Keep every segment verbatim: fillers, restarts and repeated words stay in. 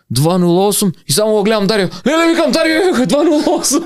два нула осум и само го гледам Дарио. Леле, викам Дарио, два нула осум.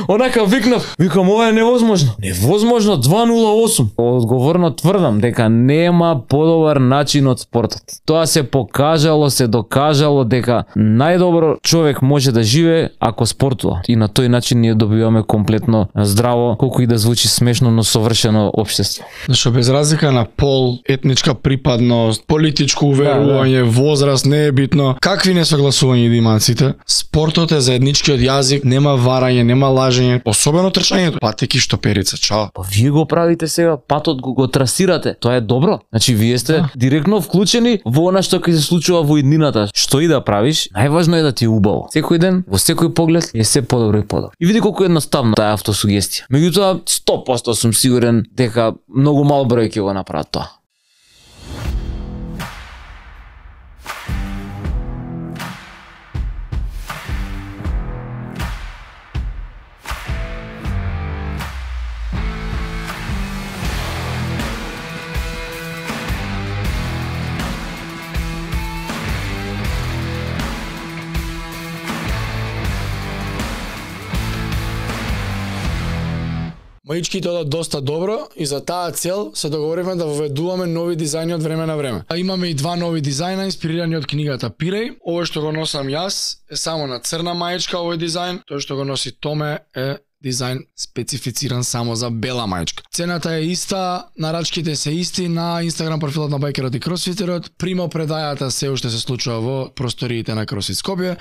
Онака викнав, викам ова е невозможно. Невозможно два нула осум. Одговорно тврдам дека нема подобар начин од спортот. Тоа се покажало, се докажало дека најдобро човек може да живее ако спортува. И на тој начин ние добиваме комплетно здраво, колку и да звучи смешно, но совршено општество. Зашто без разлика на пол, етничка припадност, политичко уверување, да, да. возраст, не е битно. Какви несогласувања да имаат сите? Спортот е заедничкиот јазик, нема варање, нема лажење, особено трчањето. Патеки штоперица, чао. Па вие го правите сега, патот го, го трасирате. Тоа е добро. Значи вие сте да. директно вклучени во она што ќе се случува во иднината. Што и да правиш, најважно е да ти е убаво. Секој ден, во секој поглед е се подобро и подобро. И види колку едноставно таа автосугестија. Меѓутоа сто проценти сум сигурен дека многу мал број ќе го направат тоа. Маичките одат доста добро и за таа цел се договоривме да воведуваме нови дизајни од време на време. А имаме и два нови дизајна инспирирани од книгата Пиреј. Овој што го носам јас е само на црна маичка овој дизајн, тој што го носи Томе е дизајн специфициран само за бела маичка. Цената е иста, нарачките се исти на Инстаграм профилот на Байкерот и Кросфитерот. Примо предајата се уште се случува во просториите на Кросфит Скопје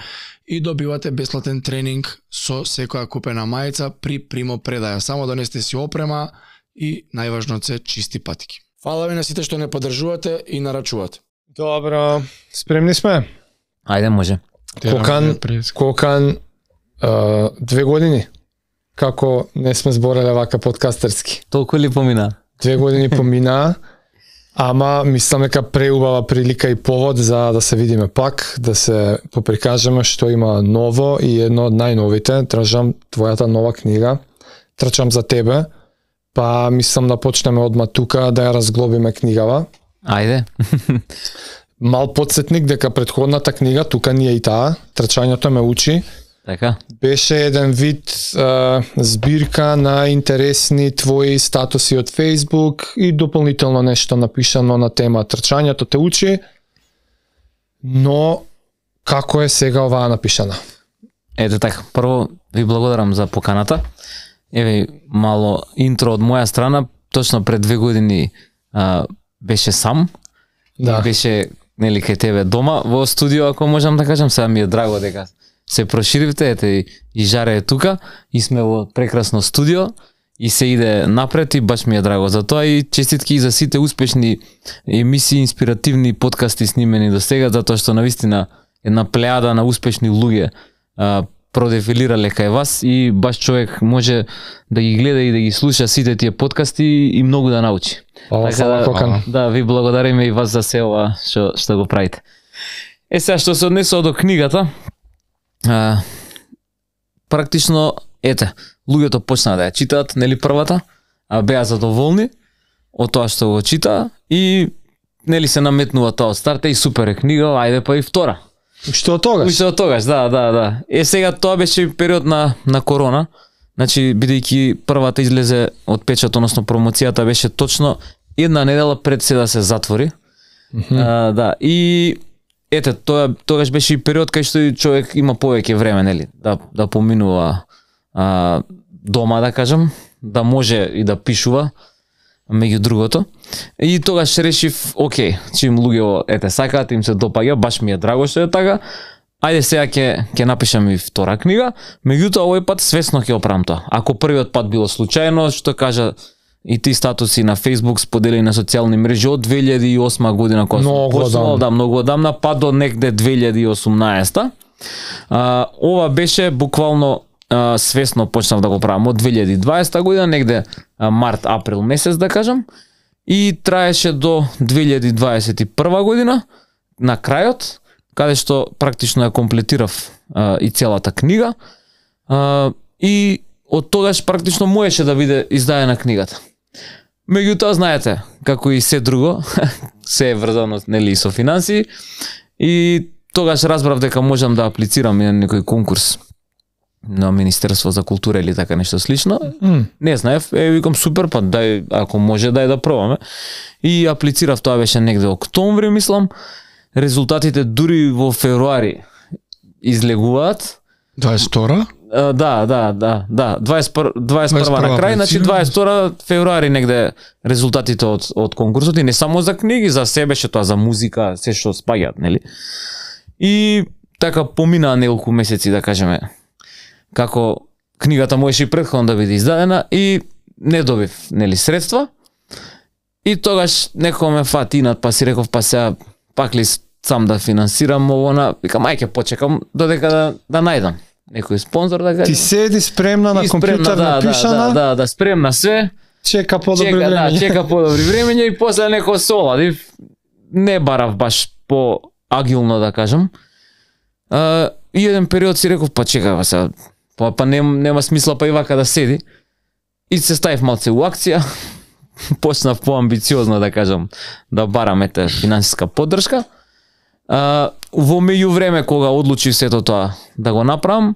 и добивате бесплатен тренинг со секоја купена мајца при примо предаја. Само донесете си опрема и најважно се чисти патики. Фала ви на сите што не поддржувате и нарачувате. Добро, спремни сме? Ајде, може. Кокан, Кокан, uh, две години. Како не сме збореле вака подкастерски. Толку ли помина? Две години помина, ама мислам дека преубава прилика и повод за да се видиме пак, да се поприкажеме што има ново и едно од најновите, трчам твојата нова книга, трчам за тебе, па мислам да почнеме одма тука да ја разглобиме книгава. Ајде. Мал подсетник дека претходната книга, тука ни е и таа, трчањето ме учи, така. Беше еден вид а, збирка на интересни твои статуси од Facebook и дополнително нешто напишано на тема трчањето те учи, но како е сега оваа напишана? Ете така, прво ви благодарам за поканата. Еве мало интро од моја страна, точно пред две години а, беше сам, да. Беше нели кај тебе дома во студио, ако можам да кажам, сега ми е драго дека се проширивте, ете и, и Жаре е тука и сме во прекрасно студио и се иде напред и баш ми е драго за тоа и честитки и за сите успешни емисии, инспиративни подкасти снимени до сега, затоа што навистина една плејада на успешни луѓе а, продефилирале кај вас и баш човек може да ги гледа и да ги слуша сите тие подкасти и многу да научи. О, така да, да, ви благодариме и вас за се ова што што го правите. Е сега што се однесува до книгата, а, практично ете, луѓето почнаа да ја читаат, нели првата, а беа задоволни од тоа што го читаа и нели се наметнува тоа од старта и супер е книга, ајде па и втора. Што од тогаш? Уште од тогаш, да, да, да. Е сега тоа беше период на на корона. Значи бидејќи првата излезе од печат, односно промоцијата беше точно една недела пред се да се затвори. Mm-hmm. А, да, и ете, тоа тогаш беше и период кај што човек има повеќе време, нели, да да поминува а, дома, да кажам, да може и да пишува меѓу другото. И тогаш решив, окей, чим луѓе ете сакаат, им се допаѓа, баш ми е драго што е така. Ајде сега ќе ќе напишам и втора книга, меѓутоа овој пат свесно ќе оправам тоа. Ако првиот пат било случајно, што кажа и ти статуси на Facebook споделени на социјални мрежи од две илјади и осма година кога сум почнал, да, многу одамна, па до негде две илјади и осумнаесета. А, ова беше буквално а, свесно почнав да го правам од две илјади и дваесета година, негде а, март, април месец да кажам, и траеше до две илјади дваесет и прва година, на крајот, каде што практично ја комплетирав а, и целата книга, а, и од тогаш практично можеше да биде издаена книгата. Меѓутоа, знаете, како и се друго, се е врзано нели со финансии, и тогаш разбрав дека можам да аплицирам на некој конкурс на Министерство за култура или така нешто слично. Mm. Не знаев, е, викам супер, па дај, ако може, дај да пробаме. И аплицирав, тоа беше негде октомври, мислам. Резултатите дури во февруари излегуваат. дваесет и втора? А, да, да, да, да. дваесет и прва на крај, значи дваесет и втора февруари негде резултатите од од конкурсот и не само за книги, за себе беше тоа, за музика, се што спаѓаат, нели? И така поминаа неколку месеци, да кажеме, како книгата можеше и претходно да биде издадена и не добив, нели, средства. И тогаш некој ме фати инат, па си реков, па сега пак ли сам да финансирам ово, на викам ај ќе почекам додека да да најдам некој спонзор, да кажам. Ти седи спремна на компјутер, да, напишана. Да, да, да, спремна све. Чека подобри чека, времења. Да, чека подобри времења и после некој се оладив. Не барав баш по агилно, да кажам. А, и еден период си реков, па чекај сега, па, па нем, нема смисла па и вака да седи. И се ставив малце у акција. Почнав поамбициозно, да кажам, да барам ете финансиска поддршка. А, во меѓувреме кога одлучив сето тоа да го направам,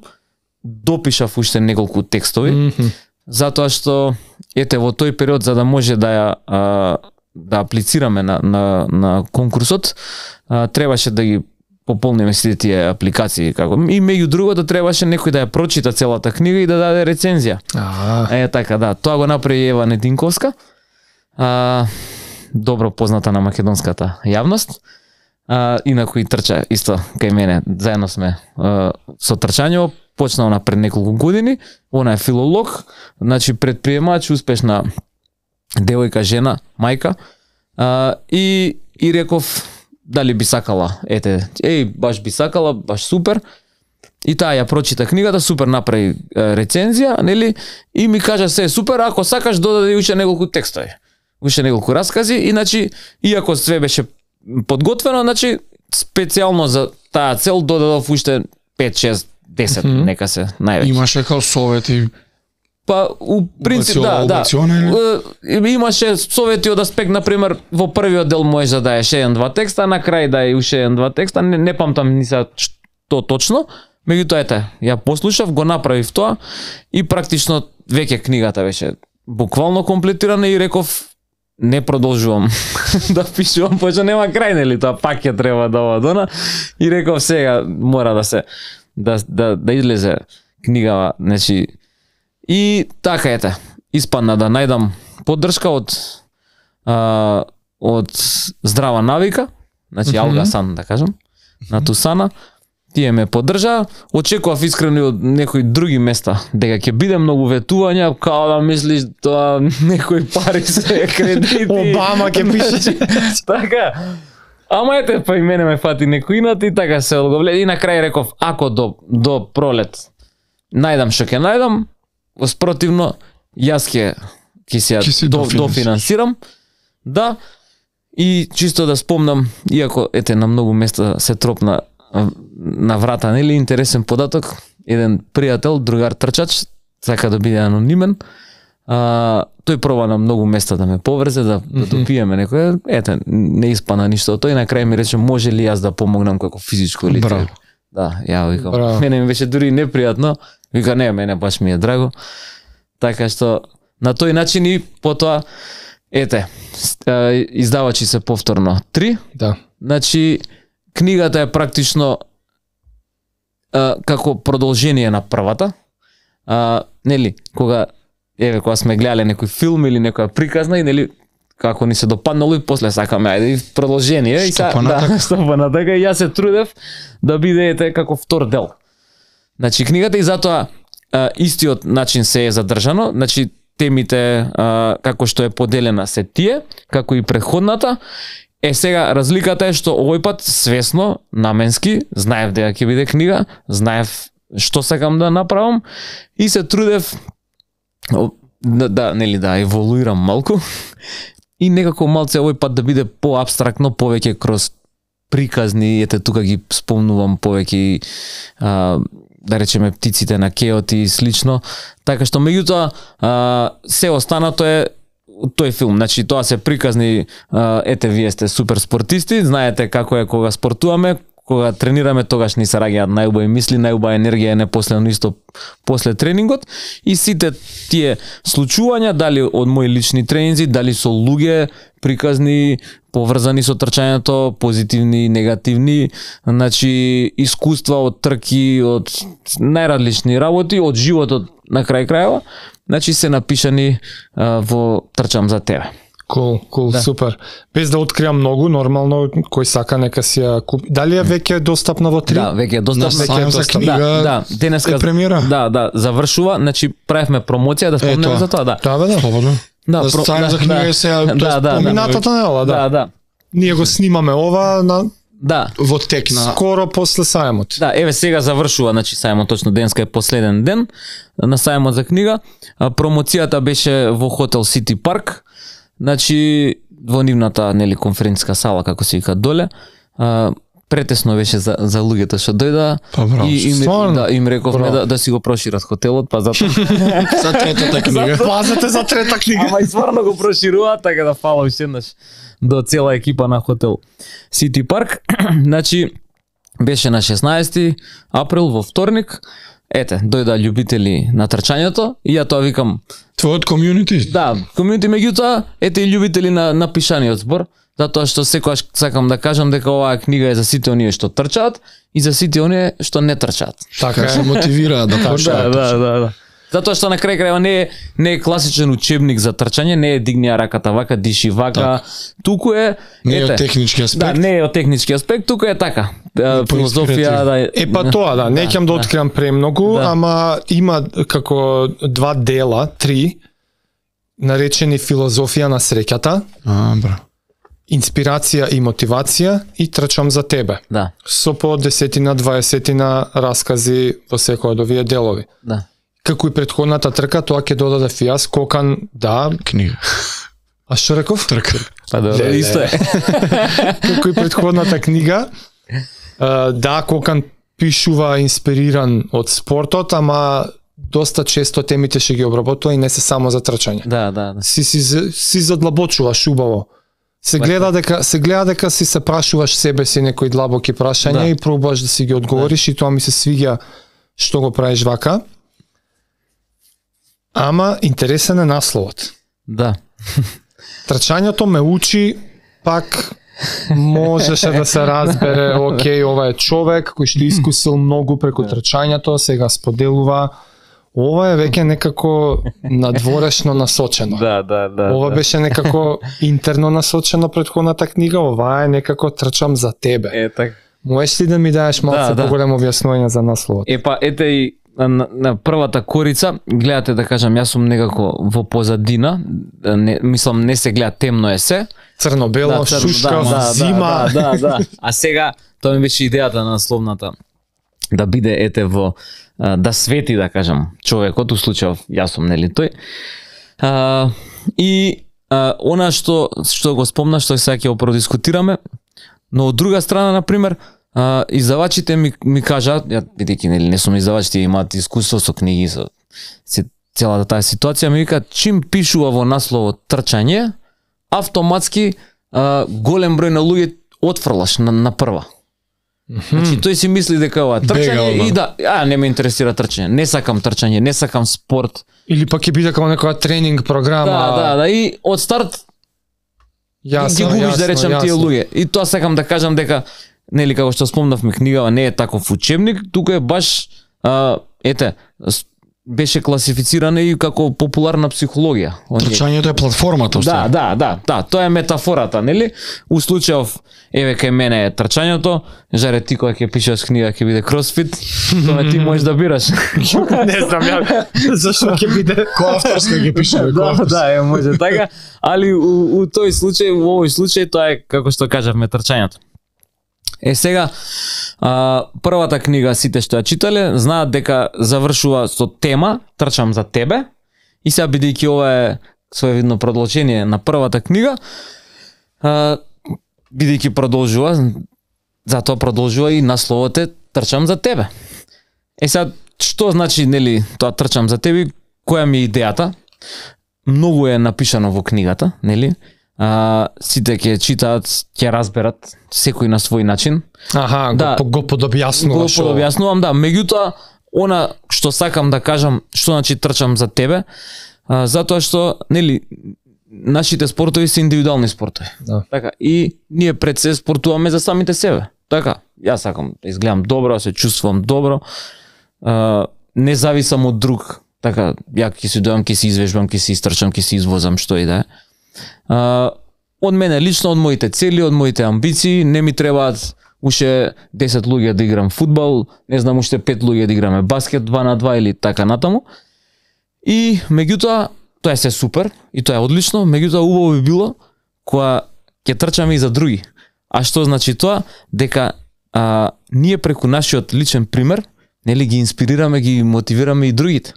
допишав уште неколку текстови, mm -hmm. затоа што ете во тој период за да може да ја а, да аплицираме на на на конкурсот, а, требаше да ги пополниме сите тие апликации, како и меѓу другото требаше некој да ја прочита целата книга и да даде рецензија. А, Е така, да, тоа го направи Ева Нединковска. А, добро позната на македонската јавност. А, инаку и трча исто кај мене, заедно сме а, со трчањево, почнал на пред неколку години. Она е филолог, значи предприемач, успешна девојка, жена, мајка. А, и и реков дали би сакала, ете, еј, баш би сакала, баш супер. И таа ја прочита книгата, супер направи рецензија, нели? И ми кажа се супер, ако сакаш додади уште неколку текстови. Уште неколку раскази, иначе иако све беше подготвено, значи специјално за таа цел додадов уште пет, шест, десет, mm -hmm. нека се највеќе. Имаше као совети. Па у принцип да, да. Имаше совети од аспект, на пример, во првиот дел можеш да даеш еден-два текста, на крај дај уште еден-два текста, не, не памтам ни се што точно. Меѓутоа ете, ја послушав, го направив тоа и практично веќе книгата беше буквално комплетирана и реков не продолжувам да пишувам, пошто нема крај, нели, тоа пак ќе треба да одона. И реков сега мора да се да да да излезе книгава, значи и така ете, испадна да најдам поддршка од а, од Здрава навика, значи mm -hmm. Алгасан, да кажам, на Тусана. Тие ме поддржаа, очекував искрено од некои други места дека ќе биде многу ветувања, као да мислиш тоа некои пари се кредити. Обама ќе пише. Така. Ама ете, па и мене ме фати некоинат и така се одговлед. И на крај реков, ако до до пролет најдам што ќе најдам, спротивно јас ќе ќе се до, дофинансирам. Да. И чисто да спомнам, иако ете на многу места се тропна на врата, нели, интересен податок, еден пријател, другар трчач, сака да биде анонимен, а, тој проба на многу места да ме поврзе, да, да допиеме некој, ете, не испана ништо, тој на крај ми рече, може ли јас да помогнам како физичко лице? Браво. Да, ја викам, Браво. Мене ми беше дури непријатно, вика, не, мене баш ми е драго, така што, на тој начин и потоа, ете, издавачи се повторно три, да. Значи, книгата е практично а, како продолжение на првата. А, нели, кога еве кога сме гледале некој филм или некоја приказна и нели како ни се допаднало и после сакаме ајде продолжение и са да, стопана така и јас се трудев да биде ете како втор дел. Значи книгата и затоа а, истиот начин се е задржано, значи темите а, како што е поделена се тие, како и претходната. Е сега разликата е што овој пат свесно, наменски, знаев дека ќе биде книга, знаев што сакам да направам и се трудев да, да нели да еволуирам малку и некако малце овој пат да биде поабстрактно, повеќе кроз приказни, ете тука ги спомнувам повеќе а, да речеме птиците на кеот и слично, така што меѓутоа се останато е тој филм, значи тоа се приказни, ете вие сте супер спортисти, знаете како е кога спортуваме, кога тренираме, тогаш ни се раѓаат најубави мисли, најубава енергија е непоследно исто после тренингот и сите тие случувања, дали од мои лични тренинзи, дали со луѓе приказни, поврзани со трчањето, позитивни, негативни, значи искуства од трки, од најразлични работи, од животот на крај крајава, значи се напишани а, во Трчам за тебе. Кул, cool, кул, cool, да. Супер. Без да откриам многу, нормално кој сака нека си ја купи. Дали е веќе достапна во три? Да, веќе е достапна. Веќе е достапна. Да, да, денеска премиера. Да, да, завршува, значи правевме промоција да спомнеме за тоа, да. Да, бе, да. Слободно. Да, да, про, да, за книга е сега, да, да, поминатата недела, да. Да, да. Ние го снимаме ова на Да. Во тек на скоро после сајмот. Да, еве сега завршува, значи сајмот точно денеска е последен ден на сајмот за книга. А, промоцијата беше во хотел Сити Парк. Значи во нивната нели конференциска сала како се вика доле. А, претесно беше за за луѓето што дојда Па, браво, и им, стварно? да, им рековме Браво. да, да си го прошират хотелот, па затоа за третата книга. Пазете за трета книга. ама и стварно го прошируваат, така да фала уште еднаш до цела екипа на хотел Сити Парк. Значи беше на шеснаесети април во вторник. Ете, дојда љубители на трчањето и ја тоа викам, Твојот комјунити? да, комјунити, меѓутоа, ете и љубители на на пишаниот збор, затоа што секогаш сакам да кажам дека оваа книга е за сите оние што трчаат и за сите оние што не трчаат. Така Се е. мотивираат да Да, почнат. да, да, да. Затоа што на крај крајва не е не е класичен учебник за трчање, не е дигни ја раката вака, диши вака, Так. туку е Не е ете, од технички аспект. Да, не е од технички аспект, туку е така. Е, филозофија да Е па тоа, да, не ќе да откриам премногу, Да. ама има како два дела, три, наречени филозофија на среќата, А, бра. инспирација и мотивација и трчам за тебе. Да, Со по десетина, дваесетина раскази во секој од овие делови. да. Како и претходната трка, тоа ќе додадев јас, Кокан, да, Книга. а што реков? Трка. Па да, Леле. исто е. Како и претходната книга, а, да, Кокан пишува инспириран од спортот, ама доста често темите ќе ги обработува и не се само за трчање. Да, да, да. Си си си задлабочуваш убаво. Се гледа дека се гледа дека си се прашуваш себе си некои длабоки прашања Да. и пробуваш да си ги одговориш и тоа ми се свиѓа што го правиш вака. Ама интересен е насловот. Да. Трчањето ме учи, пак можеше да се разбере, окей, ова е човек кој што искусил многу преку трчањето, сега споделува. Ова е веќе некако надворешно насочено. Да, да, да. Ова да. беше некако интерно насочено претходната книга, ова е некако трчам за тебе. Е така. Можеш ли да ми даеш малце Да, да. поголемо објаснување за насловот? Е па ете и на, на првата корица, гледате да кажам, јас сум некако во позадина, не, мислам не се гледа, темно е се. Црно-бело, црно, шушкав, зима. Да, да, да. А сега тоа ми беше идејата на насловната да биде ете во а, да свети, да кажам, човекот, у случајов јас сум нели тој. А, и а, она што што го спомна, што сега ќе го продискутираме, но од друга страна, на пример, а, издавачите ми ми кажаат, ја бидејќи нели не сум издавач, тие имаат искуство со книги, со се, целата таа ситуација, ми викаат чим пишува во насловот трчање, автоматски а, голем број на луѓе отфрлаш на, на прва. Значи тој си мисли дека ова е Бега трчање одма. и да, а не ме интересира трчање, не сакам трчање, не сакам спорт. Или пак ќе биде како некоја тренинг програма. Да, да, да, и од старт Јасно, ги губиш, да јасно, речем, тие јасно. луѓе. И тоа сакам да кажам дека, нели, како што спомнавме, книгава не е таков учебник, тука е баш, а, ете, с- беше класифицирана и како популарна психологија. Оние- Трчањето е платформата, Да, уствари. да, да, да, тоа е метафората, нели? У случајов, еве кај мене е трчањето, жаре ти кога ќе пишеш книга ќе биде кросфит, тоа ти можеш да бираш. Не знам ја зашто ќе биде. Кој авторска ги пишеме, кој Да, авторска? да, е може така, али у, у тој случај, во овој случај тоа е како што кажавме трчањето. Е сега, а, првата книга сите што ја читале знаат дека завршува со тема Трчам за тебе и сега бидејќи ова е своевидно продолжение на првата книга, а, бидејќи продолжува, затоа продолжува и насловот е Трчам за тебе. Е сега, што значи, нели, тоа Трчам за тебе, која ми е идејата? Многу е напишано во книгата, нели? а, сите ќе читаат, ќе разберат, секој на свој начин. Аха, Да. го, го подобјаснуваш. Го подобјаснувам, да, меѓутоа она што сакам да кажам, што значи трчам за тебе, а, затоа што нели нашите спортови се индивидуални спортови. Да. Така, и ние пред се спортуваме за самите себе. Така, јас сакам да изгледам добро, да се чувствувам добро. А, не зависам од друг. Така, ја ќе се дојам, ќе се извежбам, ќе се истрчам, ќе се извозам, што и да е. А, од мене лично, од моите цели, од моите амбиции, не ми требаат уште десет луѓе да играм фудбал, не знам уште пет луѓе да играме баскет два на два или така натаму. И меѓутоа, тоа е се супер и тоа е одлично, меѓутоа убаво би било кога ќе трчаме и за други. А што значи тоа? Дека а, ние преку нашиот личен пример, нели ги инспирираме, ги мотивираме и другите.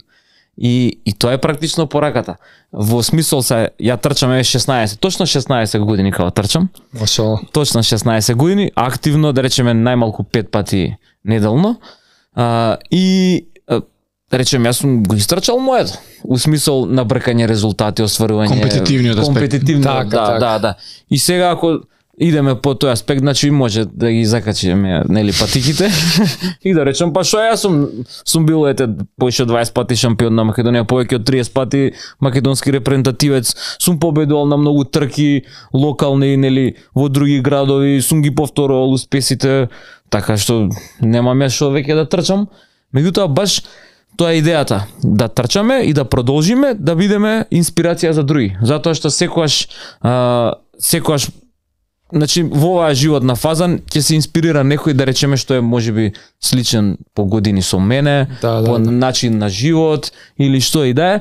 И, и тоа е практично пораката. Во смисол се, ја трчам е шеснаесет, точно шеснаесет години кога трчам. Машала. Точно шеснаесет години, активно, да речеме, најмалку пет пати неделно. А, и а, да речеме, јас сум го истрчал моето. У смисол на бркање резултати, остварување Компетитивниот аспект. компетитивниот, Така, да, така. да, да. И сега ако идеме по тој аспект, значи може да ги закачиме, нели, патиките и да речем, па што јас сум сум бил ете повеќе од дваесет пати шампион на Македонија, повеќе од триесет пати македонски репрезентативец, сум победувал на многу трки локални, нели, во други градови, сум ги повторувал успесите, така што немам ја што веќе да трчам. Меѓутоа баш тоа е идејата, да трчаме и да продолжиме да бидеме инспирација за други, затоа што секогаш а, секогаш значи во оваа животна фаза ќе се инспирира некој, да речеме, што е можеби сличен по години со мене, Да, да, по да. начин на живот или што и да е.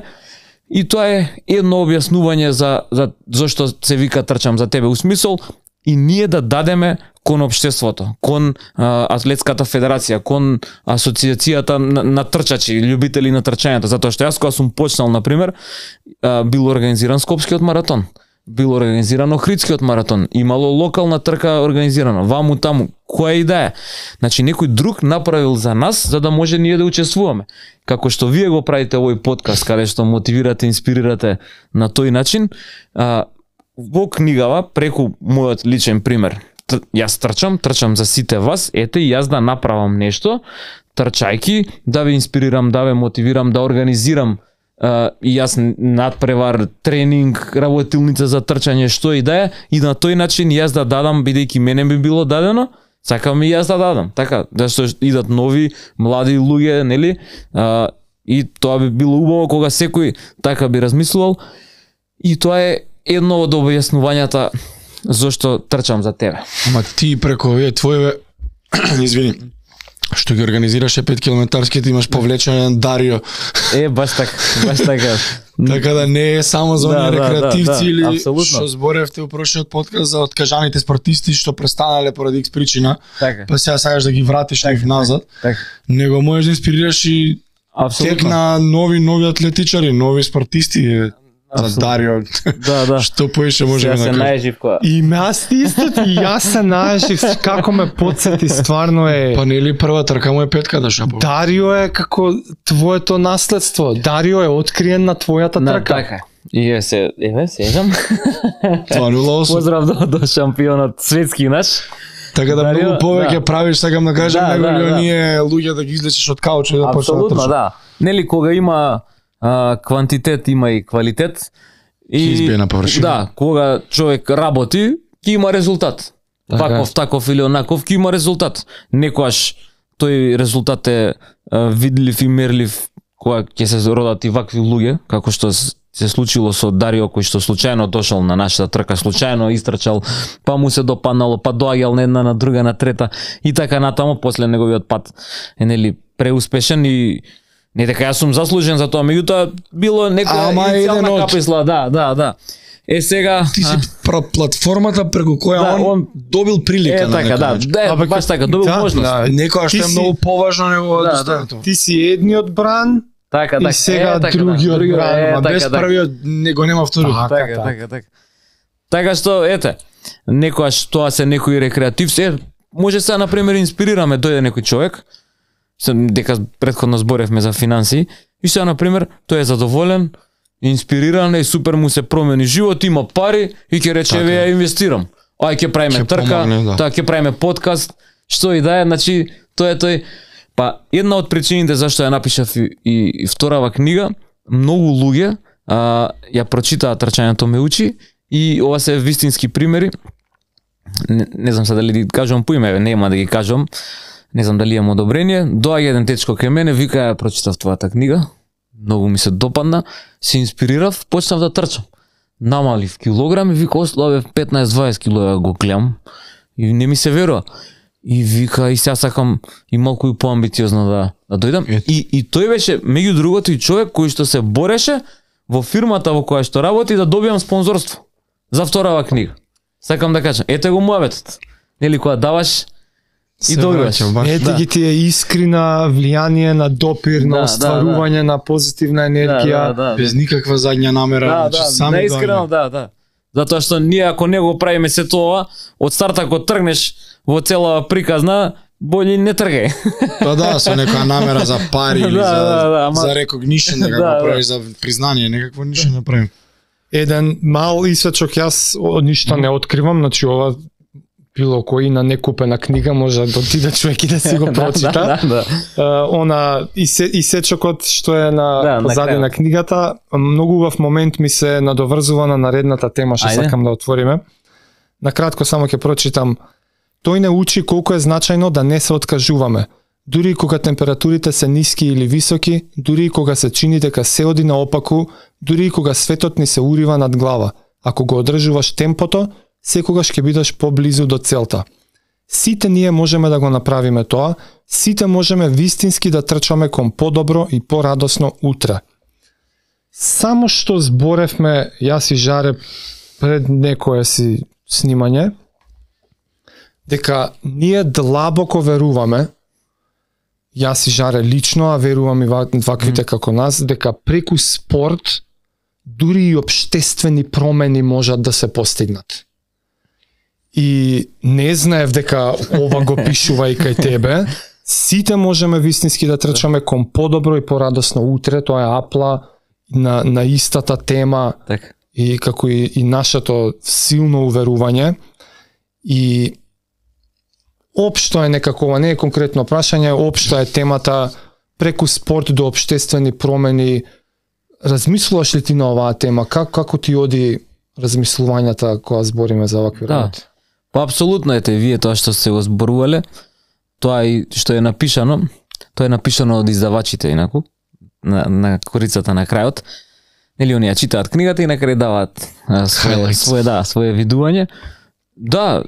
И тоа е едно објаснување за за зошто се вика трчам за тебе, у смисол и ние да дадеме кон општеството, кон а, атлетската федерација, кон асоциацијата на, на трчачи, љубители на трчањето, затоа што јас кога сум почнал, на пример, а, бил организиран Скопскиот маратон, бил организиран Охридскиот маратон, имало локална трка организирана, ваму таму, која и да е. Значи некој друг направил за нас за да може ние да учествуваме. Како што вие го правите овој подкаст каде што мотивирате, инспирирате на тој начин, а, во книгава преку мојот личен пример. Т- Јас трчам, трчам за сите вас, ете и јас да направам нешто, трчајки, да ве инспирирам, да ве мотивирам, да организирам Uh, и јас надпревар, тренинг, работилница за трчање, што и да е, и на тој начин јас да дадам, бидејќи мене би било дадено, сакам и јас да дадам. Така, да што идат нови, млади луѓе, нели? Uh, и тоа би било убаво кога секој така би размислувал. И тоа е едно од објаснувањата зошто трчам за тебе. Ама ти преку овие твоеве извини, што ги организираше пет километарските, имаш повлечен Дарио. Е, баш така, баш така. Така да не е само за Да, оние да, рекреативци да, да, или апсолутно. што зборевте у прошниот подкаст за откажаните спортисти што престанале поради икс причина, Така, па сега сакаш да ги вратиш нив назад, така. него можеш да инспирираш и тек Апсолутно. на нови нови атлетичари, нови спортисти е, за Апсолутно. Дарио. Да, да. Што поише можеме Сега да се кажеме. најжив која. И ме аз исто и јас се најжив, како ме подсети, стварно е. Па нели прва трка му е петка да шапо. Дарио е како твоето наследство. Дарио е откриен на твојата На трка. така. И е се, еве, сежам. два нула осум. Поздрав до, до шампионот светски наш. Така да Дарио, многу повеќе да. правиш, сакам да кажам, Да, него да, ли да. оние луѓе да ги излечеш од каучот и да почнат да Апсолутно, трчат. да. Нели кога има а, квантитет, има и квалитет. И Ќе избие на површина. Да, кога човек работи, ќе има резултат. Така е. Ваков, таков или онаков, ќе има резултат. Некојаш тој резултат е а, видлив и мерлив кога ќе се родат и вакви луѓе, како што с- се случило со Дарио, кој што случајно дошол на нашата трка, случајно истрчал, па му се допаднало, па доаѓал на една, на друга, на трета и така натаму, после неговиот пат е нели преуспешен и не дека јас сум заслужен за тоа, меѓутоа било некоја Ама еден иницијална од- каписла, да, да, да. Е сега Ти си пра- платформата преку која Да, он, он- добил прилика е на така, некој да, начин. да, Абе, баш како- така, добил да, можност. да. Некоја што Ти е си- многу поважно него Да, од да. останато. Ти си едниот бран, Така, И така. сега е, така, другиот другиот, бран, е, Ама така, без така. првиот него нема вториот. Така, Така, така. така, така. Така што, ете, некојаш тоа се некои рекреативци, е, може сега, например, инспирираме, дојде некој човек, се, дека предходно зборевме за финанси, и сега, например, тој е задоволен, инспириран и супер му се промени живот, има пари и ќе рече еве ја инвестирам. Ај ќе правиме трка, да. Тоа ќе правиме подкаст, што и да е, значи тоа е тој. Па една од причините зашто ја напишав и, и, и вторава книга, многу луѓе а, ја прочитаа Трчањето ме учи и ова се вистински примери. Не, не знам се дали да ги кажувам по име, нема да ги кажувам. Не знам дали имам одобрение. Доаѓа еден течко кај мене, вика ја прочитав твојата книга. Многу ми се допадна, се инспирирав, почнав да трчам. Намалив килограми, вика ослабев петнаесет-дваесет килограми го гледам и не ми се верува. И вика и сега сакам и малку и поамбициозно да да дојдам. И и тој беше меѓу другото и човек кој што се бореше во фирмата во која што работи да добиам спонзорство за вторава книга. Сакам да кажам, ете го муабетот. Нели кога даваш и добиваш. Ете да. Ги тие искрина влијание на допир, да, на остварување да, да. На позитивна енергија, да, да, да, без никаква задња намера, да, значи да, само да, искрено, да, да. Затоа што ние ако не го правиме се тоа, од старта ако тргнеш во цела приказна, бољи не тргај. Па да, со некоја намера за пари или да, за да, да, ама... за recognition, да, да го правиш, за признание, некакво ништо не правим. Еден мал исечок, јас ништо не откривам, значи ова било кој на некупена книга може да отиде човек и да си го прочита. да, да, да. Uh, она исе, исечокот што е на да, позади на книгата, многу убав момент ми се надоврзува на наредната тема што Ајде. Сакам да отвориме. Накратко само ќе прочитам. Тој не учи колку е значајно да не се откажуваме. Дури и кога температурите се ниски или високи, дури и кога се чини дека се оди наопаку, дури и кога светот ни се урива над глава. Ако го одржуваш темпото, секогаш ќе бидеш поблизу до целта. Сите ние можеме да го направиме тоа, сите можеме вистински да трчаме кон подобро и порадосно утре. Само што зборевме, јас и Жаре пред некое си снимање, дека ние длабоко веруваме, јас и Жаре лично, а верувам и ваквите mm. како нас, дека преку спорт дури и општествени промени можат да се постигнат. И не знаев дека ова го пишува и кај тебе. Сите можеме вистински да трчаме кон подобро и порадосно утре, тоа е апла на, на истата тема так. И како и, и нашето силно уверување. И општо е некакова, не е конкретно прашање, општо е темата преку спорт до општествени промени. Размислуваш ли ти на оваа тема? Как, како ти оди размислувањата кога збориме за вакви да. работи? Па апсолутно ете вие тоа што се го зборувале, тоа и што е напишано, тоа е напишано од издавачите инаку на, на корицата на крајот. Нели они ја читаат книгата и на крај даваат свое, свое да, свое видување. Да,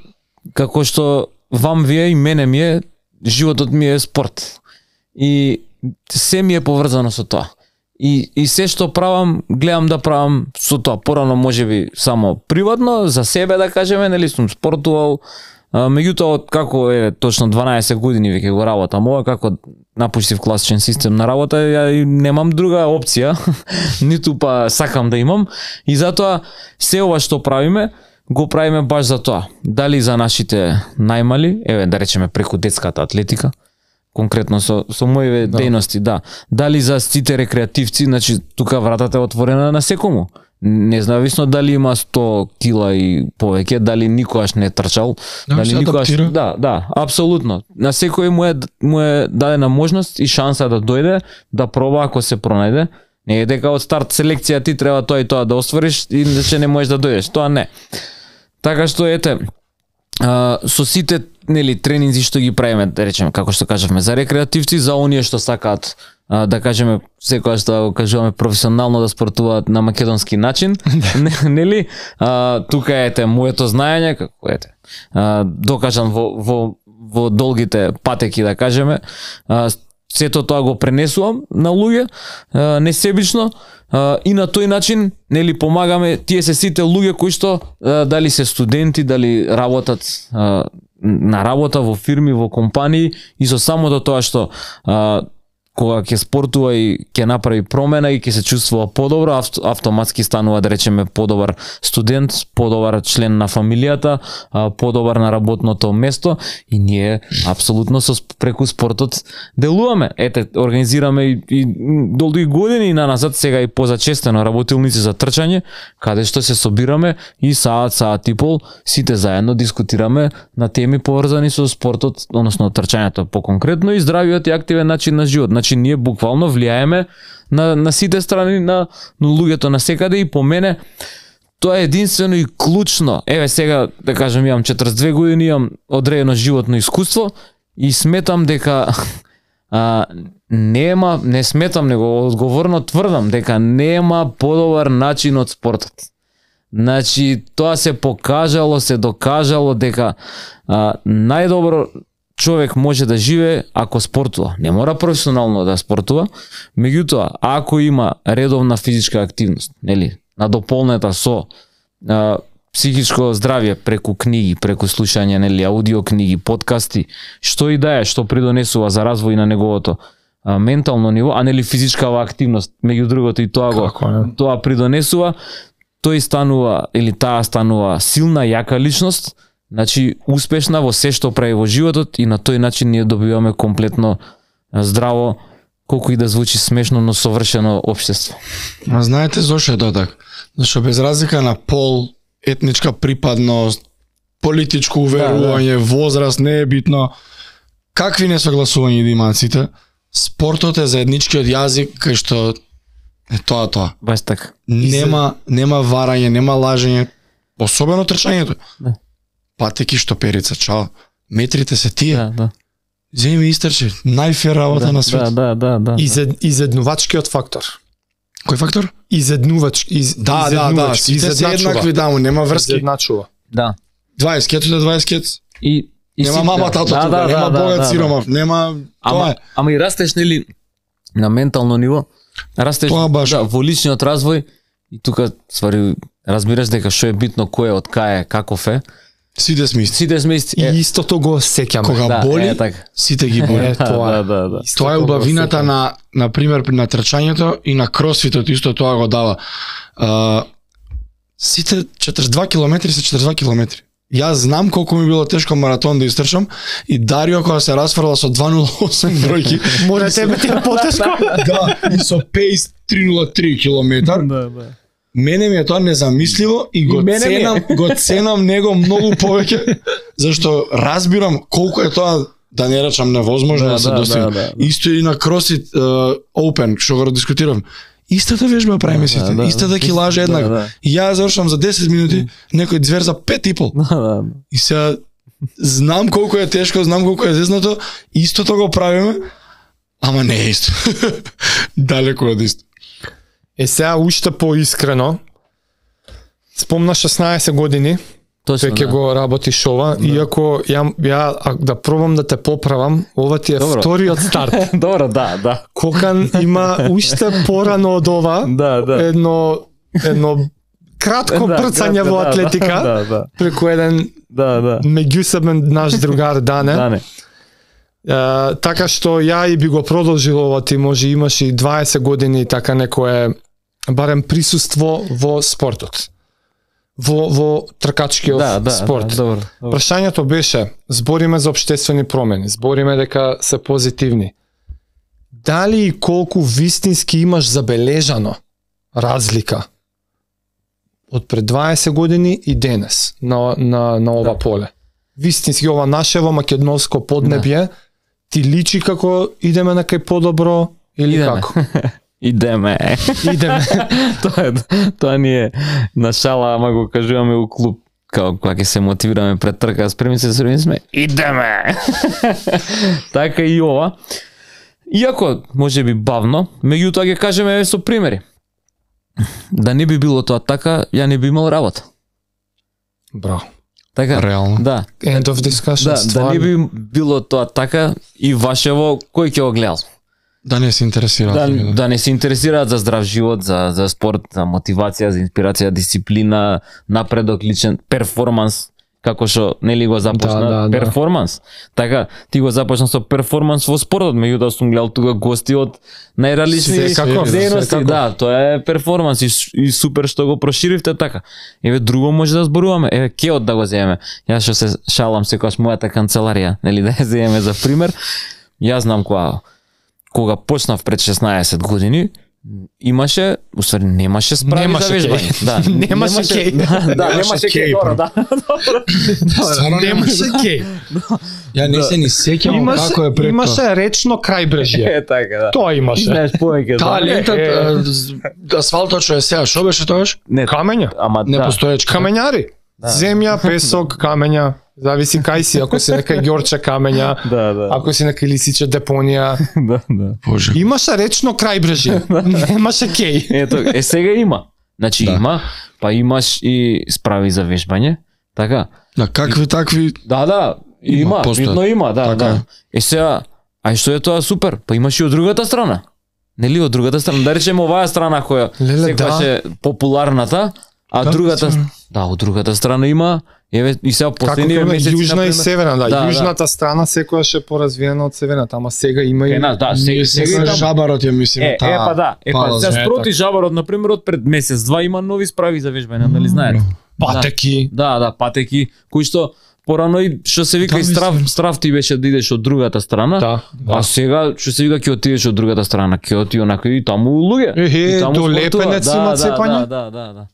како што вам вие и мене ми е, животот ми е спорт. И се ми е поврзано со тоа. И, и се што правам, гледам да правам со тоа. Порано можеби само приватно, за себе да кажеме, нели сум спортувал. А, меѓутоа, како е точно дванаесет години веќе го работам ова, како напуштив класичен систем на работа, ја немам друга опција, ниту па сакам да имам. И затоа се ова што правиме, го правиме баш за тоа. Дали за нашите најмали, еве да речеме преку детската атлетика, конкретно со со моите да. Дејности, да. Дали за сите рекреативци, значи тука вратата е отворена на секому. Независно дали има сто кила и повеќе, дали никогаш не трчал, да, дали никогаш да, да, апсолутно. На секој му е му е дадена можност и шанса да дојде, да проба ако се пронајде. Не е дека од старт селекција ти треба тоа и тоа да оствариш и иначе не можеш да дојдеш. Тоа не. Така што ете, а, со сите нели тренинзи што ги правиме, да речеме како што кажавме за рекреативци, за оние што сакаат а, да кажеме секогаш да го кажуваме професионално да спортуваат на македонски начин, нели? А, тука ете моето знаење како ете. А, докажан во во во долгите патеки да кажеме, а, сето тоа го пренесувам на луѓе, а, несебично, а, и на тој начин нели помагаме тие се сите луѓе кои што а, дали се студенти, дали работат а, на работа во фирми, во компании и со самото тоа што а, кога ќе спортува и ќе направи промена и ќе се чувствува подобро, авто, автоматски станува, да речеме, подобар студент, подобар член на фамилијата, подобар на работното место и ние апсолутно со преку спортот делуваме. Ете, организираме и, и долги години на назад, сега и позачестено работилници за трчање, каде што се собираме и саат, саат и пол, сите заедно дискутираме на теми поврзани со спортот, односно трчањето по-конкретно и здравиот и активен начин на живот. Значи ние буквално влијаеме на, на сите страни на, на луѓето на секаде и по мене тоа е единствено и клучно. Еве сега, да кажем, имам четиридесет и две години, имам одредено животно искуство и сметам дека а, нема, не сметам, него одговорно тврдам дека нема подобар начин од спортот. Значи, тоа се покажало, се докажало дека а, најдобро човек може да живее ако спортува. Не мора професионално да спортува, меѓутоа, ако има редовна физичка активност, нели, надополнета со а, психичко здравје преку книги, преку слушање, нели, аудио книги, подкасти, што и да е, што придонесува за развој на неговото а, ментално ниво, а нели физичкава активност, меѓу другото и тоа го, тоа придонесува, тој станува или таа станува силна, јака личност, значи успешна во се што прави во животот и на тој начин ние добиваме комплетно здраво, колку и да звучи смешно, но совршено општество. А знаете зошто е тоа така? Зашто без разлика на пол, етничка припадност, политичко уверување, да, да. возраст, не е битно, какви несогласувања да имаат сите, спортот е заедничкиот јазик кај што е тоа тоа. Баш така. Нема нема варање, нема лажење, особено трчањето. Да. Патеки штоперица, чао. Метрите се тие. Да, да. Земи истрче, најфер работа да, на свет. Да, да, да, да. Изед, изеднувачкиот фактор. Кој фактор? Изеднувач, из, да, да, да, сите се еднакви, да, нема врски. Изедначува. Да. дваесет кетот е дваесет кет. И И нема си, мама, да, татото, да, да, нема да, богат да, сиромав, да. Нема ама, тоа е. Ама и растеш, нели, на ментално ниво, растеш да, во личниот развој и тука ствари разбираш дека што е битно, кој е, од кај е, каков е. Сите сме исти. Сите сме исти. И истото го сеќаме. Кога да, боли, е, така. сите ги боли. Е, тоа, да, да, да. Тоа е убавината на, на пример, на трчањето и на кросфитот, исто тоа го дава. Uh, сите четиридесет и два километри се четиридесет и два километри. Јас знам колку ми било тешко маратон да истрчам и Дарио кога се расфрла со два нула осум бројки, може тебе ти е потешко. Да, и со пейс три нула три километар. Да, да. Мене ми е тоа незамисливо и го и ценам, го ценам него многу повеќе, зашто разбирам колку е тоа, да не речам невозможно да, да се да, достигне. да, да, да. Исто и на CrossFit uh, Open, што го дискутирам. Истата вежба правиме сите, да, да, истата килажа еднаква. да, да. И ја завршам за десет минути, некој звер за пет и пол. Да, да. И сега знам колку е тешко, знам колку е зезнато, истото го правиме, ама не е исто. Далеко од исто. Е сега уште поискрено, спомна шеснаесет години, Точно, веќе да. го работиш ова, Да. иако ја, ја а, да пробам да те поправам, ова ти е Добро. вториот старт. Добро, да, да. Кокан има уште порано од ова, Да, да. едно едно кратко Да, прцање кратко, во да, атлетика, да, да. преку еден Да, да. меѓусебен наш другар Дане. Да, не. Uh, така што ја и би го продолжил ова, ти може имаш и дваесет години така некое барем присуство во спортот. Во во тркачкиот Да, да, спорт. да, добро, добро. Прашањето беше, збориме за општествени промени, збориме дека се позитивни. Дали и колку вистински имаш забележано разлика од пред дваесет години и денес на на на ова Да. поле? Вистински ова нашево македонско поднебје ти личи како идеме на кај подобро или Идеме. како? Идеме. Идеме. тоа е, тоа ни е на шала, ама го кажуваме у клуб, као кога ќе се мотивираме пред трка, спремни се, спремни сме, идеме! Така и ова. Иако, може би бавно, меѓутоа ќе кажеме со примери. Да не би било тоа така, ја не би имал работа. Браво. Така, Реално. да. End of discussion. Да, да стварно. не би било тоа така и вашево, кој ќе го гледал? Да не се интересира. Да, да не се интересираат за здрав живот, за, за спорт, за мотивација, за инспирација, дисциплина, напредок, личен перформанс, како што нели го започна Да, да, да. перформанс. Така ти го започна со перформанс во спортот, меѓутоа сум гледал тука гости од најразлични Секако, дејности, секако. да, тоа е перформанс и, и супер што го проширивте така. Еве друго може да зборуваме, еве Кеот да го земеме. Јас што се шалам секогаш мојата канцеларија, нели да ја земеме за пример. Јас знам кога кога почнав пред шеснаесет години, имаше, уствари немаше справи Немаше за вежбање. кеј. Да, Немаше кеј. Да, да, Немаше немаше кеј, кеј, добро, да. Стварно Немаше кеј. Ја не се ни сеќавам Имаше, како е пред тоа. имаше речно крајбрежје. Е така, да. Тоа имаше. Знаеш повеќе. да. Талентот, Е, а, з- асфалтот што е сега, што беше тоаш? Не, Камења. ама Не да. постоечка. Камењари. Земја, песок, камења. Зависи кај си, ако си нека ѓорче камења, Да, да. ако си нека лисиче депонија. Да, да. Боже. Имаше речно крајбрежје. Немаше кеј. Ето, е сега има. Значи Да. има, па имаш и справи за вежбање, така? Да, какви такви Да, да, Има, има, постојат. видно има, да, Така е. да. Е сега, ај што е тоа супер? Па имаш и од другата страна. Нели од другата страна, да речеме оваа страна која Леле, секогаш да. е популарната, а Да, другата стварно. да, од другата страна има, еве и сега Како последниве има месеци јужна и например, северна, да. Да, да. Јужната страна секојаш е поразвиена од северната, ама сега има и Кај нас, да, Ние сега се сега и таму. жабарот ја мислим. Е, е, па да, е, па пала сега за- спроти жабарот, например, од пред месец, два има нови справи за вежбање, дали знаете? патеки. Да, да, патеки, кои што порано и што се вика Да, и страв, мислам. страв ти беше да идеш од другата страна. Да, А да. сега што се вика ќе отидеш од другата страна, ќе оти онака и таму луѓе. Ехе, И таму до спортува. Лепенец Да, има да, цепање? Да, да, да, да.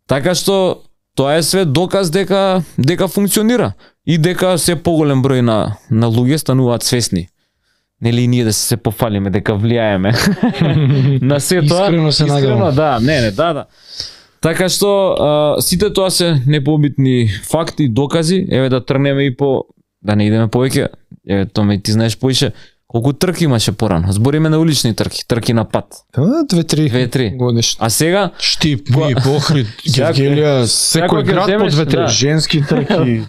Така што тоа е све доказ дека дека функционира и дека се поголем број на на луѓе стануваат свесни. Нели и ние да се пофалиме дека влијаеме на се тоа. Искрено се надевам. да, не, не, да, да. Така што а, сите тоа се непобитни факти, докази, еве да тргнеме и по да не идеме повеќе. Еве Томе, ти знаеш поише колку трки имаше порано. Збориме на улични трки, трки на пат. Да, две-три Две-три. годишни. А сега Штип, и Охрид, Сега- Гевгелија, Секој Секој ќе град по земеш, две-три. да. женски трки.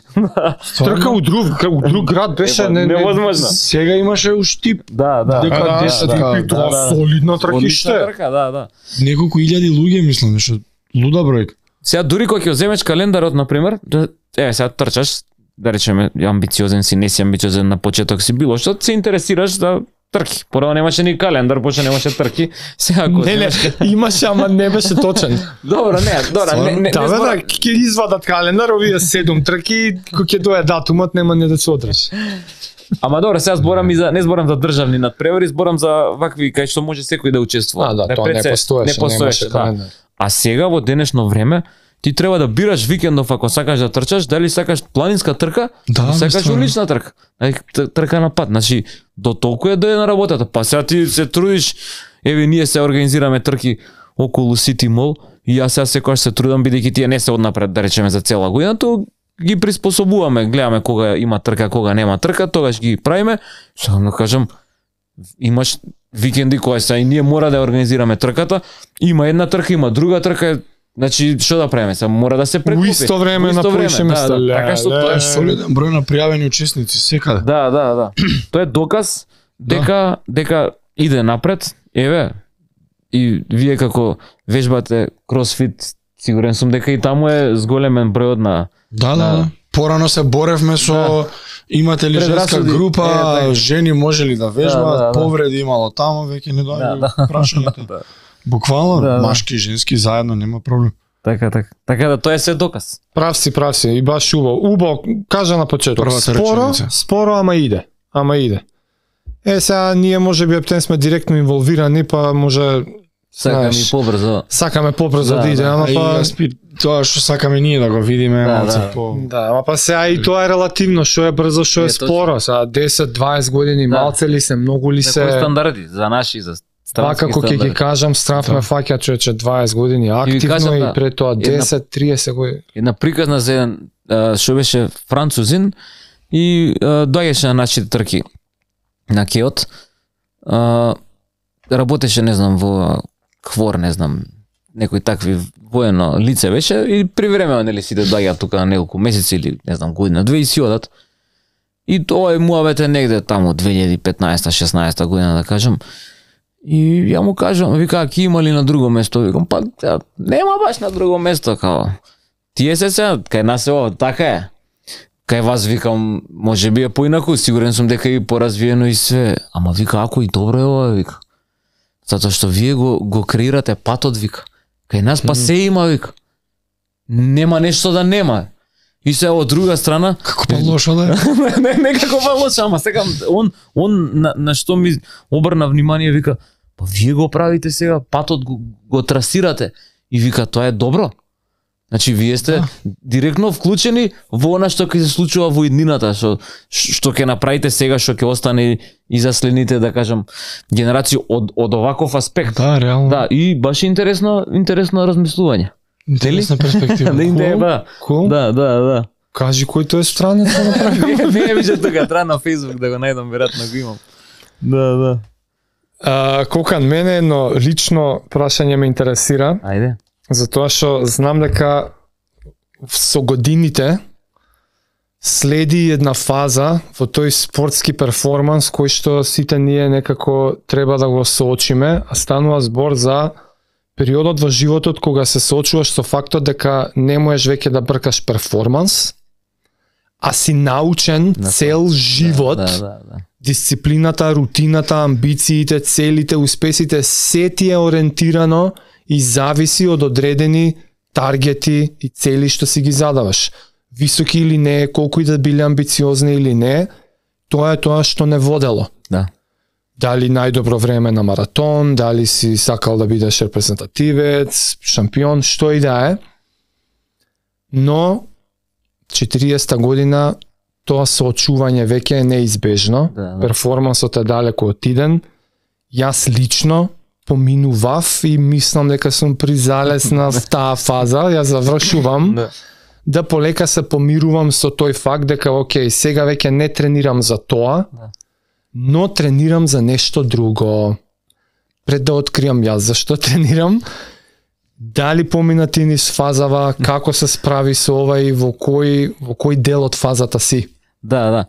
Трка у друг, у друг град беше Ева, не, не, невозможно. Сега имаше у Штип да, да. дека да, десет да, кај да, тоа да. солидна трка Одлична што е. трка, да, да. неколку илјади луѓе мислам, што луда бројка. Сега дури кога ќе земеш календарот на пример, да еве сега трчаш, да речеме амбициозен си, не си амбициозен на почеток си било што се интересираш за трки. Порано немаше ни календар, после немаше трки. Сега ако Не, не, земеш- имаше, ама не беше точен. Добро, не, добро, не, не, не Да, бе, да, зборам- ќе извадат календар, овие седум трки, кога ќе дое датумот, нема не да се одржи. Ама добро, сега зборам и за не зборам за државни надпревари, зборам за вакви кај што може секој да учествува. А, да, тоа не пред се- постоеше, не постоеше, немаше да. календар. А сега во денешно време ти треба да бираш викендов ако сакаш да трчаш, дали сакаш планинска трка, Да, или сакаш стварно. улична трка. Ај, т- трка на пат. Значи, до толку е да е на работата. Па сега ти се трудиш, еве ние се организираме трки околу City Mall и јас сега секогаш се трудам бидејќи тие не се однапред да речеме за цела година, то ги приспособуваме, гледаме кога има трка, кога нема трка, тогаш ги правиме. Сега да кажам, имаш викенди кои се и ние мора да ја организираме трката, има една трка, има друга трка, значи што да правиме? Сега мора да се У прекупи. исто време У на исто поише време, места. да, да, така што тоа Тоа е е солиден број на пријавени учесници секаде. Да, да, да. Тоа е доказ дека дека иде напред. Еве, и вие како вежбате кросфит, сигурен сум дека и таму е зголемен бројот на Да, да, Да. да. Порано се боревме со Да. имате ли женска Предрасуди. група, Е, така. жени може ли да вежбаат, Да, да, да. повреди имало таму, веќе не доаѓа Да, прашањето. да. Буквално Да, да. машки и женски заедно нема проблем. Така, така. Така да тоа е се доказ. Прав си, прав си, и баш убаво. Убаво, кажа на почеток. Првата Споро, реченица. споро, ама иде. Ама иде. Е, сега ние може би ептен сме директно инволвирани, па може Сакам знаеш, и побрзо. сакаме побрзо Да, да, иде, да. ама А и па јас пи- тоа што сакаме ние да го видиме, Да, малце да. по да, ама па сега и тоа е релативно, што е брзо, што Е, е точно. споро. Сега десет дваест години, Да. малце ли се, многу ли Се се. стандарди за наши за Па странски како ќе ги стандарди. кажам, страв ме фаќа човече дваест години активно кажам, и да, пред тоа една- десет триесет години. Една приказна за еден а, што беше французин и а, доаѓаше на нашите трки на Кеот. А, работеше, не знам, во Хвор, не знам, некој такви воено лице беше и привремено нели сите доаѓаат тука на неколку месеци или не знам година, две и си одат. И тоа е муавет е негде таму две илјади и петнаесета шеснаесета година да кажам. И ја му кажам, вика, ки има ли на друго место? Викам, па ја, нема баш на друго место, као. тие се сега, кај нас е ова, така е. Кај вас викам, може би е поинаку, сигурен сум дека и поразвиено и све. Ама вика, ако и добро е ова, вика. Затоа што вие го, го креирате патот, вика. Кај нас па се има, вика. Нема нешто да нема. И се од друга страна... Како па лошо да? не, не како па лошо, ама сега он, он на, на што ми обрна внимание, вика, па вие го правите сега, патот го, го трасирате. И вика, тоа е добро. Значи, вие сте да. Директно вклучени во она што ќе се случува во иднината, што, што ќе направите сега, што ќе остане и за следните, да кажам, генерации од, од оваков аспект. Да, реално. Да, и баш интересно, интересно размислување. Интересна перспектива. Да, cool. Cool. Да, да, да. Кажи кој тој странец да направи. Не, не виждам тука, треба на Facebook да го најдам, веројатно го имам. Да, да. А, Кокан, мене едно лично прашање ме интересира. Ајде. Затоа што знам дека со годините следи една фаза во тој спортски перформанс кој што сите ние некако треба да го соочиме, а станува збор за периодот во животот кога се соочуваш со фактот дека не можеш веќе да бркаш перформанс, а си научен На цел живот, Да, да, да, да. дисциплината, рутината, амбициите, целите, успесите, се ти е ориентирано и зависи од одредени таргети и цели што си ги задаваш. Високи или не, колку и да биле амбициозни или не, тоа е тоа што не водело. Да. Дали најдобро време на маратон, дали си сакал да бидеш репрезентативец, шампион, што и да е. Но четириесетта година тоа соочување веќе е неизбежно. Да, да. Перформансот е далеку отиден. Јас лично поминував и мислам дека сум призалез на таа фаза, ја завршувам, Да. да полека се помирувам со тој факт дека окей, сега веќе не тренирам за тоа, Да. но тренирам за нешто друго. Пред да откриам јас зашто тренирам, дали помина ти низ фазава, како се справи со ова и во кој, во кој дел од фазата си? Да, да.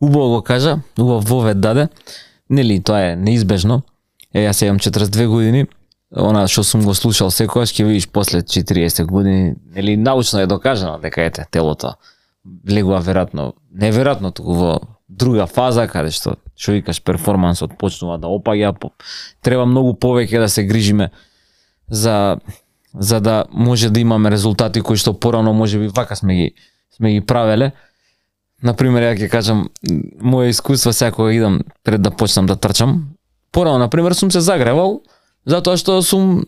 Убаво го кажа, убав вовед даде. Нели, тоа е неизбежно. Е, јас имам четиридесет и две години. Она што сум го слушал секогаш, ќе видиш после четириесет години, нели научно е докажано дека ете телото влегува веројатно, неверојатно туку во друга фаза каде што што викаш перформансот почнува да опаѓа, по, треба многу повеќе да се грижиме за за да може да имаме резултати кои што порано можеби вака сме ги сме ги правеле. Например, ја ќе кажам моje искуство сега кога идам пред да почнам да трчам. Порано, например, сум се загревал затоа што сум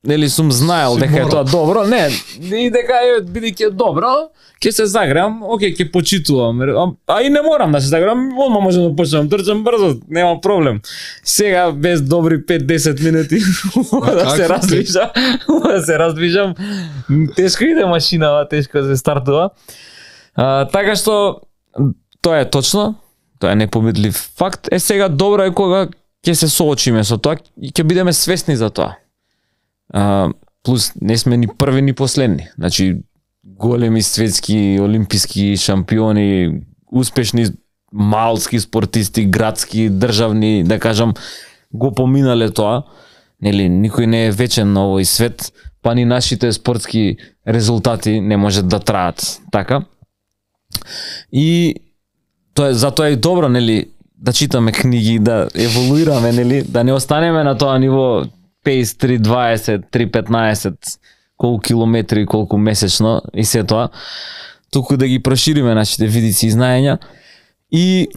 нели сум знаел дека е тоа добро, не, и дека е бидејќи е добро, ќе се загревам, окей, ќе почитувам, а, а и не морам да се загревам, одма можам да почнам трчам брзо, нема проблем. Сега без добри пет-десет минути да се раздвижам, да се раздвижам, тешко иде машинава, тешко се стартува. А, така што тоа е точно, тоа е непобедлив факт. Е сега добро е кога ќе се соочиме со тоа и ќе бидеме свесни за тоа. А, плюс не сме ни први ни последни. Значи големи светски, олимписки шампиони, успешни малски спортисти, градски, државни, да кажам, го поминале тоа. Нели никој не е вечен на овој свет, па ни нашите спортски резултати не можат да траат така. И тоа е затоа е добро, нели, да читаме книги, да еволуираме, нели, да не останеме на тоа ниво пейс три дваесет, три петнаесет, колку километри, колку месечно и се тоа, туку да ги прошириме нашите видици и знаења и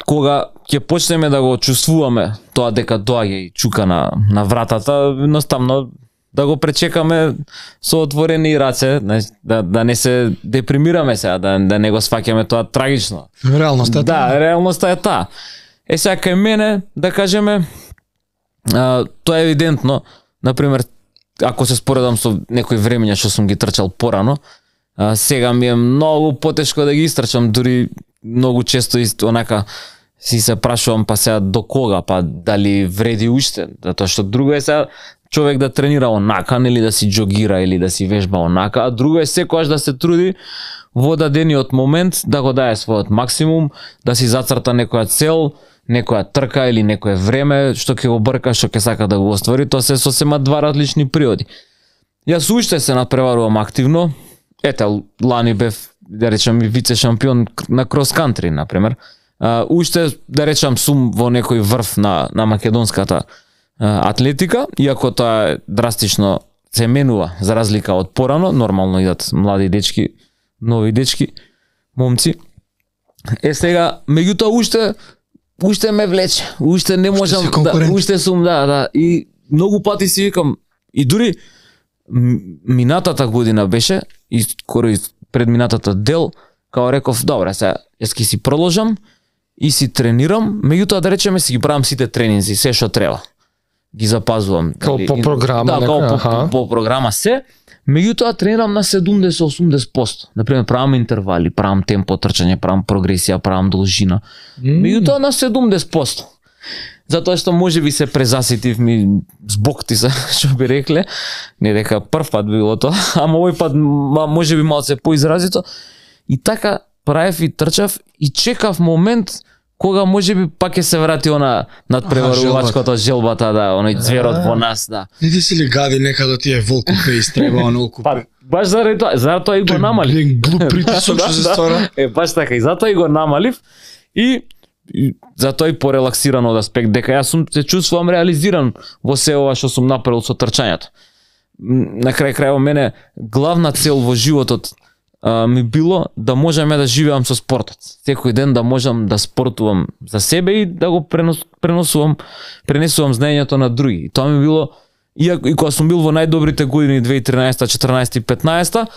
кога ќе почнеме да го чувствуваме тоа дека доаѓа и чука на, на вратата, едноставно да го пречекаме со отворени раце, да, да не се депримираме сега, да, да не го сваќаме тоа трагично. Реалноста е Да, таа. реалноста е таа. Е сега кај мене, да кажеме, а, тоа е евидентно, например, ако се споредам со некои времења што сум ги трчал порано, а, сега ми е многу потешко да ги истрчам, дури многу често ист, онака си се прашувам па сега до кога, па дали вреди уште, затоа што друго е сега човек да тренира онака, нели да си джогира или да си вежба онака, а друго е секогаш да се труди во дадениот момент да го даде својот максимум, да си зацрта некоја цел, некоја трка или некое време што ќе го брка, што ќе сака да го оствари, тоа се сосема два различни природи. Јас уште се надпреварувам активно, ете, лани бев, да речам, и вице шампион на крос кантри, например. Uh, уште, да речам, сум во некој врв на, на македонската uh, атлетика, иако тоа е драстично се менува, за разлика од порано, нормално идат млади дечки, нови дечки, момци. Е сега, меѓутоа уште уште ме влече, уште не можам да, уште сум, да, да, и многу пати си викам, и дури минатата година беше, и скоро и предминатата дел, као реков, добре, сега, јас ќе си продолжам и си тренирам, меѓутоа да речеме си ги правам сите тренинзи, се што треба. Ги запазвам. Као по програма, да, нека, као по, аха. по програма се, меѓутоа тренирам на седумдесет до осумдесет проценти. Например, правам интервали, правам темпо трчање, правам прогресија, правам должина. Mm. Меѓутоа на седумдесет проценти. Затоа што можеби се презаситив ми због ти се, што би рекле, не дека прв пат било тоа, ама овој пат можеби малце поизразито. И така правев и трчав и чекав момент кога можеби пак ќе се врати она надпреварувачкото, желбата, да, оној зверот во нас, да. Не ти си ли гади нека да ти е волку пе истреба онолку? Па, баш заради тоа, затоа и го намалив. Глуп притисок што се ствара. Е, баш така, и затоа и го намалив и И затоа и порелаксиран од аспект дека јас сум се чувствувам реализиран во се ова што сум направил со трчањето. На крај крајот мене главна цел во животот а, ми било да можам да живеам со спортот. Секој ден да можам да спортувам за себе и да го пренос, преносувам пренесувам знаењето на други. И тоа ми било иако и кога сум бил во најдобрите години две илјади и тринаесета, четрнаесета и петнаесета,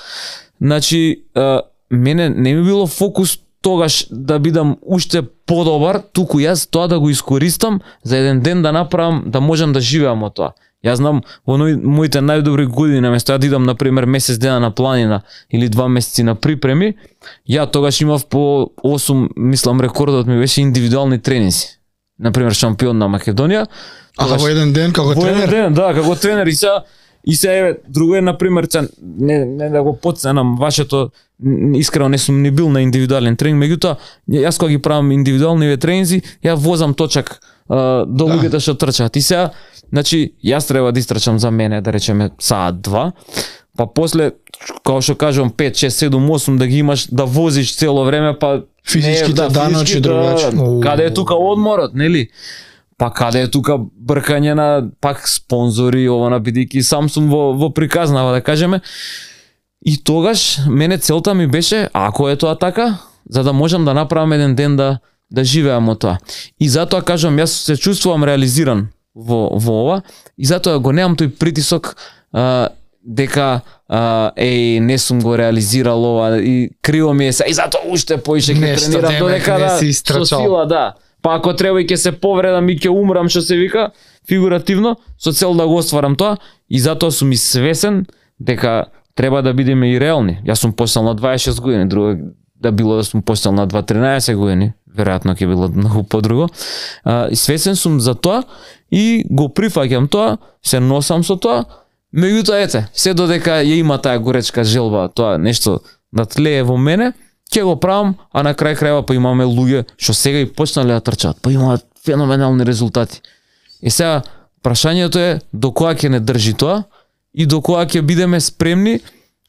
значи а, мене не ми било фокус тогаш да бидам уште подобар, туку јас тоа да го искористам за еден ден да направам, да можам да живеам од тоа. Јас знам во моите најдобри години, наместо ја да идам на пример месец дена на планина или два месеци на припреми, ја тогаш имав по осум, мислам рекордот ми беше индивидуални тренинзи. На пример шампион на Македонија. Аха, во еден ден како во тренер? Во еден ден, да, како тренер и се и се еве друго е на пример, не не да го потценам вашето, искрено не сум ни бил на индивидуален тренинг, меѓутоа јас кога ги правам индивидуални тренинзи, ја возам точак а, до да. Луѓето што трчаат. И сега, значи, јас треба да истрчам за мене, да речеме саат два, па после како што кажувам пет, шест, седум, осум да ги имаш да возиш цело време, па физичките да, даночи другачи. Да, каде е тука одморот, нели? Па каде е тука бркање на пак спонзори, ова на бидејќи сам сум во во приказнава да кажеме. И тогаш мене целта ми беше, ако е тоа така, за да можам да направам еден ден да да живеам од тоа. И затоа кажам, јас се чувствувам реализиран во во ова и затоа го немам тој притисок а, дека а, еј не сум го реализирал ова и криво ми е се и затоа уште поише ќе тренирам додека да со сила, да. Па ако треба и ќе се повредам и ќе умрам, што се вика, фигуративно, со цел да го остварам тоа, и затоа сум и свесен дека треба да бидеме и реални. Јас сум почнал на дваесет и шест години, друго да било да сум почнал на два тринаесет години, веројатно ќе било многу подруго. А, и свесен сум за тоа и го прифаќам тоа, се носам со тоа, меѓутоа ете, се додека ја има таа горечка желба, тоа нешто да тлее во мене, ќе го правам, а на крај крајва па имаме луѓе што сега и почнале да трчаат, па имаат феноменални резултати. И сега прашањето е до кога ќе не држи тоа и до кога ќе бидеме спремни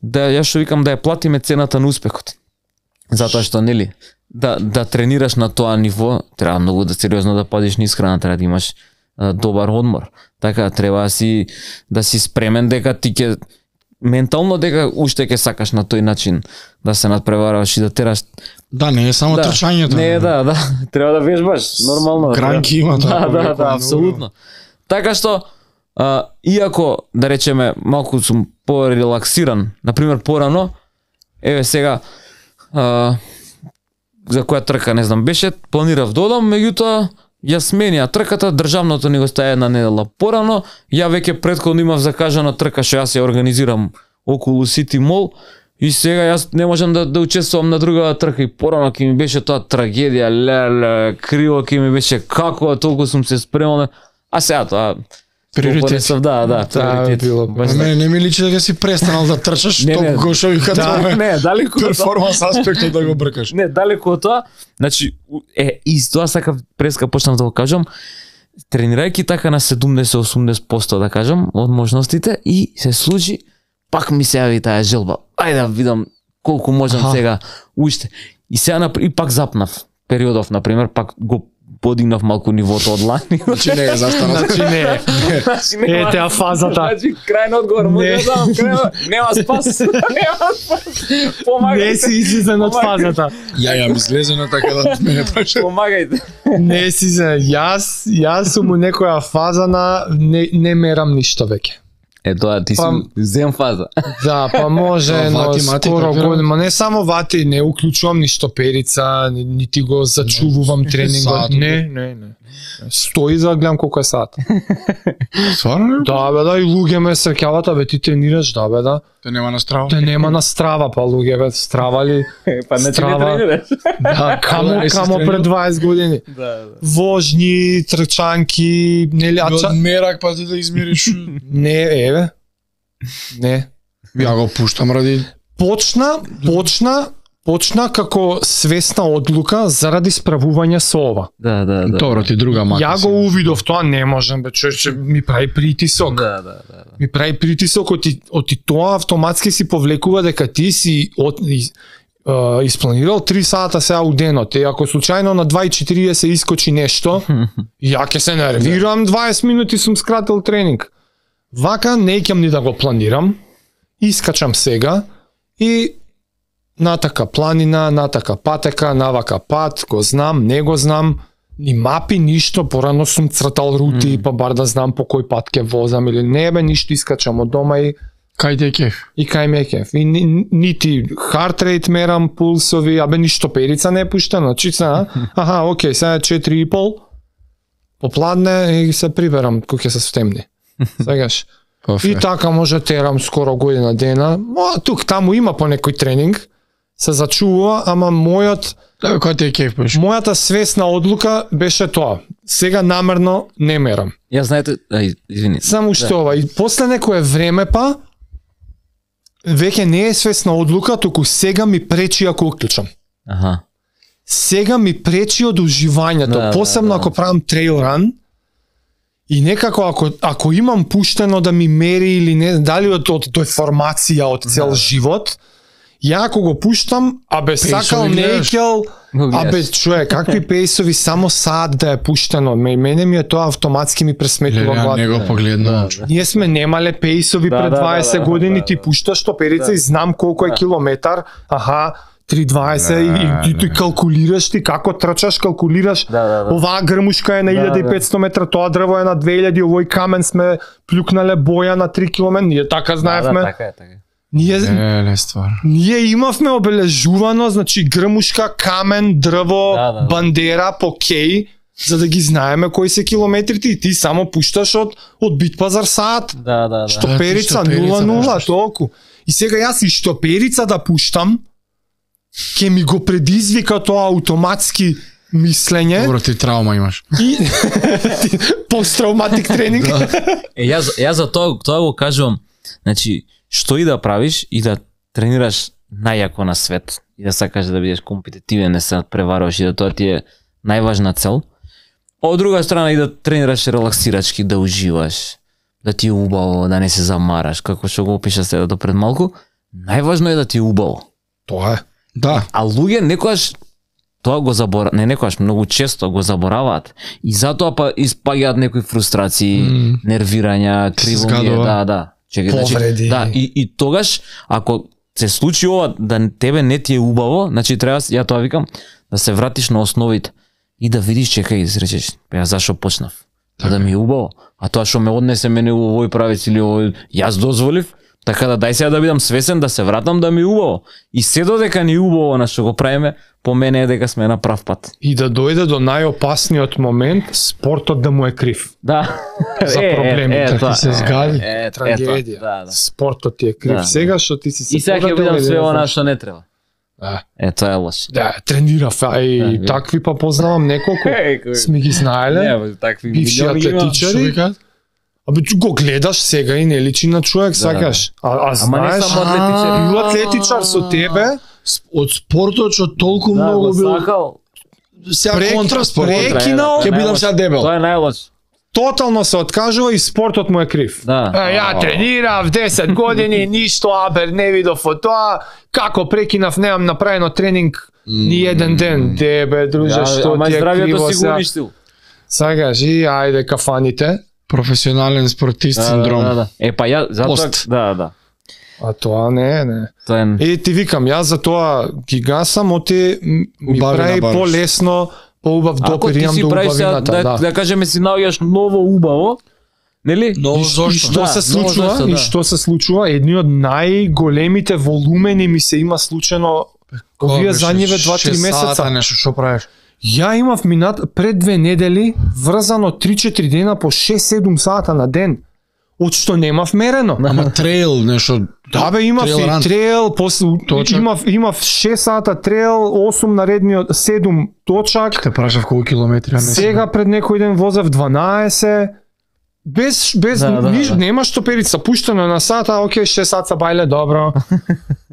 да јас што викам да ја платиме цената на успехот. Затоа што нели да да тренираш на тоа ниво, треба многу да сериозно да пазиш низ храна, треба да имаш а, добар одмор. Така треба да си да си спремен дека ти ќе ментално дека уште ќе сакаш на тој начин да се надпреваруваш и да тераш. Да, не е само да, трчањето. Не е, да, да, треба да вежбаш, нормално. Гранки има тоа. Да, да, да, апсолутно. Така што а, иако да речеме малку сум порелаксиран, на пример порано, еве сега а, за која трка не знам беше, планирав да одам, меѓутоа ја сменија трката, државното ни го стаја една недела порано, ја веќе претходно имав закажана трка што јас ја организирам околу City Mall и сега јас не можам да, да учествувам на другава трка и порано ќе ми беше тоа трагедија, леле, криво ќе ми беше како толку сум се спремал, а сега тоа приоритет. Да, да, да било. Не, не ми личи дека си престанал да трчаш толку што ви да, не, далеку перформанс аспектот да го бркаш. Не, далеку од тоа. Значи е и тоа сакав преска почнав да го кажам. Тренирајќи така на седумдесет до осумдесет проценти да кажам од можностите и се случи пак ми се јави таа желба. ајде да видам колку можам Аха. сега уште. И сега напр- и пак запнав периодов, на пример, пак го подигнав малку нивото од лани. Значи не е застана. Значи не. Ете, а фазата. Значи крајен одговор, може Не. да знам, крајен, нема спас. Нема спас. Помагајте. Не си излезен од фазата. Ја ја ми излезено така да мене праше. Помагајте. Не си за јас, јас сум у некоја фаза на не, не мерам ништо веќе. Е тоа ти си Па- зем фаза. Да, па може, Тоа но вати, мати, скоро капирам. година, не само вати, не уклучувам ништо перица, ни- нити го зачувувам тренингот. саат, Не, не, не. Стои за да гледам колку е сат. Стварно? Да, бе, да, и луѓе ме среќават, а бе, ти тренираш, да, бе, да. Те нема на страва. Те нема на страва, па луѓе, бе, страва ли? Па не ти не Страва. тренираш. Да, камо, Не си камо тренирал? пред дваесет години. Да, да. Вожни, трчанки, нели, а Од ча... мерак па ти да измериш. Не, еве. Не. Ја го пуштам ради Почна, почна, почна како свесна одлука заради справување со ова. Да, да, да. Добро ти друга мака. Ја го увидов тоа, не можам бе, човече, ми прави притисок. Да, да, да. да. Ми прави притисок, оти, оти тоа автоматски си повлекува дека ти си од, из, uh, испланирал три сата сега у денот. И ако случајно на два и четириесет искочи нешто, ја ќе се нервирам, дваесет минути сум скратил тренинг. Вака не ќам ни да го планирам, искачам сега и натака планина, натака патека, навака пат, го знам, не го знам, ни мапи, ништо, порано сум цртал рути, mm. па бар да знам по кој пат ќе возам или не бе, ништо искачам од дома и Кај ти е кеф? и кај ме е кеф. И ни, нити heart rate мерам, пулсови, абе ништо перица не е пуштено, чица, аха, окей, сега е четири и пол, попладне и се приберам кој ќе се стемни. Сегаш. И така може терам скоро година дена. Ма, тук таму има по некој тренинг, се зачува, ама мојот Да, бе, кај ти е кеф пеш? мојата свесна одлука беше тоа. Сега намерно не мерам. Ја знаете, ај, извини. Само што ова и после некое време па веќе не е свесна одлука, туку сега ми пречи ако уклучам. Аха. Сега ми пречи од уживањето, Да, посебно да, да. ако правам трейл ран. И некако ако ако имам пуштено да ми мери или не, дали од од деформација од цел Да. живот, ја ако го пуштам, абе Пейсови сакал не гледаш? икел, Го гледаш. абе човек, какви пейсови само саат да е пуштено. Ме- Мене ми е тоа автоматски ми пресметува Ја главата. не го погледнам. Да, Ние сме немале пейсови Да, пред да, да, дваесет да, години, да, ти да. пушташ топерица Да. и знам колку е Да. километар, аха, три дваесет и, и, и ти калкулираш ти како трчаш, калкулираш. Да, да, да. Оваа грмушка е на Да, илјада и петсто метра, тоа дрво е на две илјади, овој камен сме плюкнале боја на три километри, ние така знаевме. Да, да, така е, така е. Ние Еле ствар. Ние имавме обележувано, значи грмушка, камен, дрво, Да, да, да. бандера, покеј, за да ги знаеме кои се километрите и ти само пушташ од од бит пазар саат. Да, да, да. Штоперица штоперица нула нула пушташ. толку. И сега јас и штоперица да пуштам, ќе ми го предизвика тоа автоматски мислење Добро ти траума имаш. и посттравматик тренинг. Е, јас, јас за тоа, тоа го кажувам, значи, што и да правиш и да тренираш најако на свет и да сакаш да бидеш компетитивен, не се надпреваруваш и да тоа ти е најважна цел. Од друга страна и да тренираш релаксирачки, да уживаш, да ти е убаво, да не се замараш, како што го опиша сега до пред малку, најважно е да ти е убаво. Тоа е. Да. А луѓе некојаш тоа го забора, не некојаш, многу често го забораваат и затоа па испаѓаат некои фрустрации, М. нервирања, кривоње, згадува. да, да. Чекај, Повреди. значи, да, и, и тогаш ако се случи ова да тебе не ти е убаво, значи треба, ја тоа викам, да се вратиш на основите и да видиш, чекај, речеш, ја зашо почнав? Така. Да ми е убаво. А тоа што ме однесе мене у овој правец или овој, јас дозволив, така да дај сега да бидам свесен, да се вратам да ми е убаво. И се додека ни е убаво на што го правиме, по мене е дека сме на прав пат. И да дојде до најопасниот момент, спортот да му е крив. Да. За проблемите, тоа, ти се згади, е, е, трагедија. Е, да, да. Спортот ти е крив Да. сега што ти си се И сега ќе поредил бидам или све не она знам што не треба. Да. Е, тоа е лошо. Да, тренирав, а и Да, такви па познавам неколку. Сме ги знаеле. такви бивши милиони има. атлетичари. Што викаат? Абе, ти го гледаш сега и не личи на човек, сакаш. А, а Ама не знаеш, само атлетичари. бил атлетичар со тебе, С- Од спортот што толку Да, многу го бил. сакал. Сега Прек- контраспорт. прекинал, Тоа е ќе бидам најлошо. сега дебел. Тоа е најлошо. тотално се откажува и спортот му е крив. Да. Е, ја тренирав десет години, ништо, абе, не видов од тоа, како прекинав, немам направено тренинг ни еден ден. Де, бе, друже, што ама ти е здравието криво си го сега? уништил. Сега кажи, ајде кафаните. Професионален спортист синдром. Да, да, да. Е па ја затоа Пост. да, да. А тоа не, не. Тоа е И ти викам, јас за тоа ги гасам, оти м- ми Убавина прави бараш. полесно, поубав Ако допир ти имам си до правиш сега, убавината, да, да. да кажеме си наоѓаш ново убаво, нели? Ново И, зошто? и што Да, се ново случува? зошто, И да. што се случува? Едни од најголемите волумени ми се има случено овие задниве два-три месеца. Нешто што правиш? Ја имав минат пред две недели врзано три-четири дена по шест-седум сата на ден. Од што немав мерено. Ама трейл нешто. Да бе, имав трейл и ран. трейл, после Точак. имав имав шест сата трейл, осум наредниот, седум точак. Те прашав колку километри, а не Сега пред некој ден возев дванаесет. Без без Да, да, ниш, да. нема што перица, пуштено на сата, окей, шест сата бајле, добро.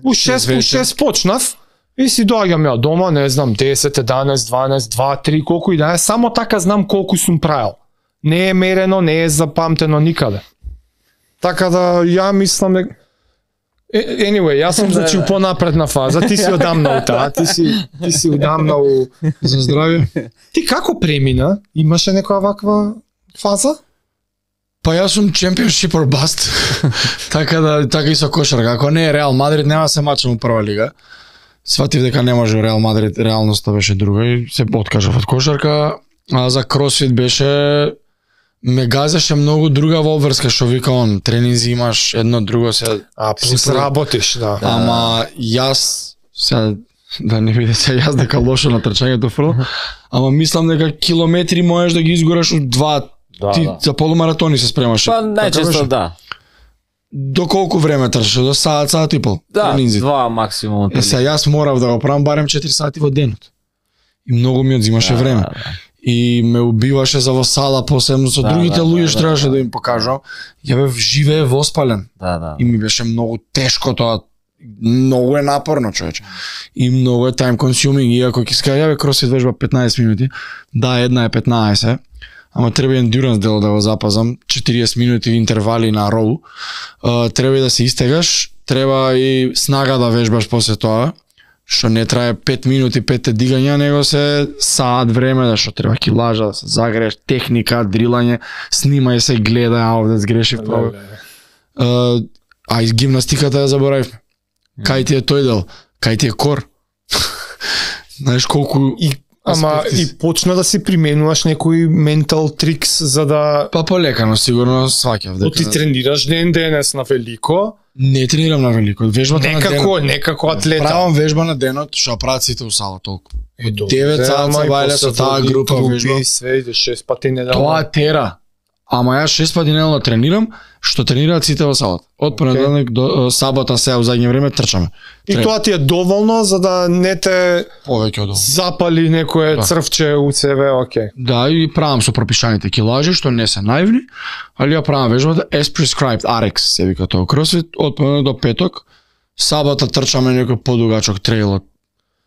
У шест, у вечер. шест почнав и си доаѓам ја дома, не знам, десет, еданаесет, дванаесет, два, три, колку и да е, само така знам колку сум правил. Не е мерено, не е запамтено никаде. Така да ја мислам дека Е- Anyway, јас сум значи у понапредна фаза, ти си одамна у таа, ти си ти си одамна у за здравје. Ти како премина? Имаше некоја ваква фаза? Па јас сум championship or bust. така да така и со кошарка. Ако не е Реал Мадрид, нема се мачам у прва лига. Сватив дека не може Реал Мадрид, реалноста беше друга и се откажав од кошарка. А за кросфит беше ме газеше многу друга обврска што вика он, тренинзи имаш едно друго се. А, плюс Си про- работиш, да. Ама јас сега да не бидете јас дека лошо на трчањето фрло, ама мислам дека километри можеш да ги изгораш од два. Да, Ти да. за полумаратони се спремаше. Па Така најчесто беше? да. До колку време трчаше? До саат, саат и пол. Да, тренинзи. два максимум. Е, сега јас морав да го правам барем четири сати во денот. И многу ми одзимаше Да, време. да, да. И ме убиваше за во сала, посебно со Да, другите да, луѓе да, што да, требаше да. да им покажам. Ја бев живее воспален. Да, да. И ми беше многу тешко тоа. Многу е напорно, човече. И многу е time consuming, иако ќе скаја ја бе кросфит вежба петнаесет минути. Да, една е петнаесет. Ама треба endurance дел да го запазам, четириесет минути интервали на роу. Uh, треба и да се истегаш, треба и снага да вежбаш после тоа, што не трае пет минути, пет дигања, него се саат време, да што треба килажа, да се загрееш, техника, дрилање, снимај се, гледај, а овде сгрешив право. Uh, а и гимнастиката ја заборавивме. Кај ти е тој дел? Кај ти е кор? Знаеш колку И ама аспекти и почна да си применуваш некои ментал трикс за да па полекано сигурно сваќав дека ти тренираш ден денес на велико, не тренирам на велико, вежбата на денот. некако, некако атлета. Правам вежба на денот, што прават сите у сала толку. Ето, девет саат се бајле со таа група групи, вежба. све иде шест пати неделно. Тоа тера. Ама јас шест пати неделно тренирам, што тренираат сите во салата. Од понеделник до е, сабота сега во задње време трчаме. И Тренирам. тоа ти е доволно за да не те Повеќе од ова. запали некое Да. црвче у себе, окей. Да, и правам со пропишаните килажи, што не се наивни, али ја правам вежбата as prescribed, ар екс се вика тоа кросфит, од понеделник до петок. Сабота трчаме некој подугачок трейл од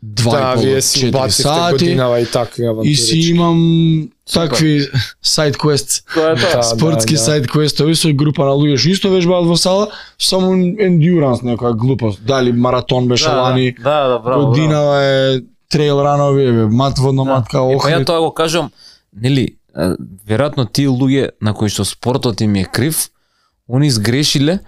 два Да, и пол вие до си четири убацивте сати. годинава и такви авантури. И си имам такви сайд квест, Тоа е тоа. Да, спортски да, да. сайд квестови со група на луѓе што исто вежбаат во сала, само ендуранс некоја глупост. Дали маратон беше Да, лани, да, да, браво. браво. годинава е трейл ранови, бе, мат водно матка, Е, па ја охрид. тоа го кажам, нели, а, веројатно тие луѓе на кои што спортот им е крив, они сгрешиле,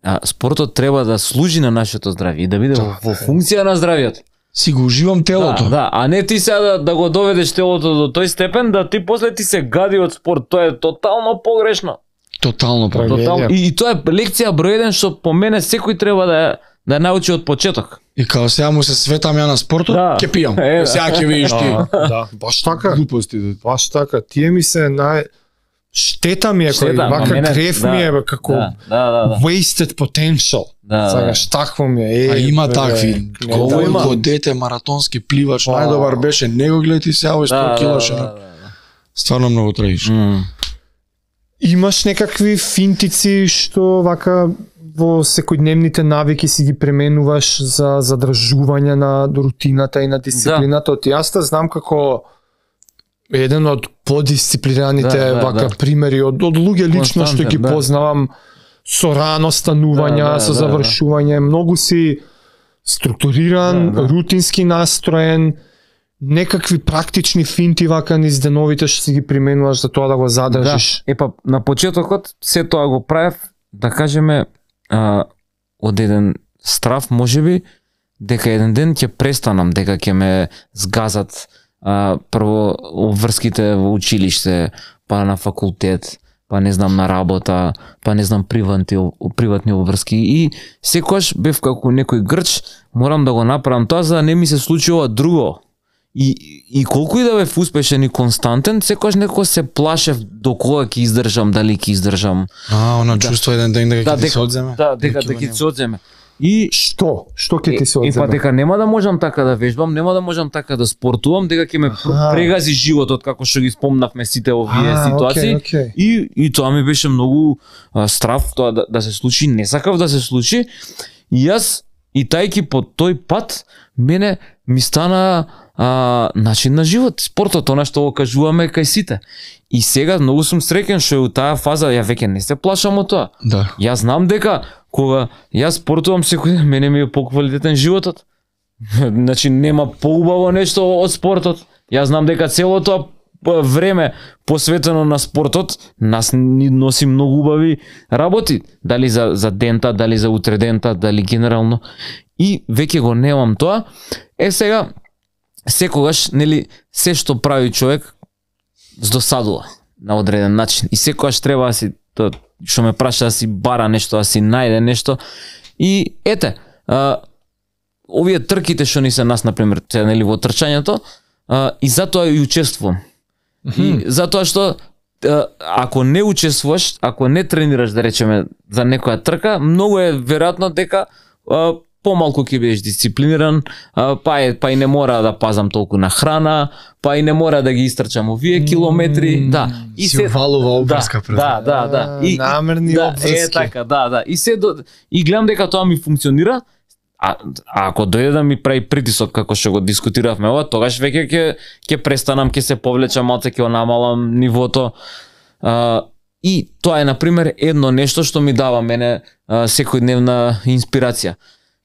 а спортот треба да служи на нашето здравје и да биде во, во функција на здравјето. Си го уживам телото. Да, да, а не ти сега да, да го доведеш телото до тој степен да ти после ти се гади од спорт, тоа е тотално погрешно. Тотално па. Трагедија. Тотално. И, и тоа е лекција број еден што по мене секој треба да ја- да ја научи од почеток. И као сега му се светам ја на спортот, Да. ќе пијам. Е, да. Сега ќе видиш ти. Да, да, баш така. Глупости. да. Баш така. Тие ми се нај штета ми е кој Штета, ама вака мене- крев да, ми е бе, како Да, да, да. да. wasted potential. Да, Сакаш такво ми е. Е, А има бе, такви. не, Колку да, има. Колко дете маратонски пливач, Па. најдобар беше, него гледи сега овој Да, сто да, килоше. да, да, да. Стварно многу трагично. М. Имаш некакви финтици што вака во секојдневните навики си ги пременуваш за задржување на рутината и на дисциплината. Да. Јас те знам како еден од подисциплинираните Да, да, вака да. примери од, од луѓе лично што ги Константен, да. познавам со рано станување, Да, да, со да, да. завршување, многу си структуриран, Да, да. рутински настроен, некакви практични финти вака низ деновите што си ги применуваш за тоа да го задржиш. Да. Е па на почетокот се тоа го правев, да кажеме, а, од еден страв можеби дека еден ден ќе престанам, дека ќе ме згазат а, прво обврските во училиште, па на факултет, па не знам на работа, па не знам приватни приватни обврски и секогаш бев како некој грч, морам да го направам тоа за да не ми се случи ова друго. И, и колку и да бев успешен и константен, секогаш некој се плашев до кога ќе издржам, дали ќе издржам. А, она Да. чувство еден ден дека Да, ќе ти дека- се одземе. Да, дека Ќе го дека ќе нема. се одземе. И Што? Што ќе ти се Е, па одземе? дека нема да можам така да вежбам, нема да можам така да спортувам, дека ќе ме пр- Аха. прегази животот како што ги спомнавме сите овие А, ситуации. окей, окей. И и тоа ми беше многу а, страв тоа да, да се случи, не сакав да се случи. И јас и тајки по тој пат мене ми стана а, начин на живот, спортот, она што го кажуваме кај сите. И сега многу сум среќен што е у таа фаза, ја веќе не се плашам од тоа. Да. Јас знам дека кога јас спортувам секој ден, мене ми е поквалитетен животот. Значи нема поубаво нешто од спортот. Јас знам дека целото тоа п- време посветено на спортот нас ни носи многу убави работи, дали за за дента, дали за утредента, дали генерално. И веќе го немам тоа. Е сега секогаш, нели, се што прави човек здосадува на одреден начин. И секогаш треба да си тоа што ме праша да си бара нешто, да си најде нешто. И ете, а, овие трките што ни се нас, например, се, нели, во трчањето, а, и затоа и учествувам. И затоа што а, ако не учествуваш, ако не тренираш, да речеме, за некоја трка, многу е веројатно дека а, помалку ќе бидеш дисциплиниран, а, па, е, па и не мора да пазам толку на храна, па и не мора да ги истрчам овие километри, да. И Си валува обврска пред. да, да, да. А, намерни да, обврски. Е така, да, да. И се до, и гледам дека тоа ми функционира. А, а ако дојде да ми прави притисок како што го дискутиравме ова, тогаш веќе ќе ќе престанам, ќе се повлечам малце, ќе го намалам нивото. А, и тоа е на пример едно нешто што ми дава мене а, секојдневна инспирација.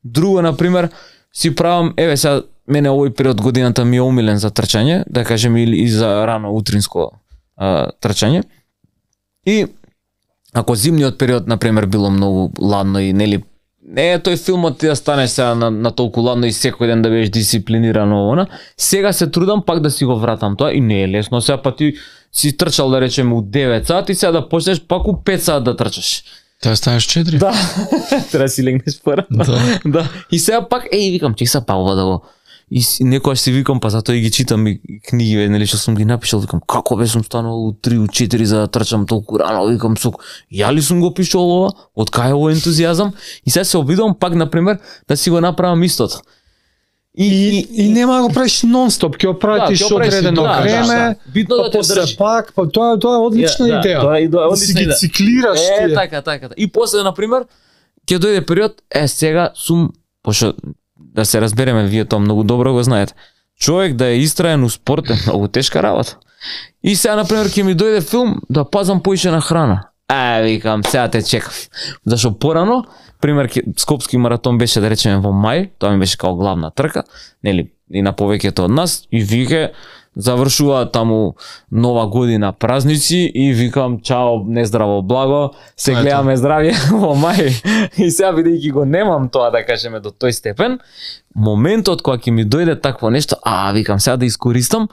Друго на пример си правам, еве сега мене овој период годината ми е умилен за трчање, да кажем или и за рано утринско а, трчање. И ако зимниот период на пример било многу ладно и нели не е тој филмот ти да станеш сега на, на толку ладно и секој ден да бидеш дисциплинирано она, сега се трудам пак да си го вратам тоа и не е лесно сега, па ти си трчал да речеме у девет сати, сега да почнеш пак у пет сати да трчаш. Тоа станеш четири. Да. Треба да си легнеш порано. Да. Да. И сега пак еј викам чек са па ова да го и си- некогаш си викам па затоа и ги читам и книги нели што сум ги напишал, викам како бе сум станал у три у четири за да трчам толку рано, викам сук ја ли сум го пишал ова, од кај е овој ентузијазам и сега се обидувам пак на пример да си го направам истото. И, И, и нема да го правиш нон-стоп, ќе го пратиш ќе го правиш, одредено да, да, време, да. Битно да па те после држи. пак, па тоа тоа е одлична Да, идеја. тоа е идеја, Да си одлична ги идеја. циклираш Е, тие. така, така. И после, например, ќе дојде период, е, сега сум, пошто, да се разбереме, вие тоа многу добро го знаете, човек да е истраен у спорт е многу тешка работа. И сега, например, ќе ми дојде филм да пазам поише на храна. Е, викам, сега те чекав. Зашо порано, пример, ке- Скопски маратон беше, да речеме, во мај, тоа ми беше као главна трка, нели, и на повеќето од нас, и вике, завршува таму нова година, празници и викам чао, нездраво благо, се Тоа е гледаме здравје во мај. И сега бидејќи го немам тоа да кажеме до тој степен, моментот кога ќе ми дојде такво нешто, а викам сега да искористам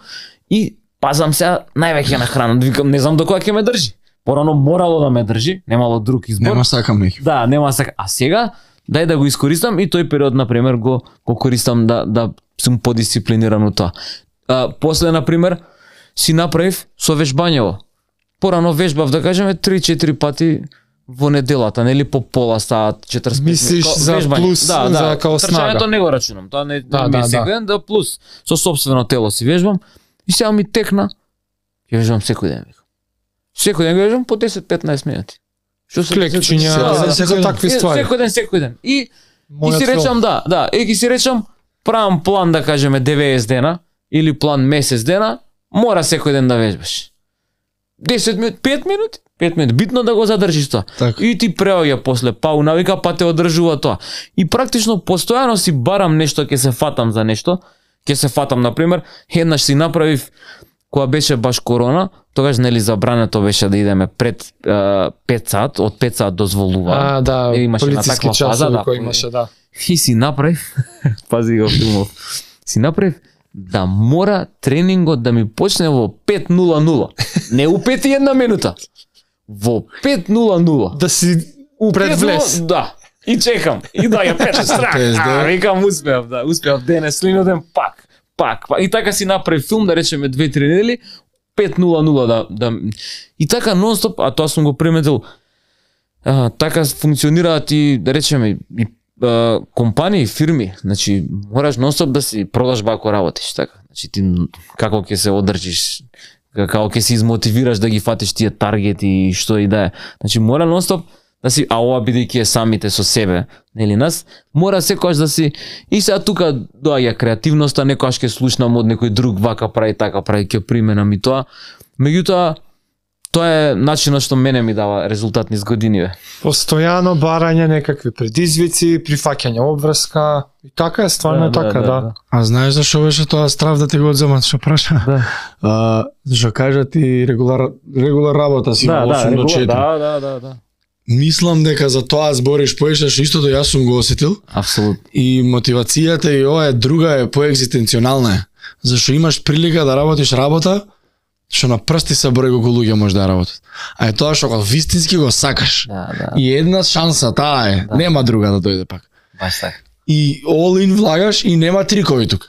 и пазам сега највеќе на храна, викам не знам до кога ќе ме држи. Порано морало да ме држи, немало друг избор. Нема сакам неки. Да, нема сака. А сега дај да го искористам и тој период на пример го го користам да да сум подисциплиниран у тоа. А, после на пример си направив со вежбањево. Порано вежбав да кажеме три-четири пати во неделата, нели по пола сат, четиридесет Мислиш минути. за Вежбање. плюс, да, да, за као снага. Трчањето не го рачунам, тоа не, Да, не ми е да, секој да. ден, да плюс со сопствено тело си вежбам и сега ми текна. Ќе вежбам секој ден. викам. Секој ден го вежбам по десет-петнаесет минути. Што се Клекчиња, Да, да, за, за такви Е, ствари. Секој ден, секој ден. И, и Мојот си филм. речам, да, да, и ги си речам, правам план да кажеме деветдесет дена, или план месец дена, Мора секој ден да вежбаш. десет минути, пет минути, пет минути, битно да го задржиш тоа. Така. И ти преоѓа после пау навика, па те одржува тоа. И практично постојано си барам нешто, ќе се фатам за нешто, ќе се фатам на пример, еднаш си направив кога беше баш корона, тогаш нели забрането беше да идеме пред е, пет сат, од пет сат дозволува. А, да, Е, имаше на полициски таква фаза, часови да. кои имаше, да. И си направив, пази го филмов, си направив да мора тренингот да ми почне во пет нула нула. Не у пет и една минута. Во пет нула нула. Да си пред влез. Да. И чекам. И да ја пече страх. А, викам успеав, да, успеав денес, слиноден пак. Пак, пак. И така си направив филм, да речеме две-три недели, пет нула нула да, да... И така нон-стоп, а тоа сум го приметил, а, така функционираат и, да речеме, и а, компании, фирми. Значи, мораш нон-стоп да си продажба ако работиш, така. Значи, ти како ќе се одржиш, како ќе се измотивираш да ги фатиш тие таргети и што и да е. Значи, мора нон-стоп да си, а ова бидејќи е самите со себе, нели нас, мора секогаш да си, и сега тука доаѓа креативноста, некогаш ќе слушнам од некој друг, вака прави, така прави, ќе применам и тоа. Меѓутоа, тоа е начинот што мене ми дава резултат низ годиниве. Постојано барање некакви предизвици, прифаќање обврска, и така е, стварно Да, да, така, да, да. да. А знаеш зашо беше тоа страв да те го одземат, што праша? Да. А, зашо кажа ти регулар регулар работа си Да, во да, осум до регула- четири. да, да, да, да. Мислам дека за тоа збориш поише, што истото јас сум го осетил. Апсолутно. И мотивацијата и ова е друга, е поекзистенционална е. Зашо имаш прилика да работиш работа што на прсти се број колку луѓе може да работат. А е тоа што го вистински го сакаш. Да, да. И една шанса таа е, Да. нема друга да дојде пак. Баш така. И all in влагаш и нема трикови тука.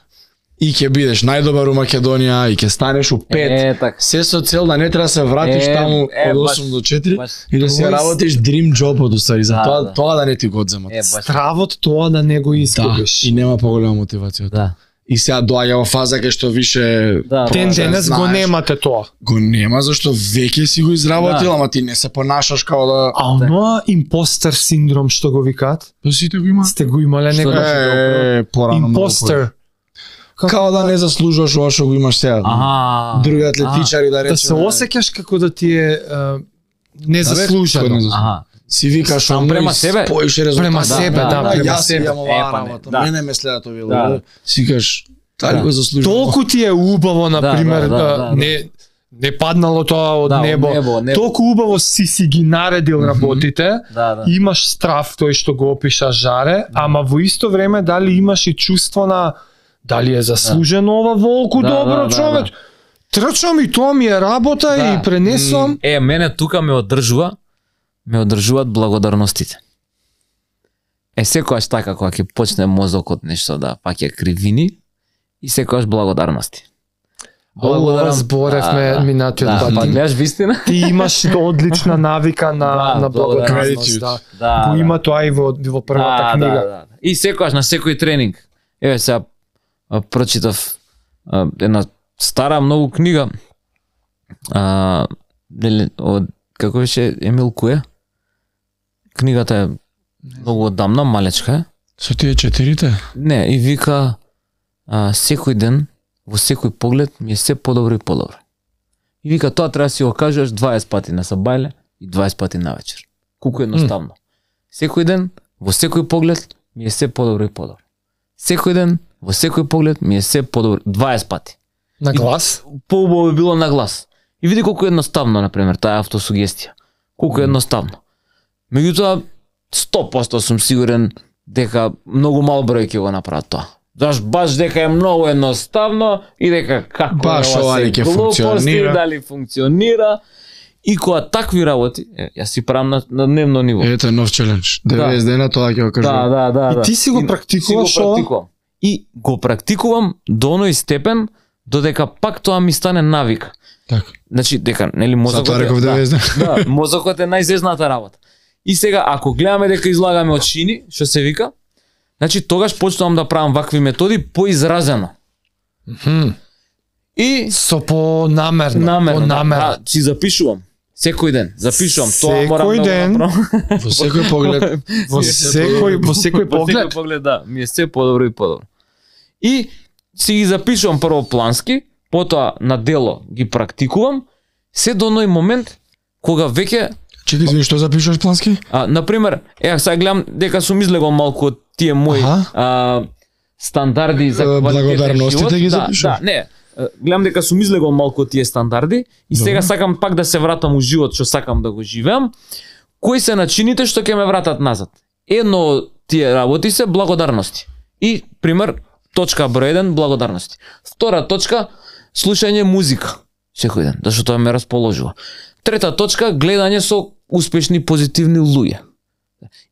И ќе бидеш најдобар у Македонија, и ќе станеш у пет. Е, така. Се со цел да не треба да се вратиш Е, таму е, од баш, осум до четири баш. и да си Тоа е- работиш dream job од устари, за Да, тоа да. тоа да не ти го одземат. Е, баш. Стравот тоа да не го Да, изгубиш. и нема поголема мотивација. Да. И сега доаѓа во фаза кај што више Да, Ден може да денес го знаеш. немате тоа. Го нема зашто веќе си го изработил, Да. ама ти не се понашаш као да А оноа импостер синдром што го викаат, па сите го има. сте го имале Што некој Е, порано многу импостер. по- Као да не заслужуваш ова што го имаш сега. Аха. Други атлетичари да речеме. Да се осеќаш како да ти е а, незаслужено. Да, бе, Аха. си викаш Сам оно према и себе? поише резултат. Према себе, да, да, према јас себе. имам оваа Е, па не, работа. да. Мене ме следат овие Да. луѓе. Си викаш, дали Да. го заслужувам? Толку ти е убаво, на Да, пример, да, да, да, да, да. не не паднало тоа од Да, од небо. небо, од небо. Толку убаво си си ги наредил работите. Да, да. Имаш страв тој што го опиша Жаре, ама во исто време дали имаш и чувство на дали е заслужено ова волку Да, добро да, да, човек. Трчам и тоа ми е работа Да. и пренесувам. Е, мене тука ме одржува, ме одржуваат благодарностите. Е, секојаш така, кога ќе почне мозокот нешто да паќе кривини, и секојаш благодарности. Ова зборевме Да, да. минатиот Да, пат. па гледаш вистина? Ти имаш одлична навика на Да, на благодарност, благодарност. да. Да. Го да. има тоа и во во првата Да, книга. Да, да. И секојаш на секој тренинг. Еве сега а, прочитав а, една стара многу книга. А, нели, од како беше Емил Куе? Книгата е многу одамна, малечка е. Со тие четирите? Не, и вика а, секој ден, во секој поглед ми е се подобро и подобро. И вика тоа треба да си го кажеш дваесет пати на сабајле и дваесет пати на вечер. Колку едноставно. Секој ден, во секој поглед ми е се подобро и подобро. Секој ден, во секој поглед ми е се подобро дваесет пати. На глас? Поубаво би било на глас. И види колку е едноставно, на пример, таа автосугестија. Колку е едноставно. Меѓутоа, сто проценти сум сигурен дека многу мал број ќе го направат тоа. Заш баш дека е многу едноставно и дека како Баш е ова се ли ќе глупости, функционира. дали функционира. И кога такви работи, е, јас си правам на, на дневно ниво. Ето е нов челендж. деветдесет дена тоа ќе го да, кажувам. да, да, И да. ти си го И- практикуваш си го ова? практикувам. И го практикувам до оној степен додека пак тоа ми стане навика. Така. Значи, дека, нели, мозокот Затоа реков да, деветдесет дена. да, мозокот е најзезната работа. И сега, ако гледаме дека излагаме од шини, што се вика, значи, тогаш почнувам да правам вакви методи поизразено. И Со понамерно, намерно, понамерно. да, си запишувам. Секој ден, запишувам. Тоа Секој морам да ден? го направам. Во секој поглед. Во секој во секој Во поглед. секој поглед, да, ми е се подобро и подобро. И си ги запишувам прво плански, потоа на дело ги практикувам, се до оној момент кога веќе Чекај, извини, што запишуваш плански? а на пример, е сега гледам дека сум излегол малку од тие мои Аха. а, стандарди за Е, квалитетен благодарностите живот. ги да, запишуваш? да, не. е, Гледам дека сум излегол малку од тие стандарди и сега Добро. сакам пак да се вратам у живот што сакам да го живеам. Кои се начините што ќе ме вратат назад? Едно од тие работи се благодарности. И пример точка број еден благодарности. Втора точка слушање музика секој ден, зашто тоа ме расположува. Трета точка гледање со успешни позитивни луѓе.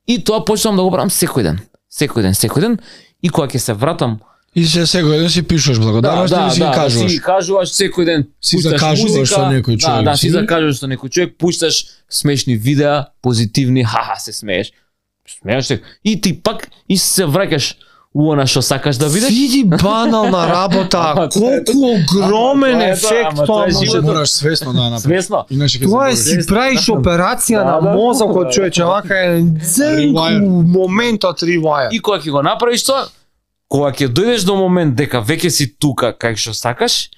И тоа почнам да го правам секој ден. Секој ден, секој ден и кога ќе се вратам И се секој ден си пишуваш благодарности и си ги кажуваш. да си кажуваш секој ден, Си пушташ закажуваш музика, со некој да, човек, да, си си? закажуваш со некој човек, пушташ смешни видеа, позитивни, хаха, се смееш. Смееш се. И ти пак и се враќаш у она што сакаш да видиш. Види банална работа, Ама тоа е колку огромен Ама тоа е тоа, ефект ама тоа тоа е може животот. да. Мораш свесно да ја направиш. Свесно. Иначе ќе Тоа е заборавиш. си правиш операција Да, на да. мозокот, човече, вака е дзенку Rewire. моментот ревајер. И кога ќе го направиш тоа, кога ќе дојдеш до момент дека веќе си тука кај што сакаш,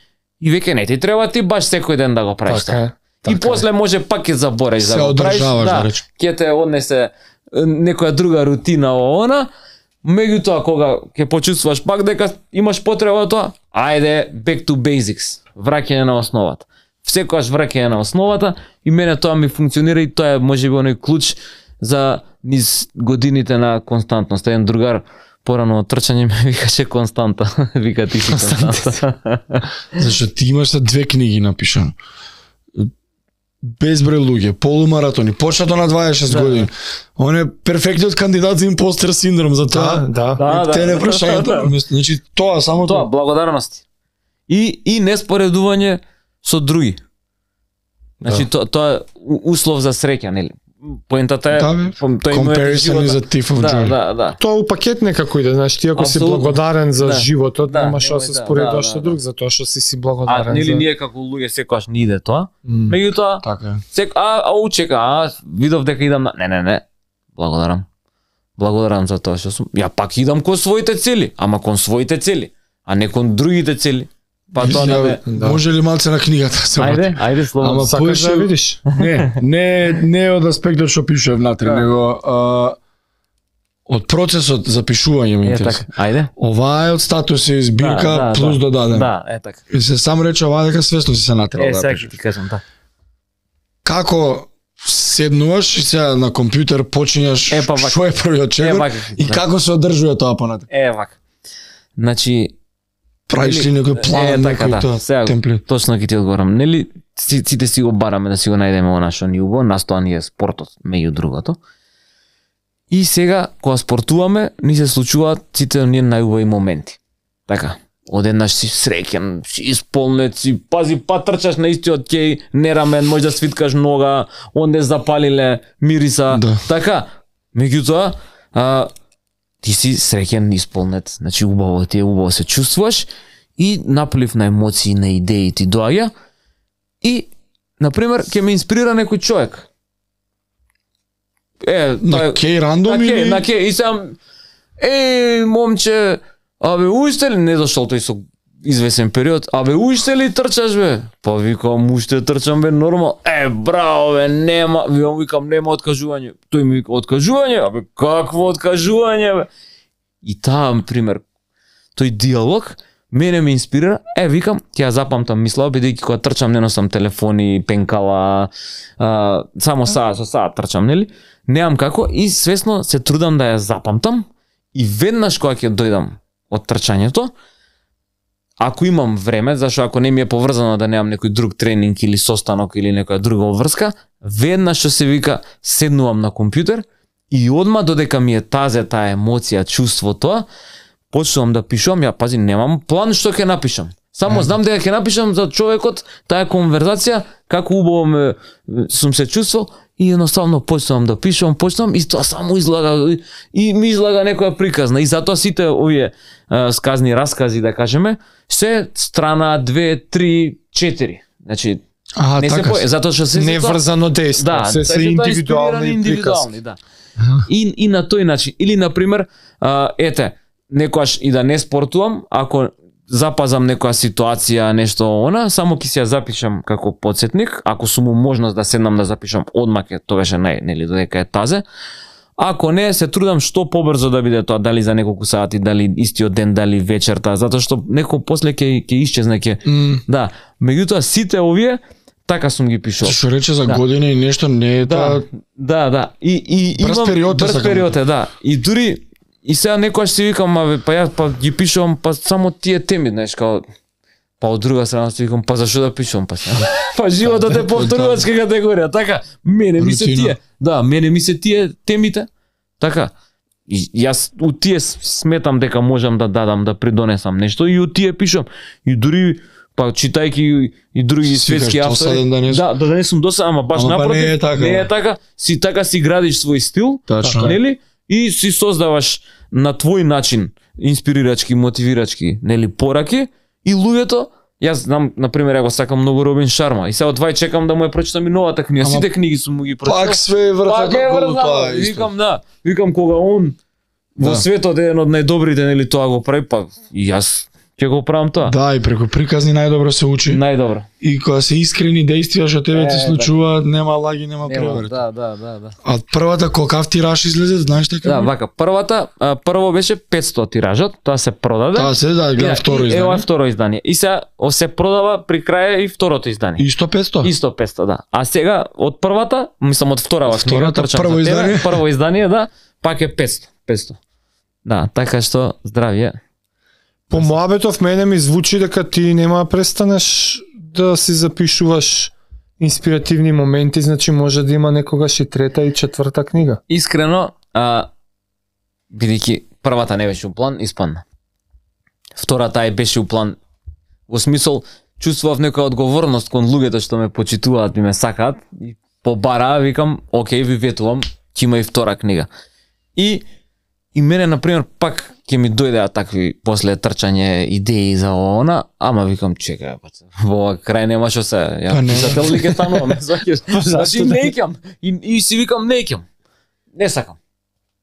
и веќе не ти треба ти баш секој ден да го правиш Така тоа. е. И така е. после може пак ќе забореш Се да го правиш, одржаваш, да да, речем. ќе те однесе е, некоја друга рутина о она, меѓутоа кога ќе почувствуваш пак дека имаш потреба од тоа, ајде back to basics, враќање на основата. Секогаш враќање на основата и мене тоа ми функционира и тоа е можеби оној клуч за низ годините на константност. Еден другар порано од трчање ме викаше константа. Вика ти си константа. Зашто ти имаш се две книги напишано. Безброј луѓе, полумаратони, почнато на дваесет и шест Да. години. Он е перфектниот кандидат за импостер синдром за тоа. Да, да. Да, Те не да. прашањето. Значи тоа само Тоа, тоа. благодарности. И и неспоредување со други. Значи Да. тоа тоа е у- услов за среќа, нели? Поентата е Да, бе. пом- тој има Comparison is a thief of да, joy. да, да. Тоа у пакет некако иде, знаеш, ти ако си Апсолутно. благодарен за Да. животот, Да, нема што немој се да, споредуваш да, со да, друг, да. затоа што си си А благодарен. нели за... ние како луѓе секогаш не иде тоа. М. Меѓутоа, Така е. сек а а учека, а видов дека идам на не, не, не. Благодарам. Благодарам за тоа што сум. Ја пак идам кон своите цели, ама кон своите цели, а не кон другите цели. Па тоа не ме. Да. Може ли малце на книгата се Ајде, врати? ајде слободно. Ама Сакаш да поише- ја видиш? Не, не, не од аспектот што пишува внатре, Да. него а, од процесот за пишување ме Е интересува. така. Ајде. Ова е од статуси збирка Да, да, плюс да. додаден. Да, е така. И се сам рече ова дека свесно си се натерал Е, да ја сега пишеш. ќе ти кажам така. Како седнуваш и сега на компјутер почињаш Е, па вака. што е првиот Е, чекор вака. и како се одржува тоа понатаму. Е, вака. Значи, Правиш ли некој план, е, така, некој да. тоа Сега, темплет? точно ќе ти одговорам. Нели, си- сите си го бараме да си го најдеме она што ни убаво, настоа ни е спортот, меѓу другото. И сега, кога спортуваме, ни се случуваат сите оние најубави моменти. Така, одеднаш си среќен, си исполнет, си пази, па трчаш на истиот кеј, не рамен, може да свиткаш нога, онде запалиле мириса, Да. така. Меѓутоа, а, ти си среќен, исполнет, значи убаво ти е, убаво се чувствуваш и наплив на емоции, на идеи ти доаѓа и, например, ќе ме инспирира некој човек. Е, На тој- кеј рандом на ке, или на ке, и сам, е, момче, абе, уште ли, не дошол тој со извесен период, абе, уште ли трчаш, бе? Па викам, уште трчам, бе, нормал. Е, браво, бе, нема, викам, викам, нема откажување. Тој ми вика, откажување? Абе, какво откажување, бе? И таа, пример, тој диалог, мене ме инспирира, е, викам, ќе ја запамтам мисла, бидејќи кога трчам не носам телефони, пенкала, а, само саа, со саа трчам, нели? Неам како и свесно се трудам да ја запамтам и веднаш кога ќе дојдам од трчањето, ако имам време, зашто ако не ми е поврзано да немам некој друг тренинг или состанок или некоја друга обврска, веднаш што се вика седнувам на компјутер и одма додека ми е тазе таа емоција, чувство тоа, почнувам да пишувам, ја пази немам план што ќе напишам. Само знам дека ќе напишам за човекот таа конверзација, како убаво ме сум се чувствувал и едноставно почнувам да пишувам, почнувам и тоа само излага и ми излага некоја приказна и затоа сите овие а, сказни раскази да кажеме се страна две, три, четири. Значи А, не се така. по... затоа што се Неврзано дејство, да, се се значи, тоа е индивидуални инспирирани, приказки. индивидуални, да. И и на тој начин или на пример, а, ете, некојаш и да не спортувам, ако запазам некоја ситуација, нешто она, само ќе си ја запишам како потсетник, ако сум му можност да седнам да запишам одмак, е тогаш е нај, нели, додека е тазе. Ако не, се трудам што побрзо да биде тоа, дали за неколку сати, дали истиот ден, дали вечерта, затоа што некој после ќе ќе исчезне ќе. Mm. Да, меѓутоа сите овие така сум ги пишувал. Што рече за Да. години и нешто не е Да, таа да, да. И и Брз имам период е, брз сакам период да е, да. И дури и сега некојаш си викам, аве, па ја па ги пишувам па само тие теми, знаеш, као па од друга страна си викам, па зашо да пишувам па сега? Па животот е повторувачка категорија, така. Мене ми се Рутина. тие, да, мене ми се тие темите. Така. И јас од тие сметам дека можам да дадам, да придонесам нешто и од тие пишам. И дури па читајќи и други Си светски кажеш, автори. досаден да не сум. Да, да не сум досаден, ама баш Ама па напротив. не е така, Не да. е така. Си така си градиш свој стил, Тачно. нели? И си создаваш на твој начин инспирирачки, мотивирачки, нели, пораки и луѓето. Јас знам, на пример, ја го сакам многу Робин Шарма и сега од вај чекам да му ја прочитам и новата книга. Ама Сите книги сум му ги прочитал. Пак све врта Пак е како врзано. тоа исто. Викам, да, викам кога он во Да. светот е еден од најдобрите, нели, тоа го прави, па и јас ќе го правам тоа. Да, и преку приказни најдобро се учи. Најдобро. И кога се искрени действија што тебе Е, ти случуваат, нема лаги, нема Нема, преврат. да, да, да, да. А првата колкав тираж излезе, знаеш така? Да, вака, првата, а, прво беше петсто тиражот, тоа се продаде. Таа се да, гледам второ И ова е издание. второ издание. И сега о, се продава при крај и второто издание. Исто петсто? Исто петсто, да. А сега од првата, мислам од вторава книга, Втората, трчам прво за тебе, издание? прво издание, да, пак е петсто, петсто. Да, така што здравје. По моабетов мене ми звучи дека ти нема да престанеш да си запишуваш инспиративни моменти, значи може да има некогаш и трета и четврта книга. Искрено, а, бидејќи првата не беше у план, испадна. Втората ај беше у план. Во смисол, чувствував некоја одговорност кон луѓето што ме почитуваат и ме сакаат. И побара, викам, окей, ви ветувам, ќе има и втора книга. И и мене, например, пак ќе ми дојдеа такви после трчање идеи за она, ама викам, чекај, па, во ова крај нема што се, ја Па не. писател ли ќе станувам, сваќаш? Значи не ќам, и, и си викам не ќам, не сакам.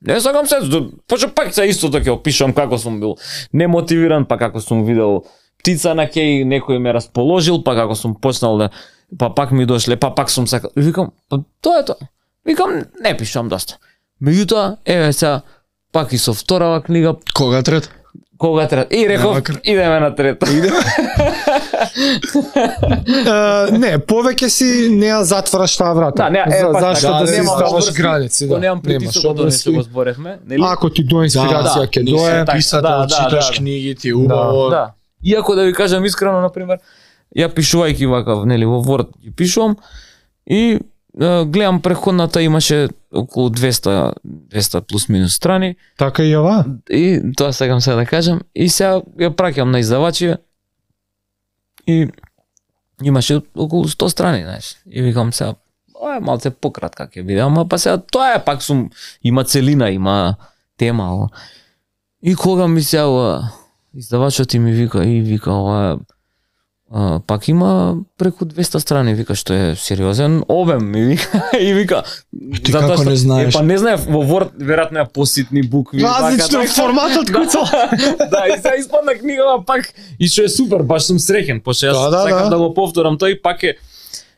Не сакам се, поча пак се истото ќе опишам како сум бил немотивиран, па како сум видел птица на кеј, некој ме расположил, па како сум почнал да, па пак ми дошле, па пак сум сакал. И викам, па тоа е тоа. Викам, не пишам доста. Меѓутоа, еве сега, пак и со вторава книга, Кога трет? кога треба. И реков, Нема кр- идеме на трета. Uh, не, повеќе си не ја затвараш таа врата. Да, не, е, За, пак зашто така, да си немам ставаш обврски, граници, Го да. немам притисок од тоа што го зборевме, нели? Ако ти до инспирација ќе Ти дое, си така, писател, да, да, читаш да, да. книги, ти е убаво. Да. Иако да ви кажам искрено, например, ја пишувајќи вака, нели, во Word ги пишувам и е, гледам преходната имаше околу двесте двесте плюс минус страни така и ова. и тоа сакам сега да кажам и сега ја праќам на издавачи и имаше околу сто страни, знаеш. И викам сега, ова е малце пократка ќе биде, ама па сега тоа е пак сум има целина, има тема. Ова. И кога ми се ова издавачот и ми вика и вика ова а, пак има преку двесте страни, вика што е сериозен обем ми вика и вика Ти како не знаеш? Е, па не знаев во Word веројатно е поситни букви. Различно вака, така. форматот куцал. Да, и сега испадна книгава пак и што е супер, баш сум среќен, пошто јас Да, да, сакам да. да го повторам тој пак е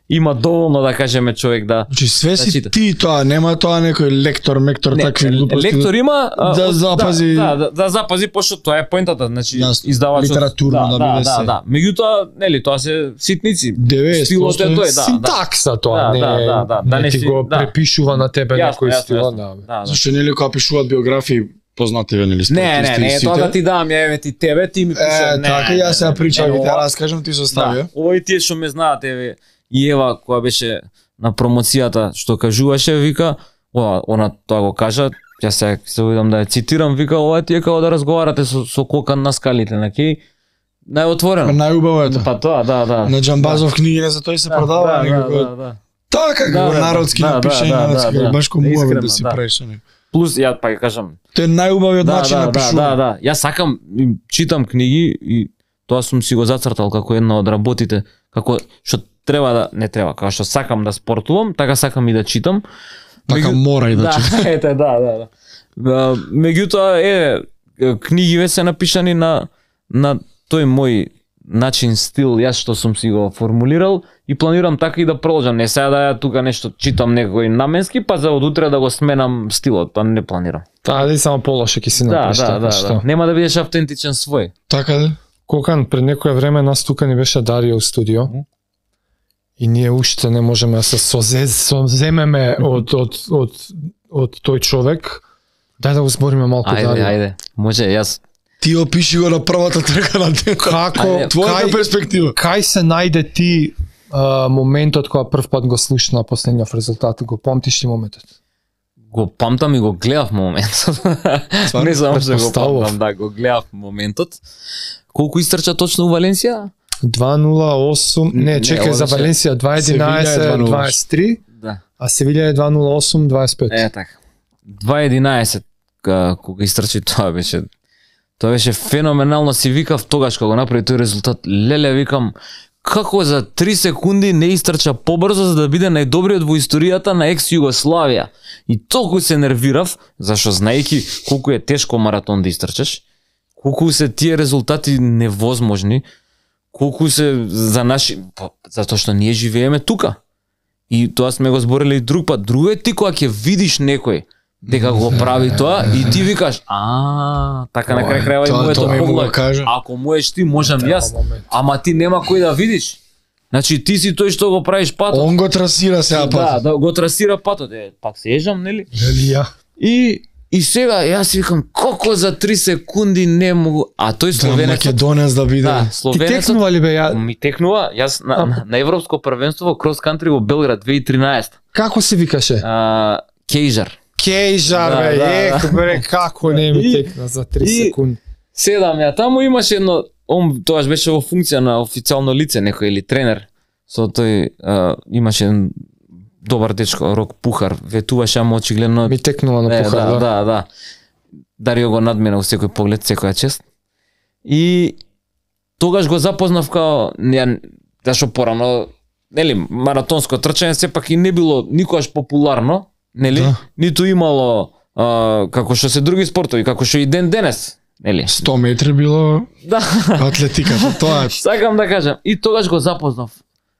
има доволно да кажеме човек да Значи све си чита. ти тоа, нема тоа некој лектор, мектор, Не, такви глупости. лектор има а, да од- запази- да, да, да запази пошто тоа е поентата, значи Јасно. издавачот Литературно да да, биде да, се. да, да. Меѓутоа, нели, тоа се ситници. деветдесет Стилот е тој, да, да. Синтакса тоа, Да, не, да, да, да, да не не ти си- го да. препишува на тебе Јасно, некој јасно, стил, јасно. да. Да, да. Зашто нели кога пишуваат биографии познати ве нели Не, не, спортисти не, и е сите? тоа да ти дам, ја еве ти тебе, ти ми пишеш. Е, не, така не, јас сега не, причам не, и те ова- раскажам, ти состави. Да, ова и тие што ме знаат, еве, и Ева која беше на промоцијата што кажуваше, вика, ова, она тоа го кажа, ја се се видам да ја цитирам, вика, ова ти е како да разговарате со, со Кокан на скалите, на кеј најотворено. Најубаво е тоа. Па тоа, да, да. На Џамбазов книги не за тој се Да, продава да, некако. да, да, да. Така Да, како да, народски да, напишање, да, да, да, да, баш ко искрено, муаве да си да. правиш со него. Плюс ја па ќе кажам, Тој е најубавиот да, начин да, на да, пишување. да, да. Јас сакам, им читам книги и тоа сум си го зацртал како една од работите, како што треба да не треба, како што сакам да спортувам, така сакам и да читам. Така Меѓу- мора и да Да, чита. ете, да, да, да. А, Меѓутоа е книгиве се напишани на на тој мој начин, стил, јас што сум си го формулирал и планирам така и да продолжам. Не сега да ја тука нешто читам некој наменски, па за од утре да го сменам стилот, па не планирам. Таа дали само полоше ќе си Да, направиш да, така, да, што? да. Нема да бидеш автентичен свој. Така да? Кокан, пред некое време нас тука ни беше Дарио у студио. И ние уште не можеме да се созе- соземеме од, од, од, од тој човек. Дај да го збориме малку Ајде, Дарио. ајде. Може, јас Ти опиши го на првата трка на денот. Како, Ајде, Твојата кај, перспектива. кај се најде ти а, моментот кога прв пат го слушна последниот резултат? Го помтиш ти моментот? го памтам и го гледав моментот. Не знам што го Претпоставував. памтам, да, го гледав моментот. Колку истрча точно у Валенсија? два нула осум, не, Не, чекај, ова за беше- Валенсија два единаесет Севиља е дваесет три, Да. а Севиља е два нула осум дваесет пет. Е, така. два единаесет ка- кога истрчи, тоа беше тоа беше феноменално, си викав тогаш кога го направи тој резултат. Леле, викам, како за три секунди не истрча побрзо за да биде најдобриот во историјата на екс Југославија. И толку се нервирав, зашто знаејќи колку е тешко маратон да истрчаш, колку се тие резултати невозможни, колку се за наши, па, затоа што ние живееме тука. И тоа сме го збореле и друг пат. Друго е ти кога ќе видиш некој дека го прави тоа и ти викаш, а, така на крај крајава и Тоа- моето тоа ми му го поглед. кажа. Ако можеш ти, можам јас. момент. Ама ти нема кој да видиш. Значи ти си тој што го правиш патот. Он го трасира сега Да, пат. да, го трасира патот. Е, пак се ежам, нели? Дали ја? И и сега јас си викам како за три секунди не могу, а тој Да, словенецот, Македонец да биде. да, Ти словенецот текнува ли бе ја? ми текнува, јас на, на, на европско првенство во крос кантри во Белград две тисаци и тринаесета. Како се викаше? А, Кейжар. Кейжар Да, бе, да, ех да. бре, како не ми И- текна за три и- секунди. Седам ја таму, имаше едно, он тоаш беше во функција на официјално лице некој или тренер. Со тој а, имаше еден добар дечко, Рок Пухар, ветуваше, ама очигледно Ми текнува на Е, пухар, да, да. да, да. Дарио го надмина во секој поглед, секоја чест. И тогаш го запознав као, ја, зашо порано, нели, маратонско трчање сепак и не било никогаш популарно, нели? Да. Ниту имало а, како што се други спортови, како што и ден денес, нели? сто метри било Да. атлетиката, тоа е. Сакам да кажам, и тогаш го запознав.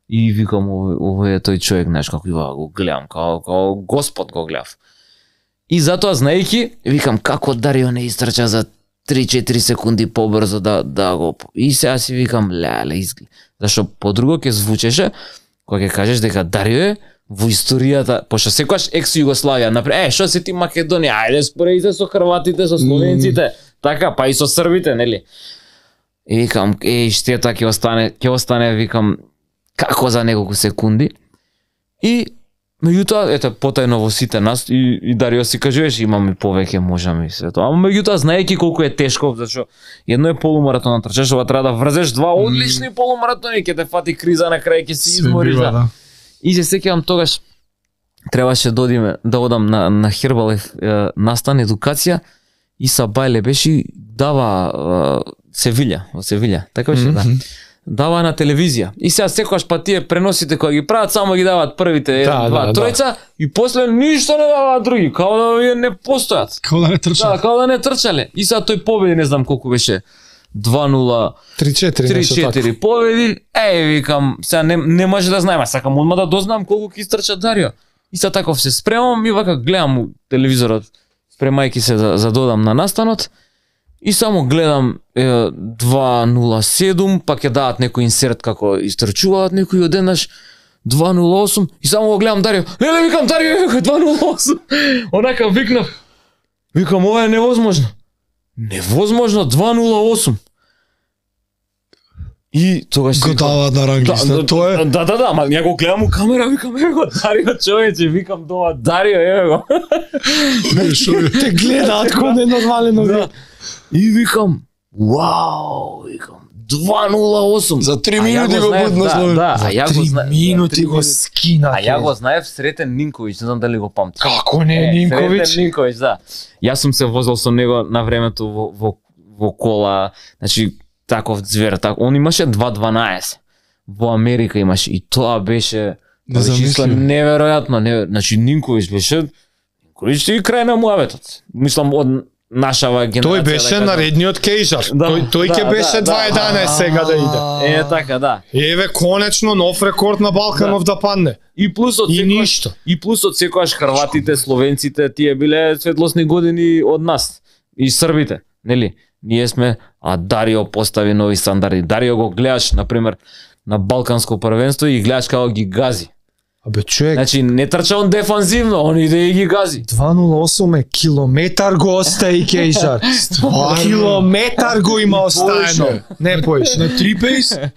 И викам, овој, овој е тој човек, знаеш, како ја го гледам, као, као Господ го гледав. И затоа, знаејќи, викам, како Дарио не истрча за три-четири секунди побрзо да, да го... И сега си викам, леле, изглед. Зашто подруго ќе звучеше, кога ќе кажеш дека Дарио е во историјата, пошто секогаш екс Југославија, например, е, што си ти Македонија, ајде спореди се со хрватите, со словенците, така, па и со србите, нели? И викам, еј, штета ќе остане, ќе остане, викам, како за неколку секунди. И меѓутоа, ете, потајно во сите нас и, и Дарио си кажуваше, имаме повеќе, можеме и се тоа. Ама меѓутоа, знаејќи колку е тешко, зашто едно е полумаратон, трчаш, ова треба да врзеш два одлични полумаратони, ќе те фати криза на крај, ќе си Све измориш. бива, Да. да. И се сеќавам тогаш требаше да одиме да одам на на Хербалев е, настан едукација и Сабајле беше и дава е, Севиља, во Севиља, така беше, да. Дава на телевизија. И сега секогаш па тие преносите кои ги прават само ги даваат првите еден, Да, два, да, тројца и после ништо не даваат други, као да вие не постојат. Како да не трча. Да, као да не трчале. И сега тој победи, не знам колку беше, два нула три-четири нешто така. три-четири победи, еј, викам, сега не, не може да знаем, а сакам одма да дознам колку ќе истрча Дарио. И сега таков се спремам и вака гледам у телевизорот, спремајќи се за, за додам на настанот, и само гледам е, два нула седум, па ќе дадат некој инсерт како истрчуваат некој одеднаш, два нула осум, и само го гледам Дарио, леле, викам, Дарио, викам, два нула осум, онака викнав, викам, ова е невозможно. Невозможно, два нула осум. И тогаш си Го викам, даваат на рангиста, тоа е. Да, да, да, ама ја го гледам у камера, викам, еве го Дарио, човече, викам дома, Дарио, еве го. Те гледаат кој не нормален Да. И викам, вау, викам, два нула осум. За три А ја минути го знаев, будна да, Словен. да, а ја го Три знаев. минути го скина. А ја го знаев Сретен Нинковиќ, не знам дали го памтиш. Како не Е, Нинковиќ? Сретен Нинковиќ, да. Јас сум се возел со него на времето во, во, во кола, значи таков звер, так. Он имаше два дванаесет. Во Америка имаше и тоа беше Незамислимо. неверојатно, не, значи Нинковиќ беше Нинковиќ и крај на муабетот. Мислам од нашава генерација. Тој беше да наредниот Кейжар. Да, тој тој ќе да, беше да, два да. еданаесет сега да иде. Е така, да. Еве конечно нов рекорд на Балканов да, да падне. И плюсот И секојаш, ништо. И плюсот секојаш хрватите, словенците, тие биле светлосни години од нас. И србите, нели? Ние сме, а Дарио постави нови стандарди. Дарио го гледаш, например, на Балканско првенство и гледаш како ги гази. Абе човек, Значи не трча он дефанзивно, он иде и ги гази. два нула осум е километар го остави Кейжар. Километар го има оставено. Поише. Не поише. На три пейс? Е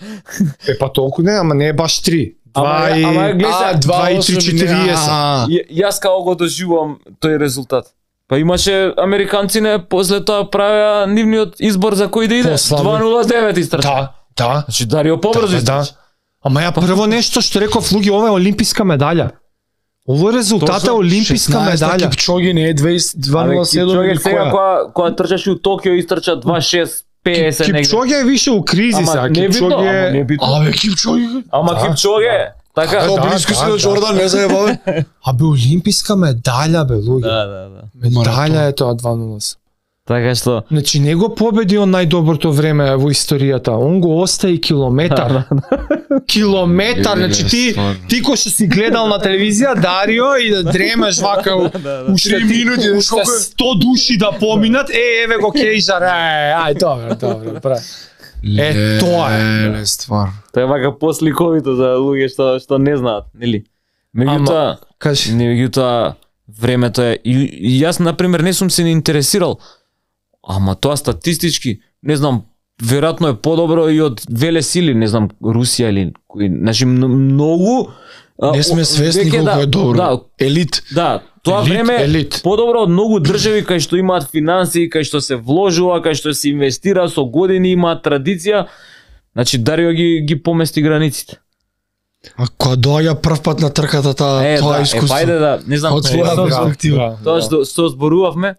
па толку не, ама не е баш три. Ама, Два и ама гледа, А, два и три четириесет. Ја- Јас како го доживувам тој резултат. Па имаше американци после тоа правеа нивниот избор за кој да иде. Послабо. два нула девет истрча. Да, да. Значи Дарио побрзо Да, да. истрча. Ама ја прво нешто што реков луѓе, ова е олимписка медаља. Ово е резултат е олимписка медаља. Кипчоги не е два нула седум Кипчоге или сега која? кога кога трчаше у Токио истрча два шест петдесет негде. Кипчоге е више у кризи Ама сега. не битно, ама Кипчоге не битно. Абе, Кипчоги. Ама Да. Кипчоге, така. Како да, близко си да, до да. Джордан, не заебаве. Абе олимписка медаља бе луѓе. Да, да, да. Медаља е тоа два нула осум. Така што Значи не го победи он најдоброто време во историјата. Он го остави километар. Километар, значи ти ти кој што си гледал на телевизија Дарио и да дремеш вака у- уште Три минути, знаеш уште колку е? сто души да поминат. Е, еве го Кейжар. Е, ај добро, добро, бра. Е, тоа е. Леле, ствар. тоа е вака посликовито за луѓе што што не знаат, нели? Меѓутоа, Кажи. меѓутоа времето е и, и јас на пример не сум се ни интересирал. Ама тоа статистички, не знам, веројатно е подобро и од веле сили, не знам, Русија или кои, значи мно- многу а, Не сме о- свесни веќе колку да- е добро. Да, Елит. да, тоа Елит, време е елит. подобро од многу држави кај што имаат финансии, кај што се вложува, кај што се инвестира со години, имаат традиција. Значи Дарио ги ги помести границите. А кога доаѓа прв пат на трката таа Е, тоа да, е, искуство. па ајде да, не знам, Од тоа своја што- перспектива. тоа што што зборувавме,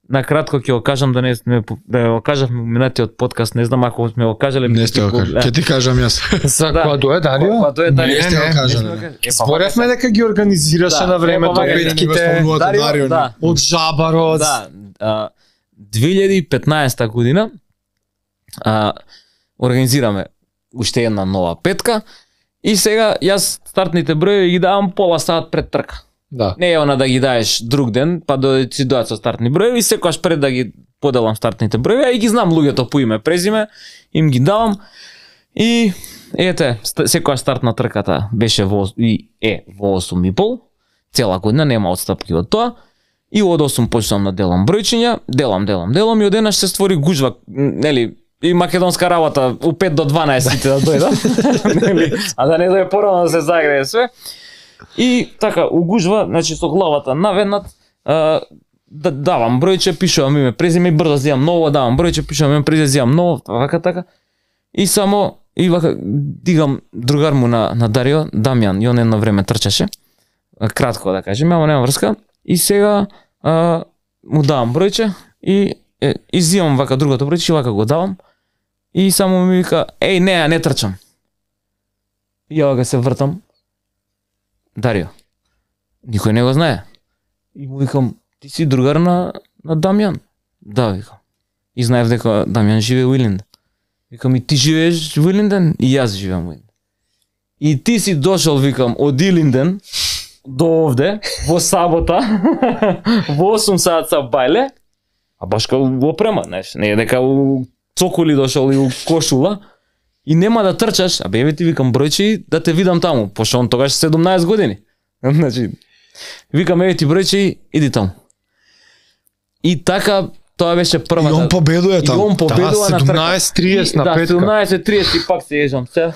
на кратко ќе го кажам да не сме да го кажавме во минатиот подкаст, не знам ако сме го кажале. Не сте го кажали. Ќе ти кажам јас. За Да. кога дое Дарио? Па тоа е Дарио. Не сте го не, кажале. Е, па, Зборевме дека ги организираше Да, на времето е, па, вака, петките не го Дарио, Дарио, да, од Жабарот. да, а, две илјади и петнаесета година а, организираме уште една нова петка и сега јас стартните бројови ги давам пола сат пред трка. Да. Не е она да ги даеш друг ден, па да си доаѓаат со стартни бројови, секогаш пред да ги поделам стартните бројови, а и ги знам луѓето по име, презиме, им ги давам. И ете, ст- секоја старт на трката беше во и е во осум и пол, цела година нема отстапки од тоа. И од осум почнам да делам бројчиња, делам, делам, делам и одеднаш се створи гужва, м, нели, и македонска работа у пет до дванаесет сите да дојдат. Нели, а да не дојде порано да се загрее све. И така, угужва, значи со главата наведнат, а, да, давам бројче, пишувам име, презиме и брзо зијам ново, давам бројче, пишувам име, презиме, зијам ново, вака така. И само, и вака, дигам другар му на, на Дарио, Дамјан, и он едно време трчаше, а, кратко да кажем, ама нема врска, и сега а, му давам бројче, и, е, и зијам вака другото бројче, и вака го давам, и само ми вика, еј, не, ја не трчам. И ја вака се вртам, Дарио, никој не го знае. И му викам, ти си другар на, на Дамјан? Да, викам. И знаев дека Дамјан живее во Илинден. Викам, и ти живееш во Илинден? И јас живеам во Илинден. И ти си дошол, викам, од Илинден до овде, во сабота, во осум саат са бајле, а баш као во опрема, знаеш, не е дека у цоколи дошол и у кошула, и нема да трчаш, а бе, ти викам бројче и да те видам таму, пошто он тогаш седумнаесет години. Значи, викам, еве ти бројче и иди таму. И така, тоа беше првата. И он победува И таму. он победува на трка. седумнаесет триесет на Да, петка. седумнаесет триесет и пак се ежам се.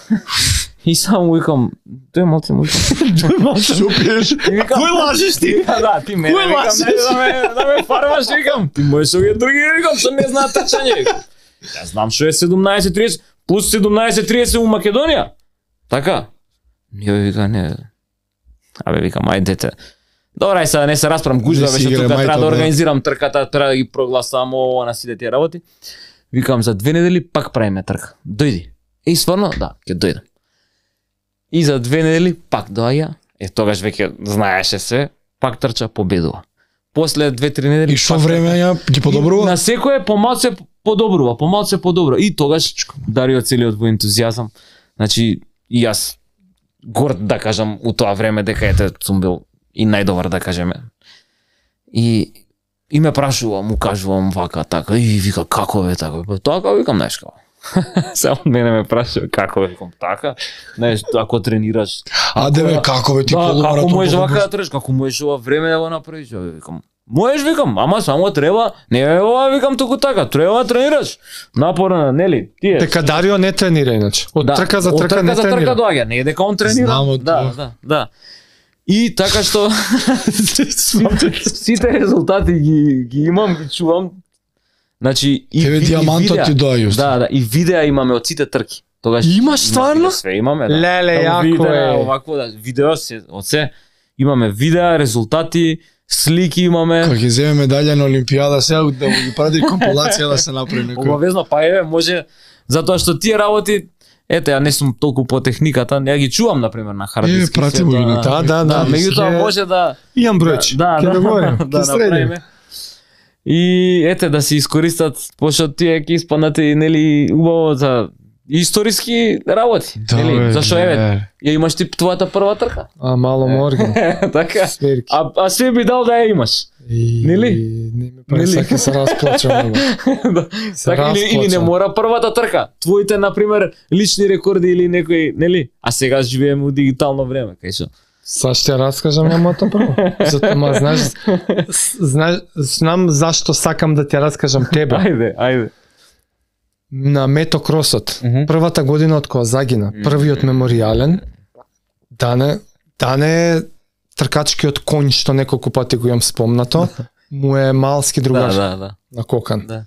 И само викам, тој малце му викам. Што пиеш? И викам, Кој лажеш ти? Да, да, ти мене Кој викам, лажеш? не да ме, да ме фармаш, викам. Ти можеш овие други, викам, што не знаат трчање. Јас знам што е седумнаесет триесет, плюс седумнаесет триесет у Македонија. Така? Не, вика, не. Абе, викам, ајдете. Добра, ај сега не се расправам, гужва Не си беше играј тука, мајто, треба да да. организирам трката, треба да ги прогласам ово на сите тие работи. Викам, за две недели пак правиме трка. Дојди. И стварно, да, ќе дојдам. И за две недели пак доаѓа, е тогаш веќе знаеше се, пак трча, победува. после две-три недели И што пак време ја ги подобрува? на секое помалку подобрува, помалку подобрува. И тогаш Дарио целиот во ентузијазам. Значи и јас горд да кажам у тоа време дека ете сум бил и најдобар да кажеме. И и ме прашува, му кажувам вака така, и вика како бе така, па така викам знаеш како. Само мене ме прашува како бе, викам така. Знаеш, ако тренираш. А деве како бе ти Да, полумаратон? како можеш вака подобруваш? да тренираш, како можеш ова време да го направиш, бе, викам. Можеш, викам, ама само треба, не е ова, викам туку така, треба да тренираш. Напорно, нели, тие. Дека Дарио не тренира иначе. Од трка за од трка не за трка тренира. доаѓа, не е дека он тренира. Знам од да, тоа. да, да. И така што сите резултати ги ги имам, ги чувам. Значи и Тебе и- и диамантот видеа. ти доаѓа. Да, да, и видеа имаме од сите трки. Тогаш Имаш има стварно? видео, све имаме, да. Леле, Само јако видеа, е. Овакво да, видео се, од се имаме видеа, резултати, слики имаме. Кога ќе земе медаља на Олимпијада, сега да му ги прави компилација да се направи некој. Обавезно, па еве, може, затоа што тие работи, ете, ја не сум толку по техниката, ја ги чувам, например, на хард Е, диски. прати се, му ги на да, Да, да, да. меѓутоа Ќе- може да Имам бројче. да, Ќе да, договорим. да, Ќе средиме. направиме. И ете да се искористат, пошто тие ќе испаднат и нели убаво за историски работи, Да, нели? бе, Зашо бе. еве, ја имаш ти твојата прва трка. А мало морген. Така. Сверки. А а све би дал да ја имаш. И- Нели? Не ме прави Нели? сака се расплачам него. Да. Се Така или, или не расплачам. мора првата трка. Твоите на пример лични рекорди или некој, нели? А сега живееме у дигитално време, кај што. Са ще ја раскажам ја моето прво. Затоа ма знаеш, с- знаеш, знам зашто сакам да ти ја раскажам тебе. Ајде, ајде. На метокросот, Мгм. првата година од кога загина, првиот меморијален, Дане, Дане е тркачкиот конј што неколку пати го имам спомнато, му е малски другар Да, да, да. на кокан. Да.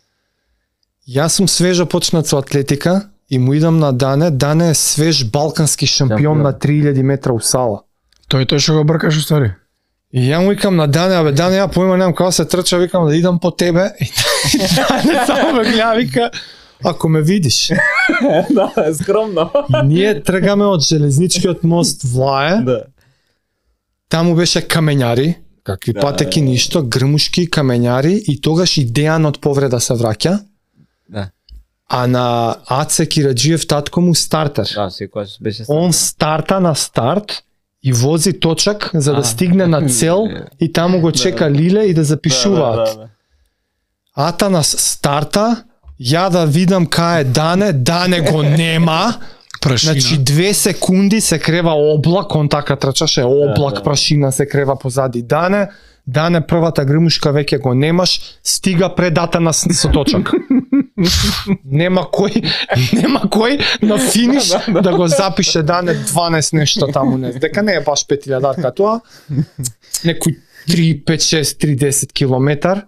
Јас сум свежо почнат со атлетика и му идам на Дане, Дане е свеж балкански шампион Шампион. на три илјади метра усала. Тој тој што го бркаш уствари. И ја му викам на Дане, абе Дане, ја поима немам како се трча, викам да идам по тебе. И Дане само ме гледа, вика, ако ме видиш. Да, скромно. И ние тргаме од железничкиот мост Влае, Да. таму беше камењари, какви Да, патеки ништо, грмушки, камењари и тогаш и Дејан од повреда се враќа, Да. а на Аце Кираџиев татко му стартер. Да, секогаш беше. Он старта на старт и вози точак за да А. стигне на цел и таму го чека Лиле и да запишуваат. Да, да, да. Ата на старта, ја да видам кај е Дане, Дане го нема. Прашина. Значи две секунди се крева облак, он така трчаше, облак Да, да. прашина се крева позади Дане. Дане првата грмушка веќе го немаш, стига пред Ата на с- со точак. Нема кој, нема кој на финиш да го запише Дане дванаесет нешто таму, не. Дека не е баш пет илјадарка тоа. Некој три, пет, шест, три, десет километар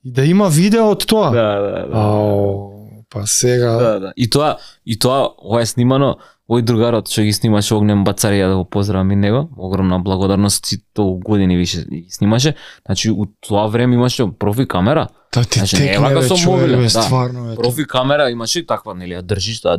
и да има видео од тоа. Да, да, да. Ау, па сега... Да, да. И тоа, и тоа, ова е снимано, овој другарот што ги снимаше Огнем Бацарија, да го поздравам и него, огромна благодарност, сите години више ги снимаше. Значи, у тоа време имаше профи камера, Та ти Значи, не е текне вака бе со човек, мобилен, бе, да. стварно е. профи камера имаше таква, нели, ја држиш, да,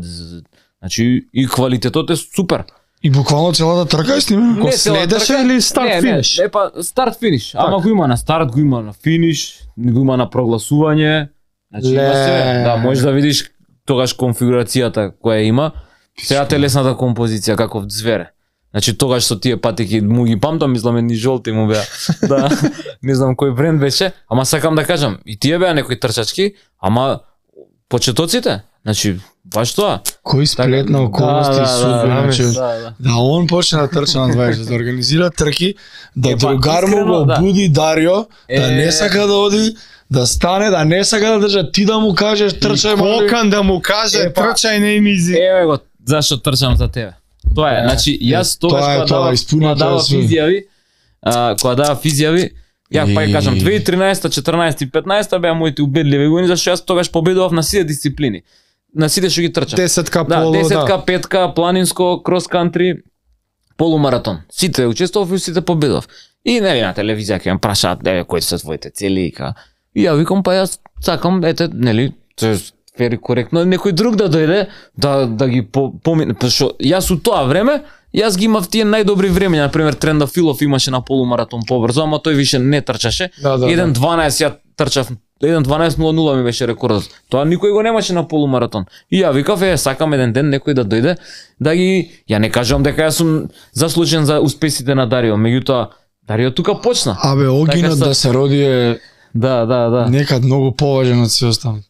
значи, и квалитетот е супер. И буквално целата трка е снимена? Го Не, цела следеше трка- или старт не, финиш? Не, не, па старт финиш. Ама го има на старт, го има на финиш, го има на прогласување. Значи има Ле. се. Да, можеш да видиш тогаш конфигурацијата која има. Сега телесната композиција каков звере. Значи тогаш со тие патеки му ги памтам, мислам едни жолти му беа. Да, не знам кој бренд беше, ама сакам да кажам, и тие беа некои трчачки, ама почетоците, значи баш тоа. Кој сплет на околности и судбина, значи, да, да. да он почне да трча на дваесет, да организира трки, да Е, па, другар му искрено, го да. буди Дарио, да Е. не сака да оди, да стане, да не сака да држа, ти да му кажеш трчај мали. Кокан да му каже, Е, па- трчај не им изи. Еве го, зашто трчам за тебе. Тоа е, Е, значи јас е, тогаш тоа е кога тоа, дава, испуни кога тоа дава све. изјави, а, кога дава изјави, ја па ја кажам И- две илјади и тринаесета, четрнаесета и петнаесета беа моите убедливи години, зашто јас тогаш победував на сите дисциплини. На сите што ги трчав. Десетка Да, полу, десетка, да. петка, планинско, крос кантри, полумаратон. Сите учествував и сите победував. И нели на телевизија ќе ме прашаат, еве кои се твоите цели и ка. И ја викам па јас сакам ете нели се фери коректно некој друг да дојде да да ги по, помине, пошто јас у тоа време јас ги имав тие најдобри времења, на пример Трендафилов имаше на полумаратон побрзо, ама тој више не трчаше. Да, да, еден да. дванаесет ја трчав, еден дванаесет нула нула ми беше рекордот. Тоа никој го немаше на полумаратон. И ја викав е сакам еден ден некој да дојде да ги, ја не кажувам дека јас сум заслужен за успесите на Дарио, меѓутоа Дарио тука почна. Абе, огинот Така са- да се роди е Да, да, да. некад многу поважен од се останали.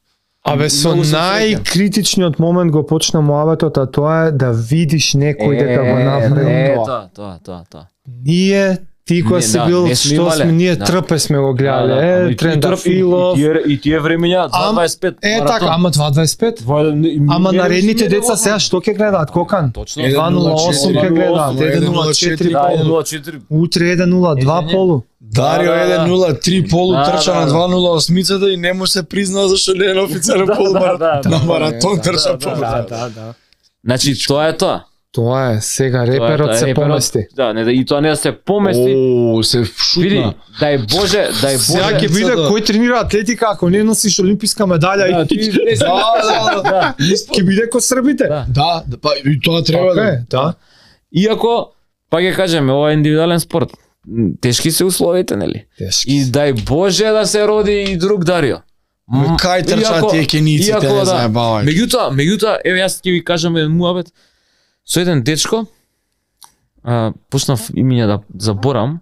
Абе, со Многу сум најкритичниот момент го почна муабетот, а тоа е да видиш некој дека го направи е, тоа. тоа, тоа, тоа, тоа. Ние, ти Не, која си да, бил, не сме што имале. сме, ние Да. трпе сме го гледале, ама е, и тие Трендафилов. трп- И, и, тие- и тие времења два дваесет пет Е, маратон. така, ама два дваесет пет? Два- Ама не, наредните не, деца не, сега што ќе гледаат, Кокан? Точно. два нула осум ќе гледаат, еден нула четири Да, еден полу. нула четири. Утре еден нула два Е, не. полу. Дарио Да, да, да. еден нула три полу Да, трча да, на да. два нула осмицата и не му се призна зашто не е на официјален полумаратон. да, На да, маратон да, трча да, побрзо. да, да, да. Значи тоа е тоа. Тоа е, сега Тоа е реперот тоа. се Реперот- помести. Да, не, да, и тоа не да се помести. О, се Види, шутна. дај Боже, дај Сега Боже. ќе биде да. кој тренира атлетика ако не носиш олимписка медаља Да, и ти не си- Да, да, да. ќе биде ко србите. Да. Да, да, па и тоа треба Така да. е, да. Иако, па ќе кажеме, ова е индивидуален спорт. М, Тешки се условите, нели? Тешки. И дај Боже да се роди и друг Дарио. М, Кај трчаат иако- тие кениците, иако, не да. заебавај. Меѓутоа, меѓутоа, еве јас ќе ви кажам еден муабет. Со еден дечко, а, почнав имиња да заборам.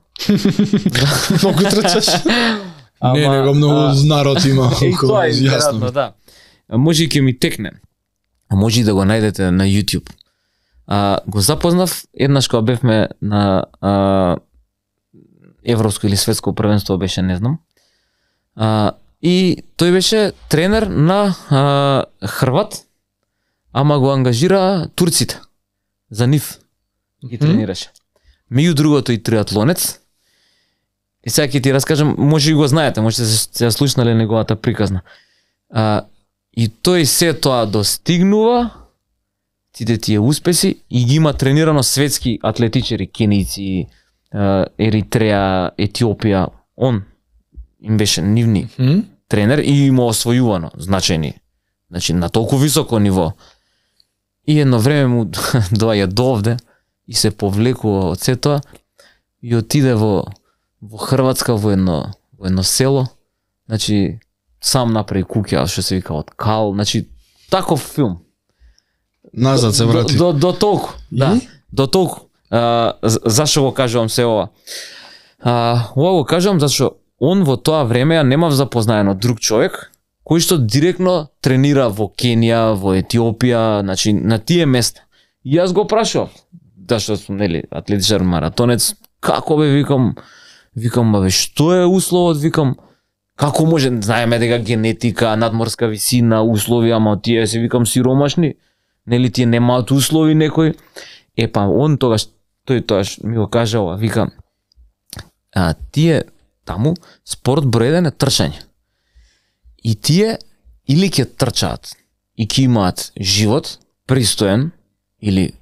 Многу трчаш. Не, ама, него многу а, народ има И околу, тоа е јасно. веројатно, да. А може и ќе ми текне. А може и да го најдете на YouTube. А, го запознав еднаш кога бевме на а, европско или светско првенство беше, не знам. А, и тој беше тренер на а, Хрват, ама го ангажира турците за нив ги тренираше. Меѓу другото и триатлонец. И сега ќе ти раскажам, може и го знаете, може да се, се слушнале неговата приказна. А, и тој се тоа достигнува, сите тие успеси, и ги има тренирано светски атлетичари, кенијци, а, Еритреја, Етиопија. Он им беше нивни тренер и има освојувано значајни. Значи на толку високо ниво. И едно време му доаѓа до овде и се повлекува од се тоа и отиде во во Хрватска во едно во едно село. Значи сам направи куќа што се вика од кал, значи таков филм. Назад се врати. До, до, до толку, да. До толку. А, за- зашо го кажувам се ова? А, ова го кажувам зашо он во тоа време ја немав запознаено друг човек кој што директно тренира во Кенија, во Етиопија, значи на тие места. И јас го прашував, зашто сум нели атлетичар маратонец, како бе викам, викам бе што е условот, викам како може, знаеме дека генетика, надморска висина, услови, ама тие се викам сиромашни, нели тие немаат услови некој. Е па он тогаш тој тогаш ми го кажа ова, вика а тие таму спорт број еден е трчање. И тие или ќе трчаат и ќе имаат живот пристоен или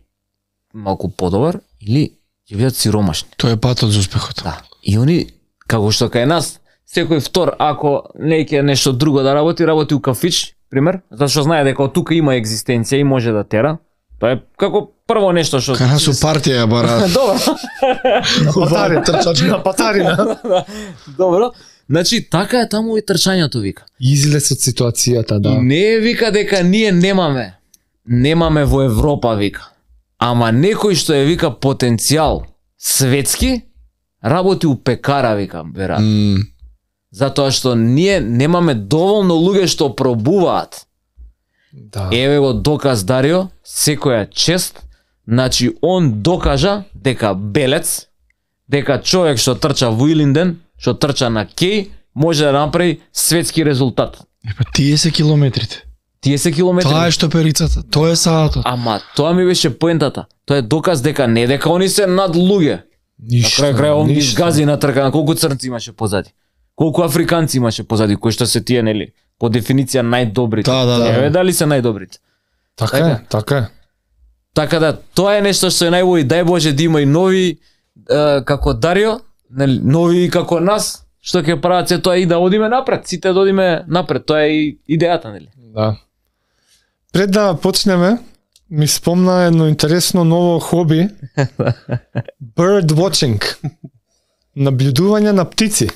малку подобар, или ќе бидат сиромашни. Тоа е патот за успехот. Да. И они, како што кај нас, секој втор, ако не ќе нешто друго да работи, работи у кафич, пример, зашто знае дека од тука има екзистенција и може да тера. Тоа е како прво нешто што... Кај нас у партија ја бараат. Добро. Патари, трчач на патарина. Добро. Значи, така е таму и трчањето, вика. Излез од ситуацијата, И да. не е вика дека ние немаме. Немаме во Европа, вика. Ама некој што е, вика, потенцијал светски, работи у пекара, вика, веројатно. М, Затоа што ние немаме доволно луѓе што пробуваат. Да. Еве го доказ Дарио, секоја чест, значи он докажа дека белец, дека човек што трча во Илинден, што трча на Кеј, може да направи светски резултат. Епа тие се километрите. Тие се километри. Тоа е што перицата. Тоа е саатот. Ама тоа ми беше поентата. Тоа е доказ дека не дека они се над луѓе. На крај крај он ги изгази на трка, на колку црнци имаше позади. Колку африканци имаше позади, кои што се тие, нели, по дефиниција најдобрите. Да, да, да. Еве дали се најдобрите. Така е, така е. Така да, тоа е нешто што е најубаво и дај Боже да има и нови е, како Дарио, нели, нови како нас, што ќе прават се тоа и да одиме напред, сите да одиме напред, тоа е и идејата, нели? Да. Пред да почнеме, ми спомна едно интересно ново хоби. Bird watching. Наблюдување на птици.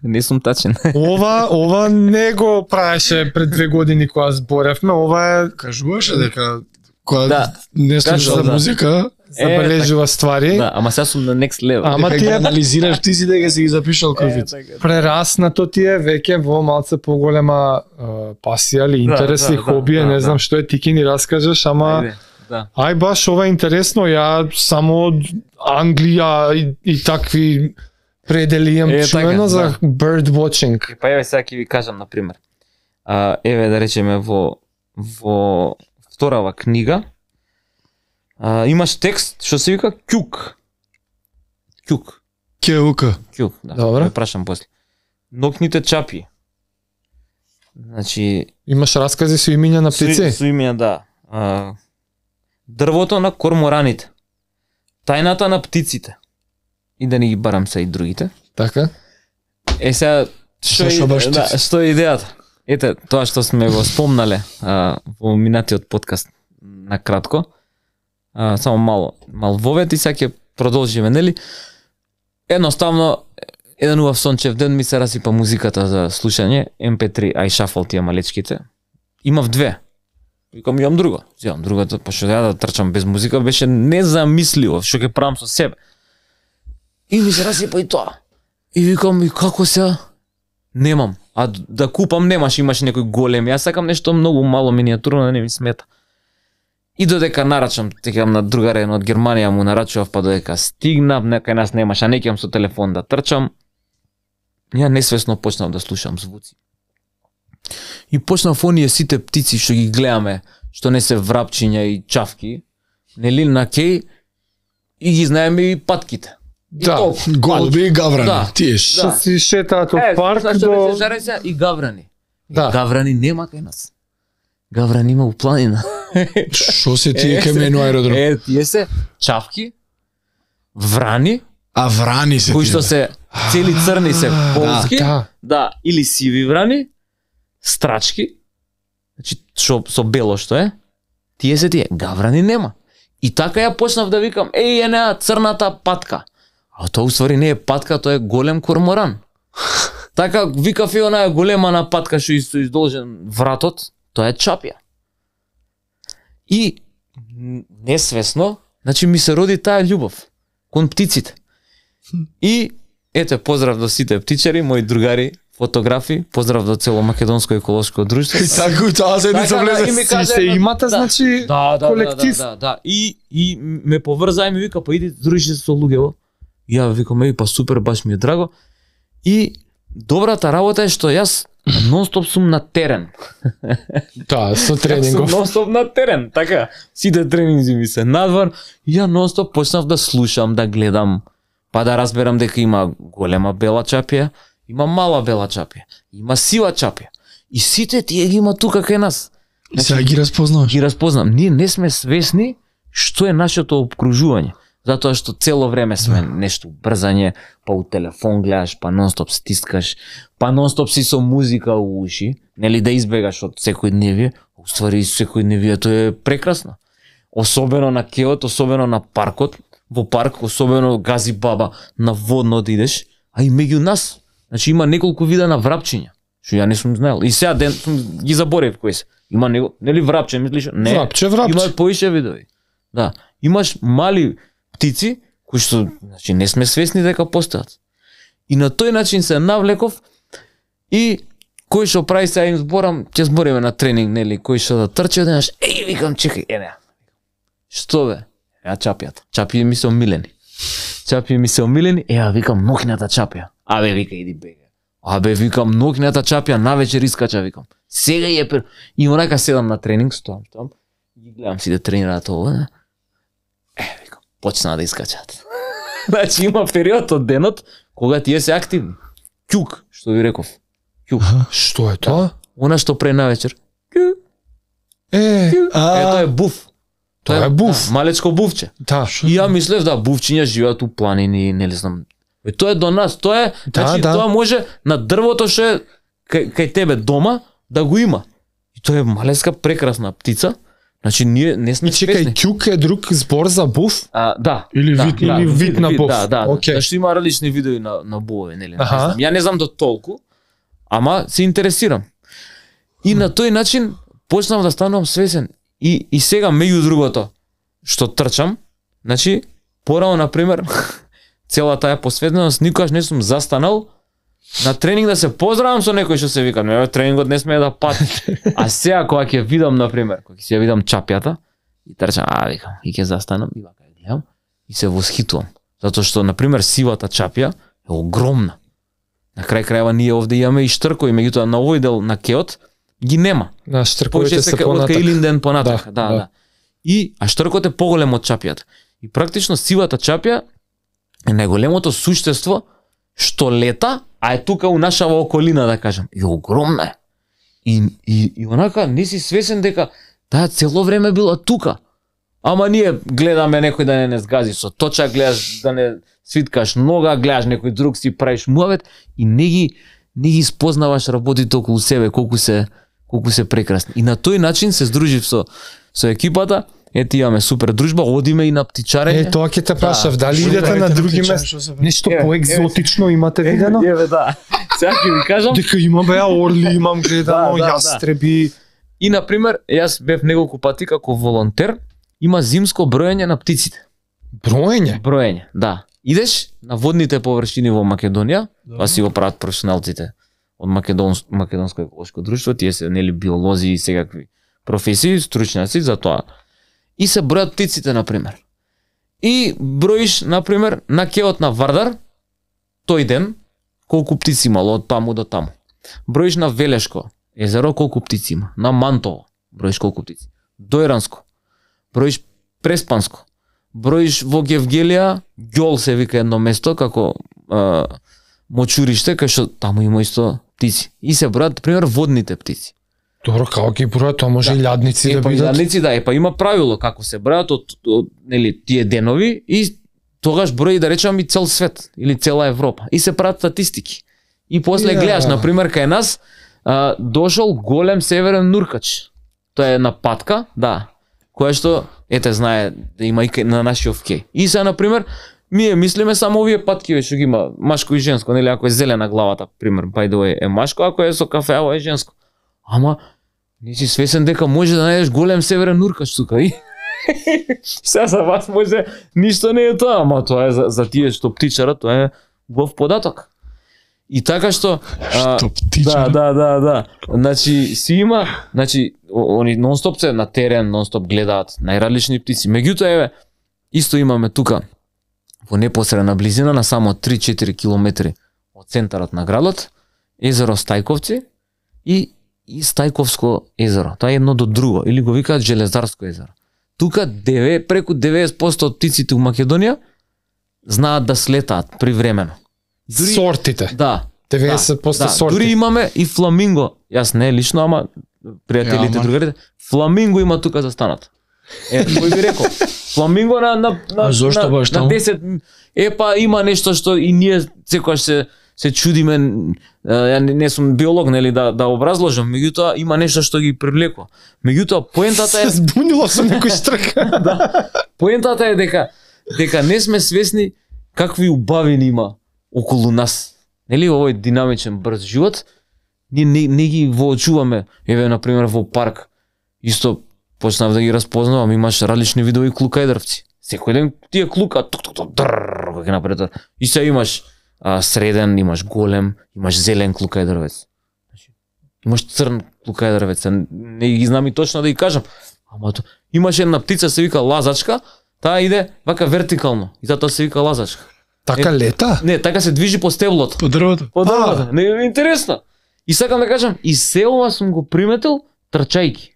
Не сум тачен. Ова, ова не го правеше пред две години кога зборевме, ова е Кажуваше дека кога Да. не слушаш Кажувал, да. музика, забележува ствари. Да, ама сега сум на next level. Ама дека ти ги е анализираш ти си дека си ги запишал кривица. прераснато ти е веќе во малце поголема е, пасија или интерес да, и да, хоби, да, не да. знам што е, ти ки ни раскажеш, ама Ајде, да. ај баш ова е интересно, ја само од Англија и, и такви предели имам Е, чуено така, за да. bird watching. Па еве сега ќе ви кажам на пример. А, еве да речеме во во вторава книга а, имаш текст што се вика ќук. Ќук. Кеука. Ќук, да. Добро. Ве прашам после. Нокните чапи. Значи Имаш раскази со имиња на птици? Со, со имења, да. А, дрвото на кормораните. Тајната на птиците. И да не ги барам се и другите. Така? Е сега што Зашо е, баш да, птици? што е идејата? Ете, тоа што сме го спомнале а, во минатиот подкаст на кратко. А, само мало, мал вовет и сега ќе продолжиме, нели? Едноставно еден убав сончев ден ми се расипа музиката за слушање, ем пе три, iShuffle тие малечките. Имав две. Викам, имам друга. Земам другата, па што ја да трчам без музика, беше незамисливо, што ќе правам со себе. И ми се расипа и тоа. И викам, и како се? Немам. А да купам немаш, имаш некој голем. Јас сакам нешто многу мало миниатурно, да не ми смета. И додека нарачам, текам на другаре од Германија му нарачував, па додека стигнав, некај нас немаш, а не ќам со телефон да трчам. Ја несвесно почнав да слушам звуци. И почнав оние сите птици што ги гледаме, што не се врапчиња и чавки, нели на кеј, и ги знаеме и патките. И Да, толку. Голуби и гаврани. Да. Тие Да. Што си шетаат од Е, парк знаеш што до... ме се жаре сега? И гаврани. Да. Гаврани нема кај нас. Гаврани има у планина. Што се тие кај мене аеродром? Е, тие се чавки, врани, А врани се кои тие. што се цели црни се полски, Да. да, или сиви врани, страчки, значи што со бело што е, тие се тие, гаврани нема. И така ја почнав да викам, еј, е неа црната патка. А тоа уствари не е патка, тоа е голем корморан. Така викав и онаа голема на патка што исто издолжен вратот, тоа е чапја. И н- несвесно, значи ми се роди таа љубов кон птиците. И ете, поздрав до сите птичари, мои другари, фотографи, поздрав до цело македонско еколошко друштво. И така и таа седница Така, да, и влезе. ми Си кажа се едно- имате, да. значи, Да, да, колектив. да, да, да, да. И и ме поврза и ми вика, па иди дружи се со луѓето. И ја викам, еј, па супер, баш ми е драго. И добрата работа е што јас нонстоп сум на терен. Да, со Јас тренингов. сум нонстоп на терен, така. Сите тренинзи ми се надвор. И ја нонстоп почнав да слушам, да гледам, па да разберам дека има голема бела чапја, има мала бела чапја, има сива чапја. И сите тие ги има тука кај нас. И сега ги разпознаваш. Ги разпознам. Ние не сме свесни што е нашето обкружување. Затоа што цело време сме нешто брзање, па у телефон гледаш, па нонстоп стискаш, па нонстоп си со музика у уши, нели да избегаш од секојдневие, а уствари секојдневието е прекрасно. Особено на кеот, особено на паркот, во парк, особено гази баба, на водно да идеш, а и меѓу нас. Значи има неколку вида на врапчиња, што ја не сум знаел. И сега ден сум ги заборев кои се. Има него, нели врапче, мислиш? Не. Врапче, врапче. Има поише видови. Да. Имаш мали птици кои што значи не сме свесни дека постојат. И на тој начин се навлеков и кој што прави сега им зборам, ќе збориме на тренинг, нели, кој што да трчи денаш, еј викам чекај, е не. Што бе? Ја чапјата. Чапи ми се омилени. Чапи ми се омилени, е ја викам нокната чапја. Абе вика иди бега. Абе викам нокната чапја навечер искача викам. Сега е пер... И онака седам на тренинг, стоам, стоам. И гледам си да тренираат ово. Не? Е, викам, почнаа да искачат. Значи има период од денот кога тие се активни. Ќук, што ви реков. Ќук. Што е тоа? Она што пре навечер. Ќук, Е, ќук. Е, тоа е буф. Тоа е буф. Да, малечко буфче. да. И ја мислев да буфчиња живеат у планини, не знам. Е, тоа е до нас, тоа е, Да, значи да. тоа може на дрвото што е кај, кај тебе дома да го има. И тоа е малеска прекрасна птица. Значи ние не сме И чекај, свесни. ќук е друг збор за буф? А, да. Или да, вид- да, или вид на буф. Да, да. Окей. Зашто има различни видови на на буови, нели? Не Аха. знам. Ја не знам до толку, ама се интересирам. И на тој начин почнав да станувам свесен. И и сега меѓу другото што трчам, значи порано на пример цела таа посветеност никогаш не сум застанал на тренинг да се поздравам со некој што се викам, не, тренингот не смее да пати. А сега кога ќе видам на пример, кога ќе ја видам чапјата и трчам, а викам, и ќе застанам и вака ја гледам и се восхитувам. Затоа што на пример сивата чапја е огромна. На крај крајва ние овде имаме и штркови, меѓутоа на овој дел на кеот ги нема. Да, штрковите се од понатак. Каилинден понатак, да, Да, да, да. да. И а штркот е поголем од чапјата. И практично сивата чапја е најголемото суштество што лета, а е тука у нашава околина, да кажам. И огромна е. И, и, и онака не си свесен дека таа цело време била тука. Ама ние гледаме некој да не не сгази со точак, гледаш да не свиткаш нога, гледаш некој друг си правиш муавет и не ги не ги спознаваш работите околу себе, колку се колку се прекрасни. И на тој начин се здружив со со екипата. Ете имаме супер дружба, одиме и на птичарење. Е, тоа ќе те прашав, Да. дали идете на други птичарење, места? што се- Нешто Еве, поекзотично имате видено? Еве да. Сега ќе ви кажам. Дека имам беа орли, имам гледано, Да, да, јастреби. И на пример, јас бев неколку пати како волонтер, има зимско броење на птиците. Броење? Броење, да. Идеш на водните површини во Македонија, па си го прават професионалците од Македонс, Македонско еколошко друштво, тие се нели биолози и секакви професии, стручњаци за тоа. И се бројат птиците на пример. И броиш на пример на кеот на Вардар тој ден колку птици имало од таму до таму. Броиш на Велешко езеро колку птици има, на Мантово броиш колку птици. Дојранско броиш Преспанско. Броиш во Гевгелија, Ѓол се вика едно место како а, мочуриште, кај што таму има исто птици. И се бројат пример водните птици. Добро, како ги бројат, тоа може и лјадници Е, да па и бидат. лјадници, да, е, па има правило како се бројат од, од нели тие денови и тогаш брои да речам и цел свет или цела Европа. И се прават статистики. И после Ја. гледаш на пример кај нас а, дошол голем северен нуркач. Тоа е на патка, да, која што ете знае да има и кај- на нашиот кеј. И сега на пример ние мислиме само овие патки што ги има машко и женско, нели ако е зелена главата, пример, by the way, е машко, ако е со кафеаво е женско. Ама не си свесен дека може да најдеш голем северен нуркач тука и сега за вас може ништо не е тоа, ама тоа е за, за тие што птичарат, тоа е убав податок. И така што а, Што птичар? да, да, да, да. Значи си има, значи о- они нонстоп се на терен, нонстоп гледаат најразлични птици. Меѓутоа еве исто имаме тука во непосредна близина на само три-четири километри од центарот на градот езеро Стајковци и и Стајковско езеро. Тоа е едно до друго или го викаат Железарско езеро. Тука деве преку деветдесет проценти од птиците у Македонија знаат да слетаат привремено. Дури- Сортите. Да. деветдесет проценти да, сорти. дури имаме и фламинго. Јас не лично, ама пријателите, Ја, ама. другарите. Фламинго има тука застанат. Е, кој би рекол? Фламинго на на на, А зошто на, баш на таму? десет. Е па има нешто што и ние секогаш се се чудиме. е, Ја не, не сум биолог, нели да да образложам, меѓутоа има нешто што ги привлекува. Меѓутоа поентата е Се збунило со некој штрка. Поентата е дека дека не сме свесни какви убавини има околу нас. Нели овој динамичен брз живот, ние не, не ги воочуваме. Еве на пример во парк исто почнав да ги разпознавам, имаш различни видови клукајдервци. Секој ден тие клука тук тук тук дрррр, кога ќе напред. И се имаш а, среден, имаш голем, имаш зелен клукајдервец. Значи, имаш црн клукајдервец, а не ги знам и точно да ги кажам. Ама то, имаш една птица се вика лазачка, таа иде вака вертикално и затоа се вика лазачка. Така лета? Не, така се движи по стеблото. По дрвото. По дрвото. Не е интересно. И сакам да кажам, и се ова сум го приметил трчајки.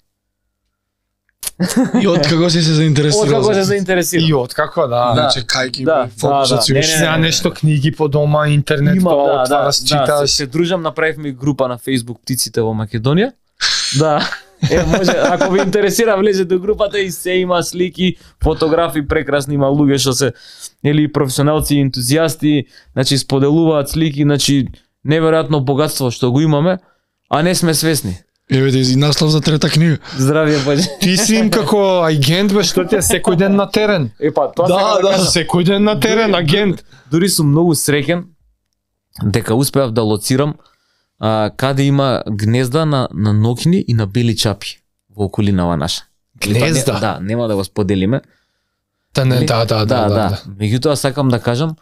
И од како си се заинтересирал? Од како се за- заинтересирам. И од како да. Да. Чекајки, Да, фокусот да, си да. уште. Не, не, Сега нешто книги по дома, интернет, Има, тоа да, да, отвараш, да, читаш. се, се дружам, направивме и група на Facebook Птиците во Македонија. Да. Е, може, ако ви интересира, влезете во групата и се има слики, фотографии прекрасни, има луѓе што се или професионалци, ентузијасти, значи споделуваат слики, значи неверојатно богатство што го имаме, а не сме свесни. Еве и наслов за трета книга. Здравје, баје. Ти си им како агент, бе, што ти е секој ден на терен. Е па тоа Да, сега да. кажам. Секој ден на терен, агент. Дури сум многу среќен дека успеав да лоцирам а, каде има гнезда на на нокни и на бели чапи во околинава наша. Гнезда? Не, да, нема да го споделиме. Да, не, да, да, да, да. Меѓутоа сакам да кажам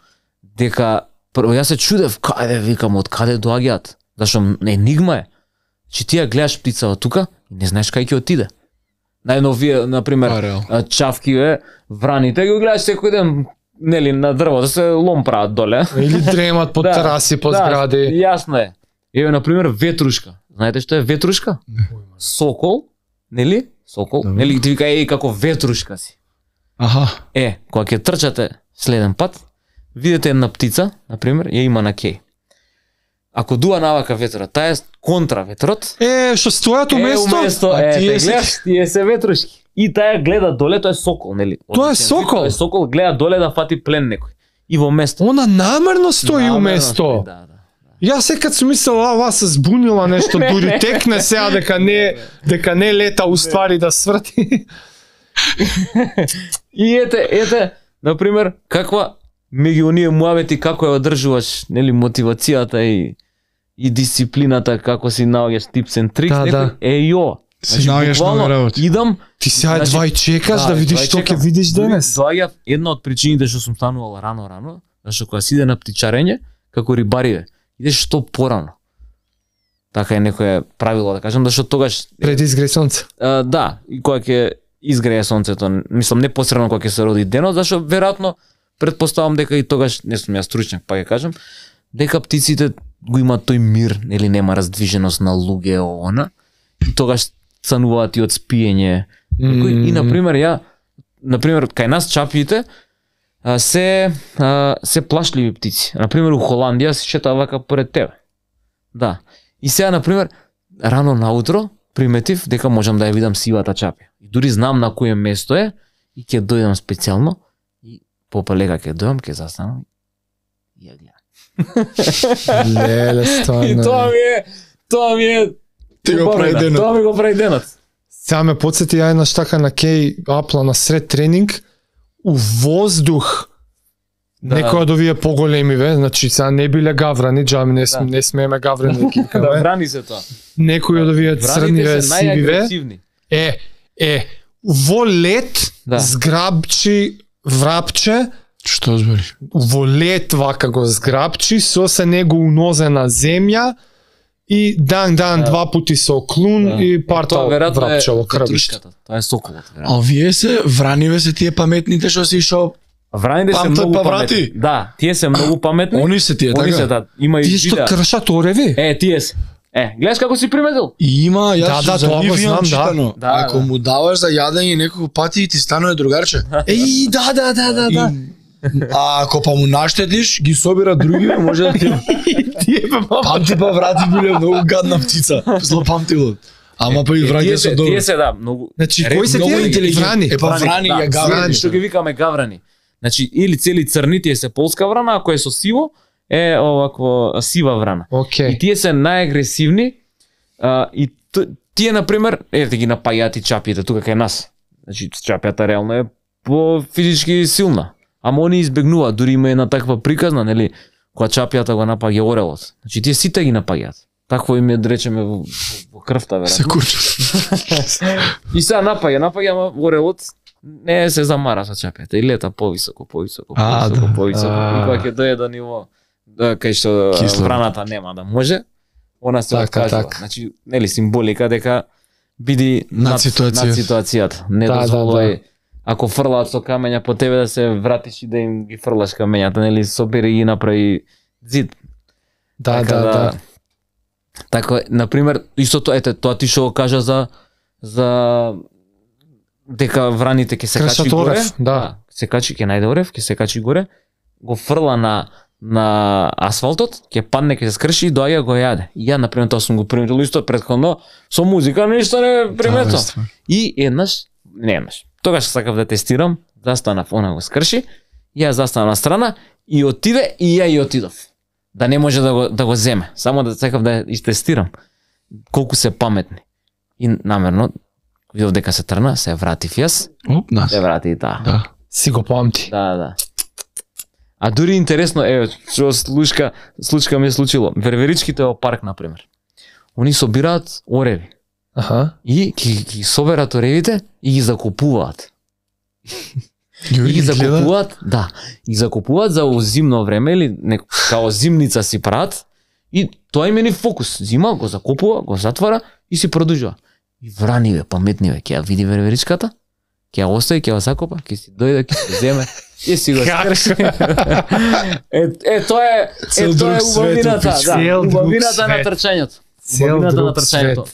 дека прво јас се чудев каде викам од каде доаѓаат. Зашто енигма е. Че ти ја гледаш птицава тука и не знаеш кај ќе отиде. Најновие, на пример, А, реално. а, чавки е, враните ги гледаш секој ден, нели, на дрво да се лом прават доле. Или дремат по Да, тераси, по да, згради. Јасно е. Еве на пример ветрушка. Знаете што е ветрушка? Сокол, нели? Сокол, Добро. нели ти вика еј како ветрушка си. Аха. Е, кога ќе трчате следен пат, видите една птица, на пример, ја има на кеј. Ако дува навака ветрот, таа е контра ветрот. Е, што стојат уместо? Е, уместо, А е, тие те се- гледаш, тие се ветрушки. И таа гледа доле, тоа е сокол, нели? Тоа е Одличен вид, сокол? Тоа е сокол, гледа доле да фати плен некој. И во место. Она намерно стои Намерно уместо. стои, Да, да. Јас секад сум мислел, а, ова се збунила нешто, дури текне сега дека не дека не лета уствари да сврти. И ете, ете, на пример, каква меѓу оние муавети како ја одржуваш, нели, мотивацијата и и дисциплината, како си наоѓаш tips and tricks, Да, некој, да. е јо. Си наоѓаш буквално, нови работи. Идам, Ти сега Значи, едва и чекаш да видиш едва што ќе чекам. видиш Дури денес. Доаѓа една од причините што сум станувал рано рано, зашто кога си иде на птичарење, како рибариве, идеш што порано. Така е некое правило да кажам, зашто тогаш Пред изгре сонце. а, да, и кога ќе изгрее сонцето, мислам непосредно кога ќе се роди денот, зашто веројатно претпоставам дека и тогаш не сум јас стручњак, па ќе кажам, дека птиците го имаат тој мир, или нема раздвиженост на луѓе она, и тогаш цануваат и од спиење. Некој, и на пример ја на пример кај нас чапиите а, се а, се плашливи птици. На пример у Холандија се шета вака поред тебе. Да. И сега на пример рано наутро приметив дека можам да ја видам сивата чапија. И дури знам на кое место е и ќе дојдам специјално и попалека ќе дојдам, ќе застанам и ја гледам. Леле, И стварно. тоа ми е тоа ми е Ти го убавина. прави денот. Тоа ми го прави денот. Сега ме подсети ја еднаш така на кеј апла на сред тренинг у воздух. Да. Некој од овие поголеми ве, значи сега не биле гаврани, джами не, см, Да. не смееме гаврани да ги Да викаме. брани се тоа. Некој од овие црни ве, Враните се сиви ве. најагресивни. Е, е, во лет Да. зграбчи врапче, Што збориш? во лет вака го зграбчи, со се него унозе на земја и дан дан Да. два пати со клун Да. и парта Тоа веројатно врапче во е крвиште. ветрушката. Тоа е соколот. А веројатно. овие се враниве се тие паметните што си ишao. Враните се Памтат многу па паметни. врати. Да, тие се многу паметни. Они се тие, Они така? се, да, има и Тие што видеа. кршат ореви? Е, тие се. Е, гледаш како си приметил? И има, јас Да, да, за тоа го нив имам знам, да. читано. Да, Ако да. му даваш за јадење неколку пати и ти станува другарче. Еј, да, да, да, да, да. И- А ако па му наштетиш, ги собира други, може да ти Тие бе, мама. памти па врати биле многу гадна птица. Злопамтило. Ама па и Е, враѓа тие се се, добро. тие се да, многу. Значи, Ре- кои се Многу тие? интелигентни. Врани. Е па врани, да, ја гаврани. врани, што ги викаме гаврани. Значи, или цели црни, тие се полска врана, ако е со сиво, е овакво сива врана. И Океј. тие се најагресивни, а, и т- тие, например, ете ги напајат и чапите тука кај нас. Значи, чапјата реално е по физички силна. Ама они избегнуваат, дури има една таква приказна, нели, кога чапјата го напаѓа орелот. Значи, тие сите ги напаѓаат. Такво им е, да речеме, во, во крвта, Се веројатно. куча. И сега напаѓа, напаѓа, ама орелот не се замара со чапјата и лета повисоко, повисоко, А, повисоко, да. повисоко. А. И кога ќе дојде до ниво да, кај што Кисло. враната нема да може, она се Така, откажува. така. Значи, нели символика дека биди Над ситуација. над ситуацијата. Не Да, да, дозволувај да. ако фрлаат со камења по тебе да се вратиш и да им ги фрлаш камењата, нели собери и направи зид. Да, Така да, да. Така, на пример, истото ете тоа ти што го кажа за за дека враните ќе се Кршат качи горе, орев, да. се качи, ќе најде орев, ќе се качи горе, го фрла на на асфалтот, ќе падне, ќе се скрши и доаѓа го јаде. И ја на пример тоа сум го приметил исто претходно со музика, ништо не приметил. Да, И еднаш, не еднаш, тогаш сакав да тестирам, застанав, она го скрши, ја застанав на страна и отиде и ја и отидов. Да не може да го, да го земе, само да сакав да ја истестирам колку се паметни. И намерно, видов дека се трна, се вратив јас, Оп, да. се врати и таа. Да. Си го памти. Да, да. А дури интересно, еве, што случка, случка ми е случило. Верверичките во парк, например. Они собираат ореви. Аха. И ги, ги соберат оревите и ги закупуваат. И ги закупуваат, да, ги закупуваат за зимно време или нек, као зимница си прават и тоа им е ни фокус. Зима го закупува, го затвара и си продолжува. И враниве, паметниве, ќе ја види верверичката, ќе ја остави, ќе ја закопа, ќе си дојде, ќе си земе, ќе си го скрши. е, е, тоа е, е, тоа е убавината, да, убавината на трчањето. Убавината на трчањето.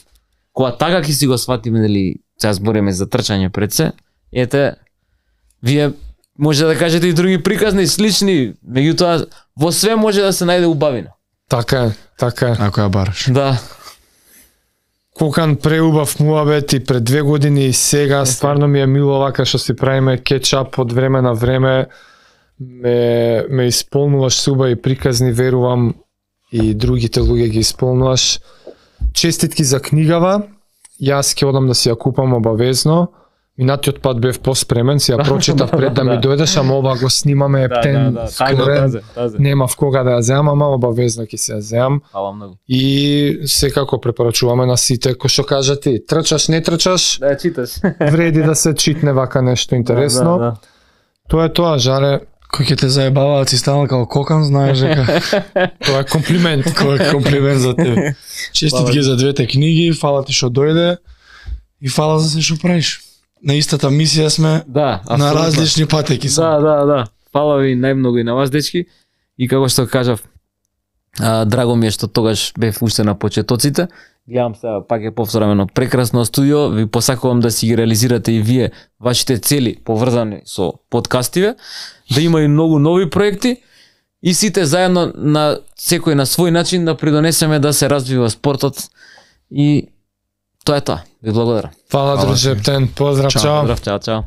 Кога така ќе си го сватиме, дали сега збориме за трчање пред се, ете, вие може да кажете и други приказни, слични, меѓутоа во све може да се најде убавина. Така е, така е. Ако ја бараш. Да. Кокан преубав муабет и пред две години и сега стварно ми е мило вака што си правиме кетчап од време на време. Ме, ме исполнуваш суба и приказни, верувам и другите луѓе ги исполнуваш. Честитки за книгава. Јас ќе одам да си ја купам обавезно. Минатиот пат бев поспремен, си ја прочитав пред да ми дојдеш, ама ова го снимаме ептен, скорен, немав кога да ја земам, ама обавезно ќе се ја земам. Фала многу. И секако препорачуваме на сите, кој што кажа ти, трчаш, не трчаш, Да читаш. вреди да се читне вака нешто интересно. Да, да, да. Тоа е тоа, Жаре, Кој ќе те заебаваат си станал како кокан, знаеш дека тоа е комплимент. кој е комплимент за тебе. Честитки за двете книги, фала ти што дојде и фала за се што правиш. На истата мисија сме, Да, на апсолутно. различни патеки сме. Да, да, да. Фала ви најмногу и на вас, дечки. И како што кажав, а, драго ми е што тогаш бев уште на почетоците. Гледам сега пак е повторено прекрасно студио. Ви посакувам да си ги реализирате и вие вашите цели поврзани со подкастиве, да има и многу нови проекти и сите заедно на секој на свој начин да придонесеме да се развива спортот и тоа е тоа. Ви благодарам. Фала, друже, ептен, поздрав, Чао. чао. Здрав, чао, чао.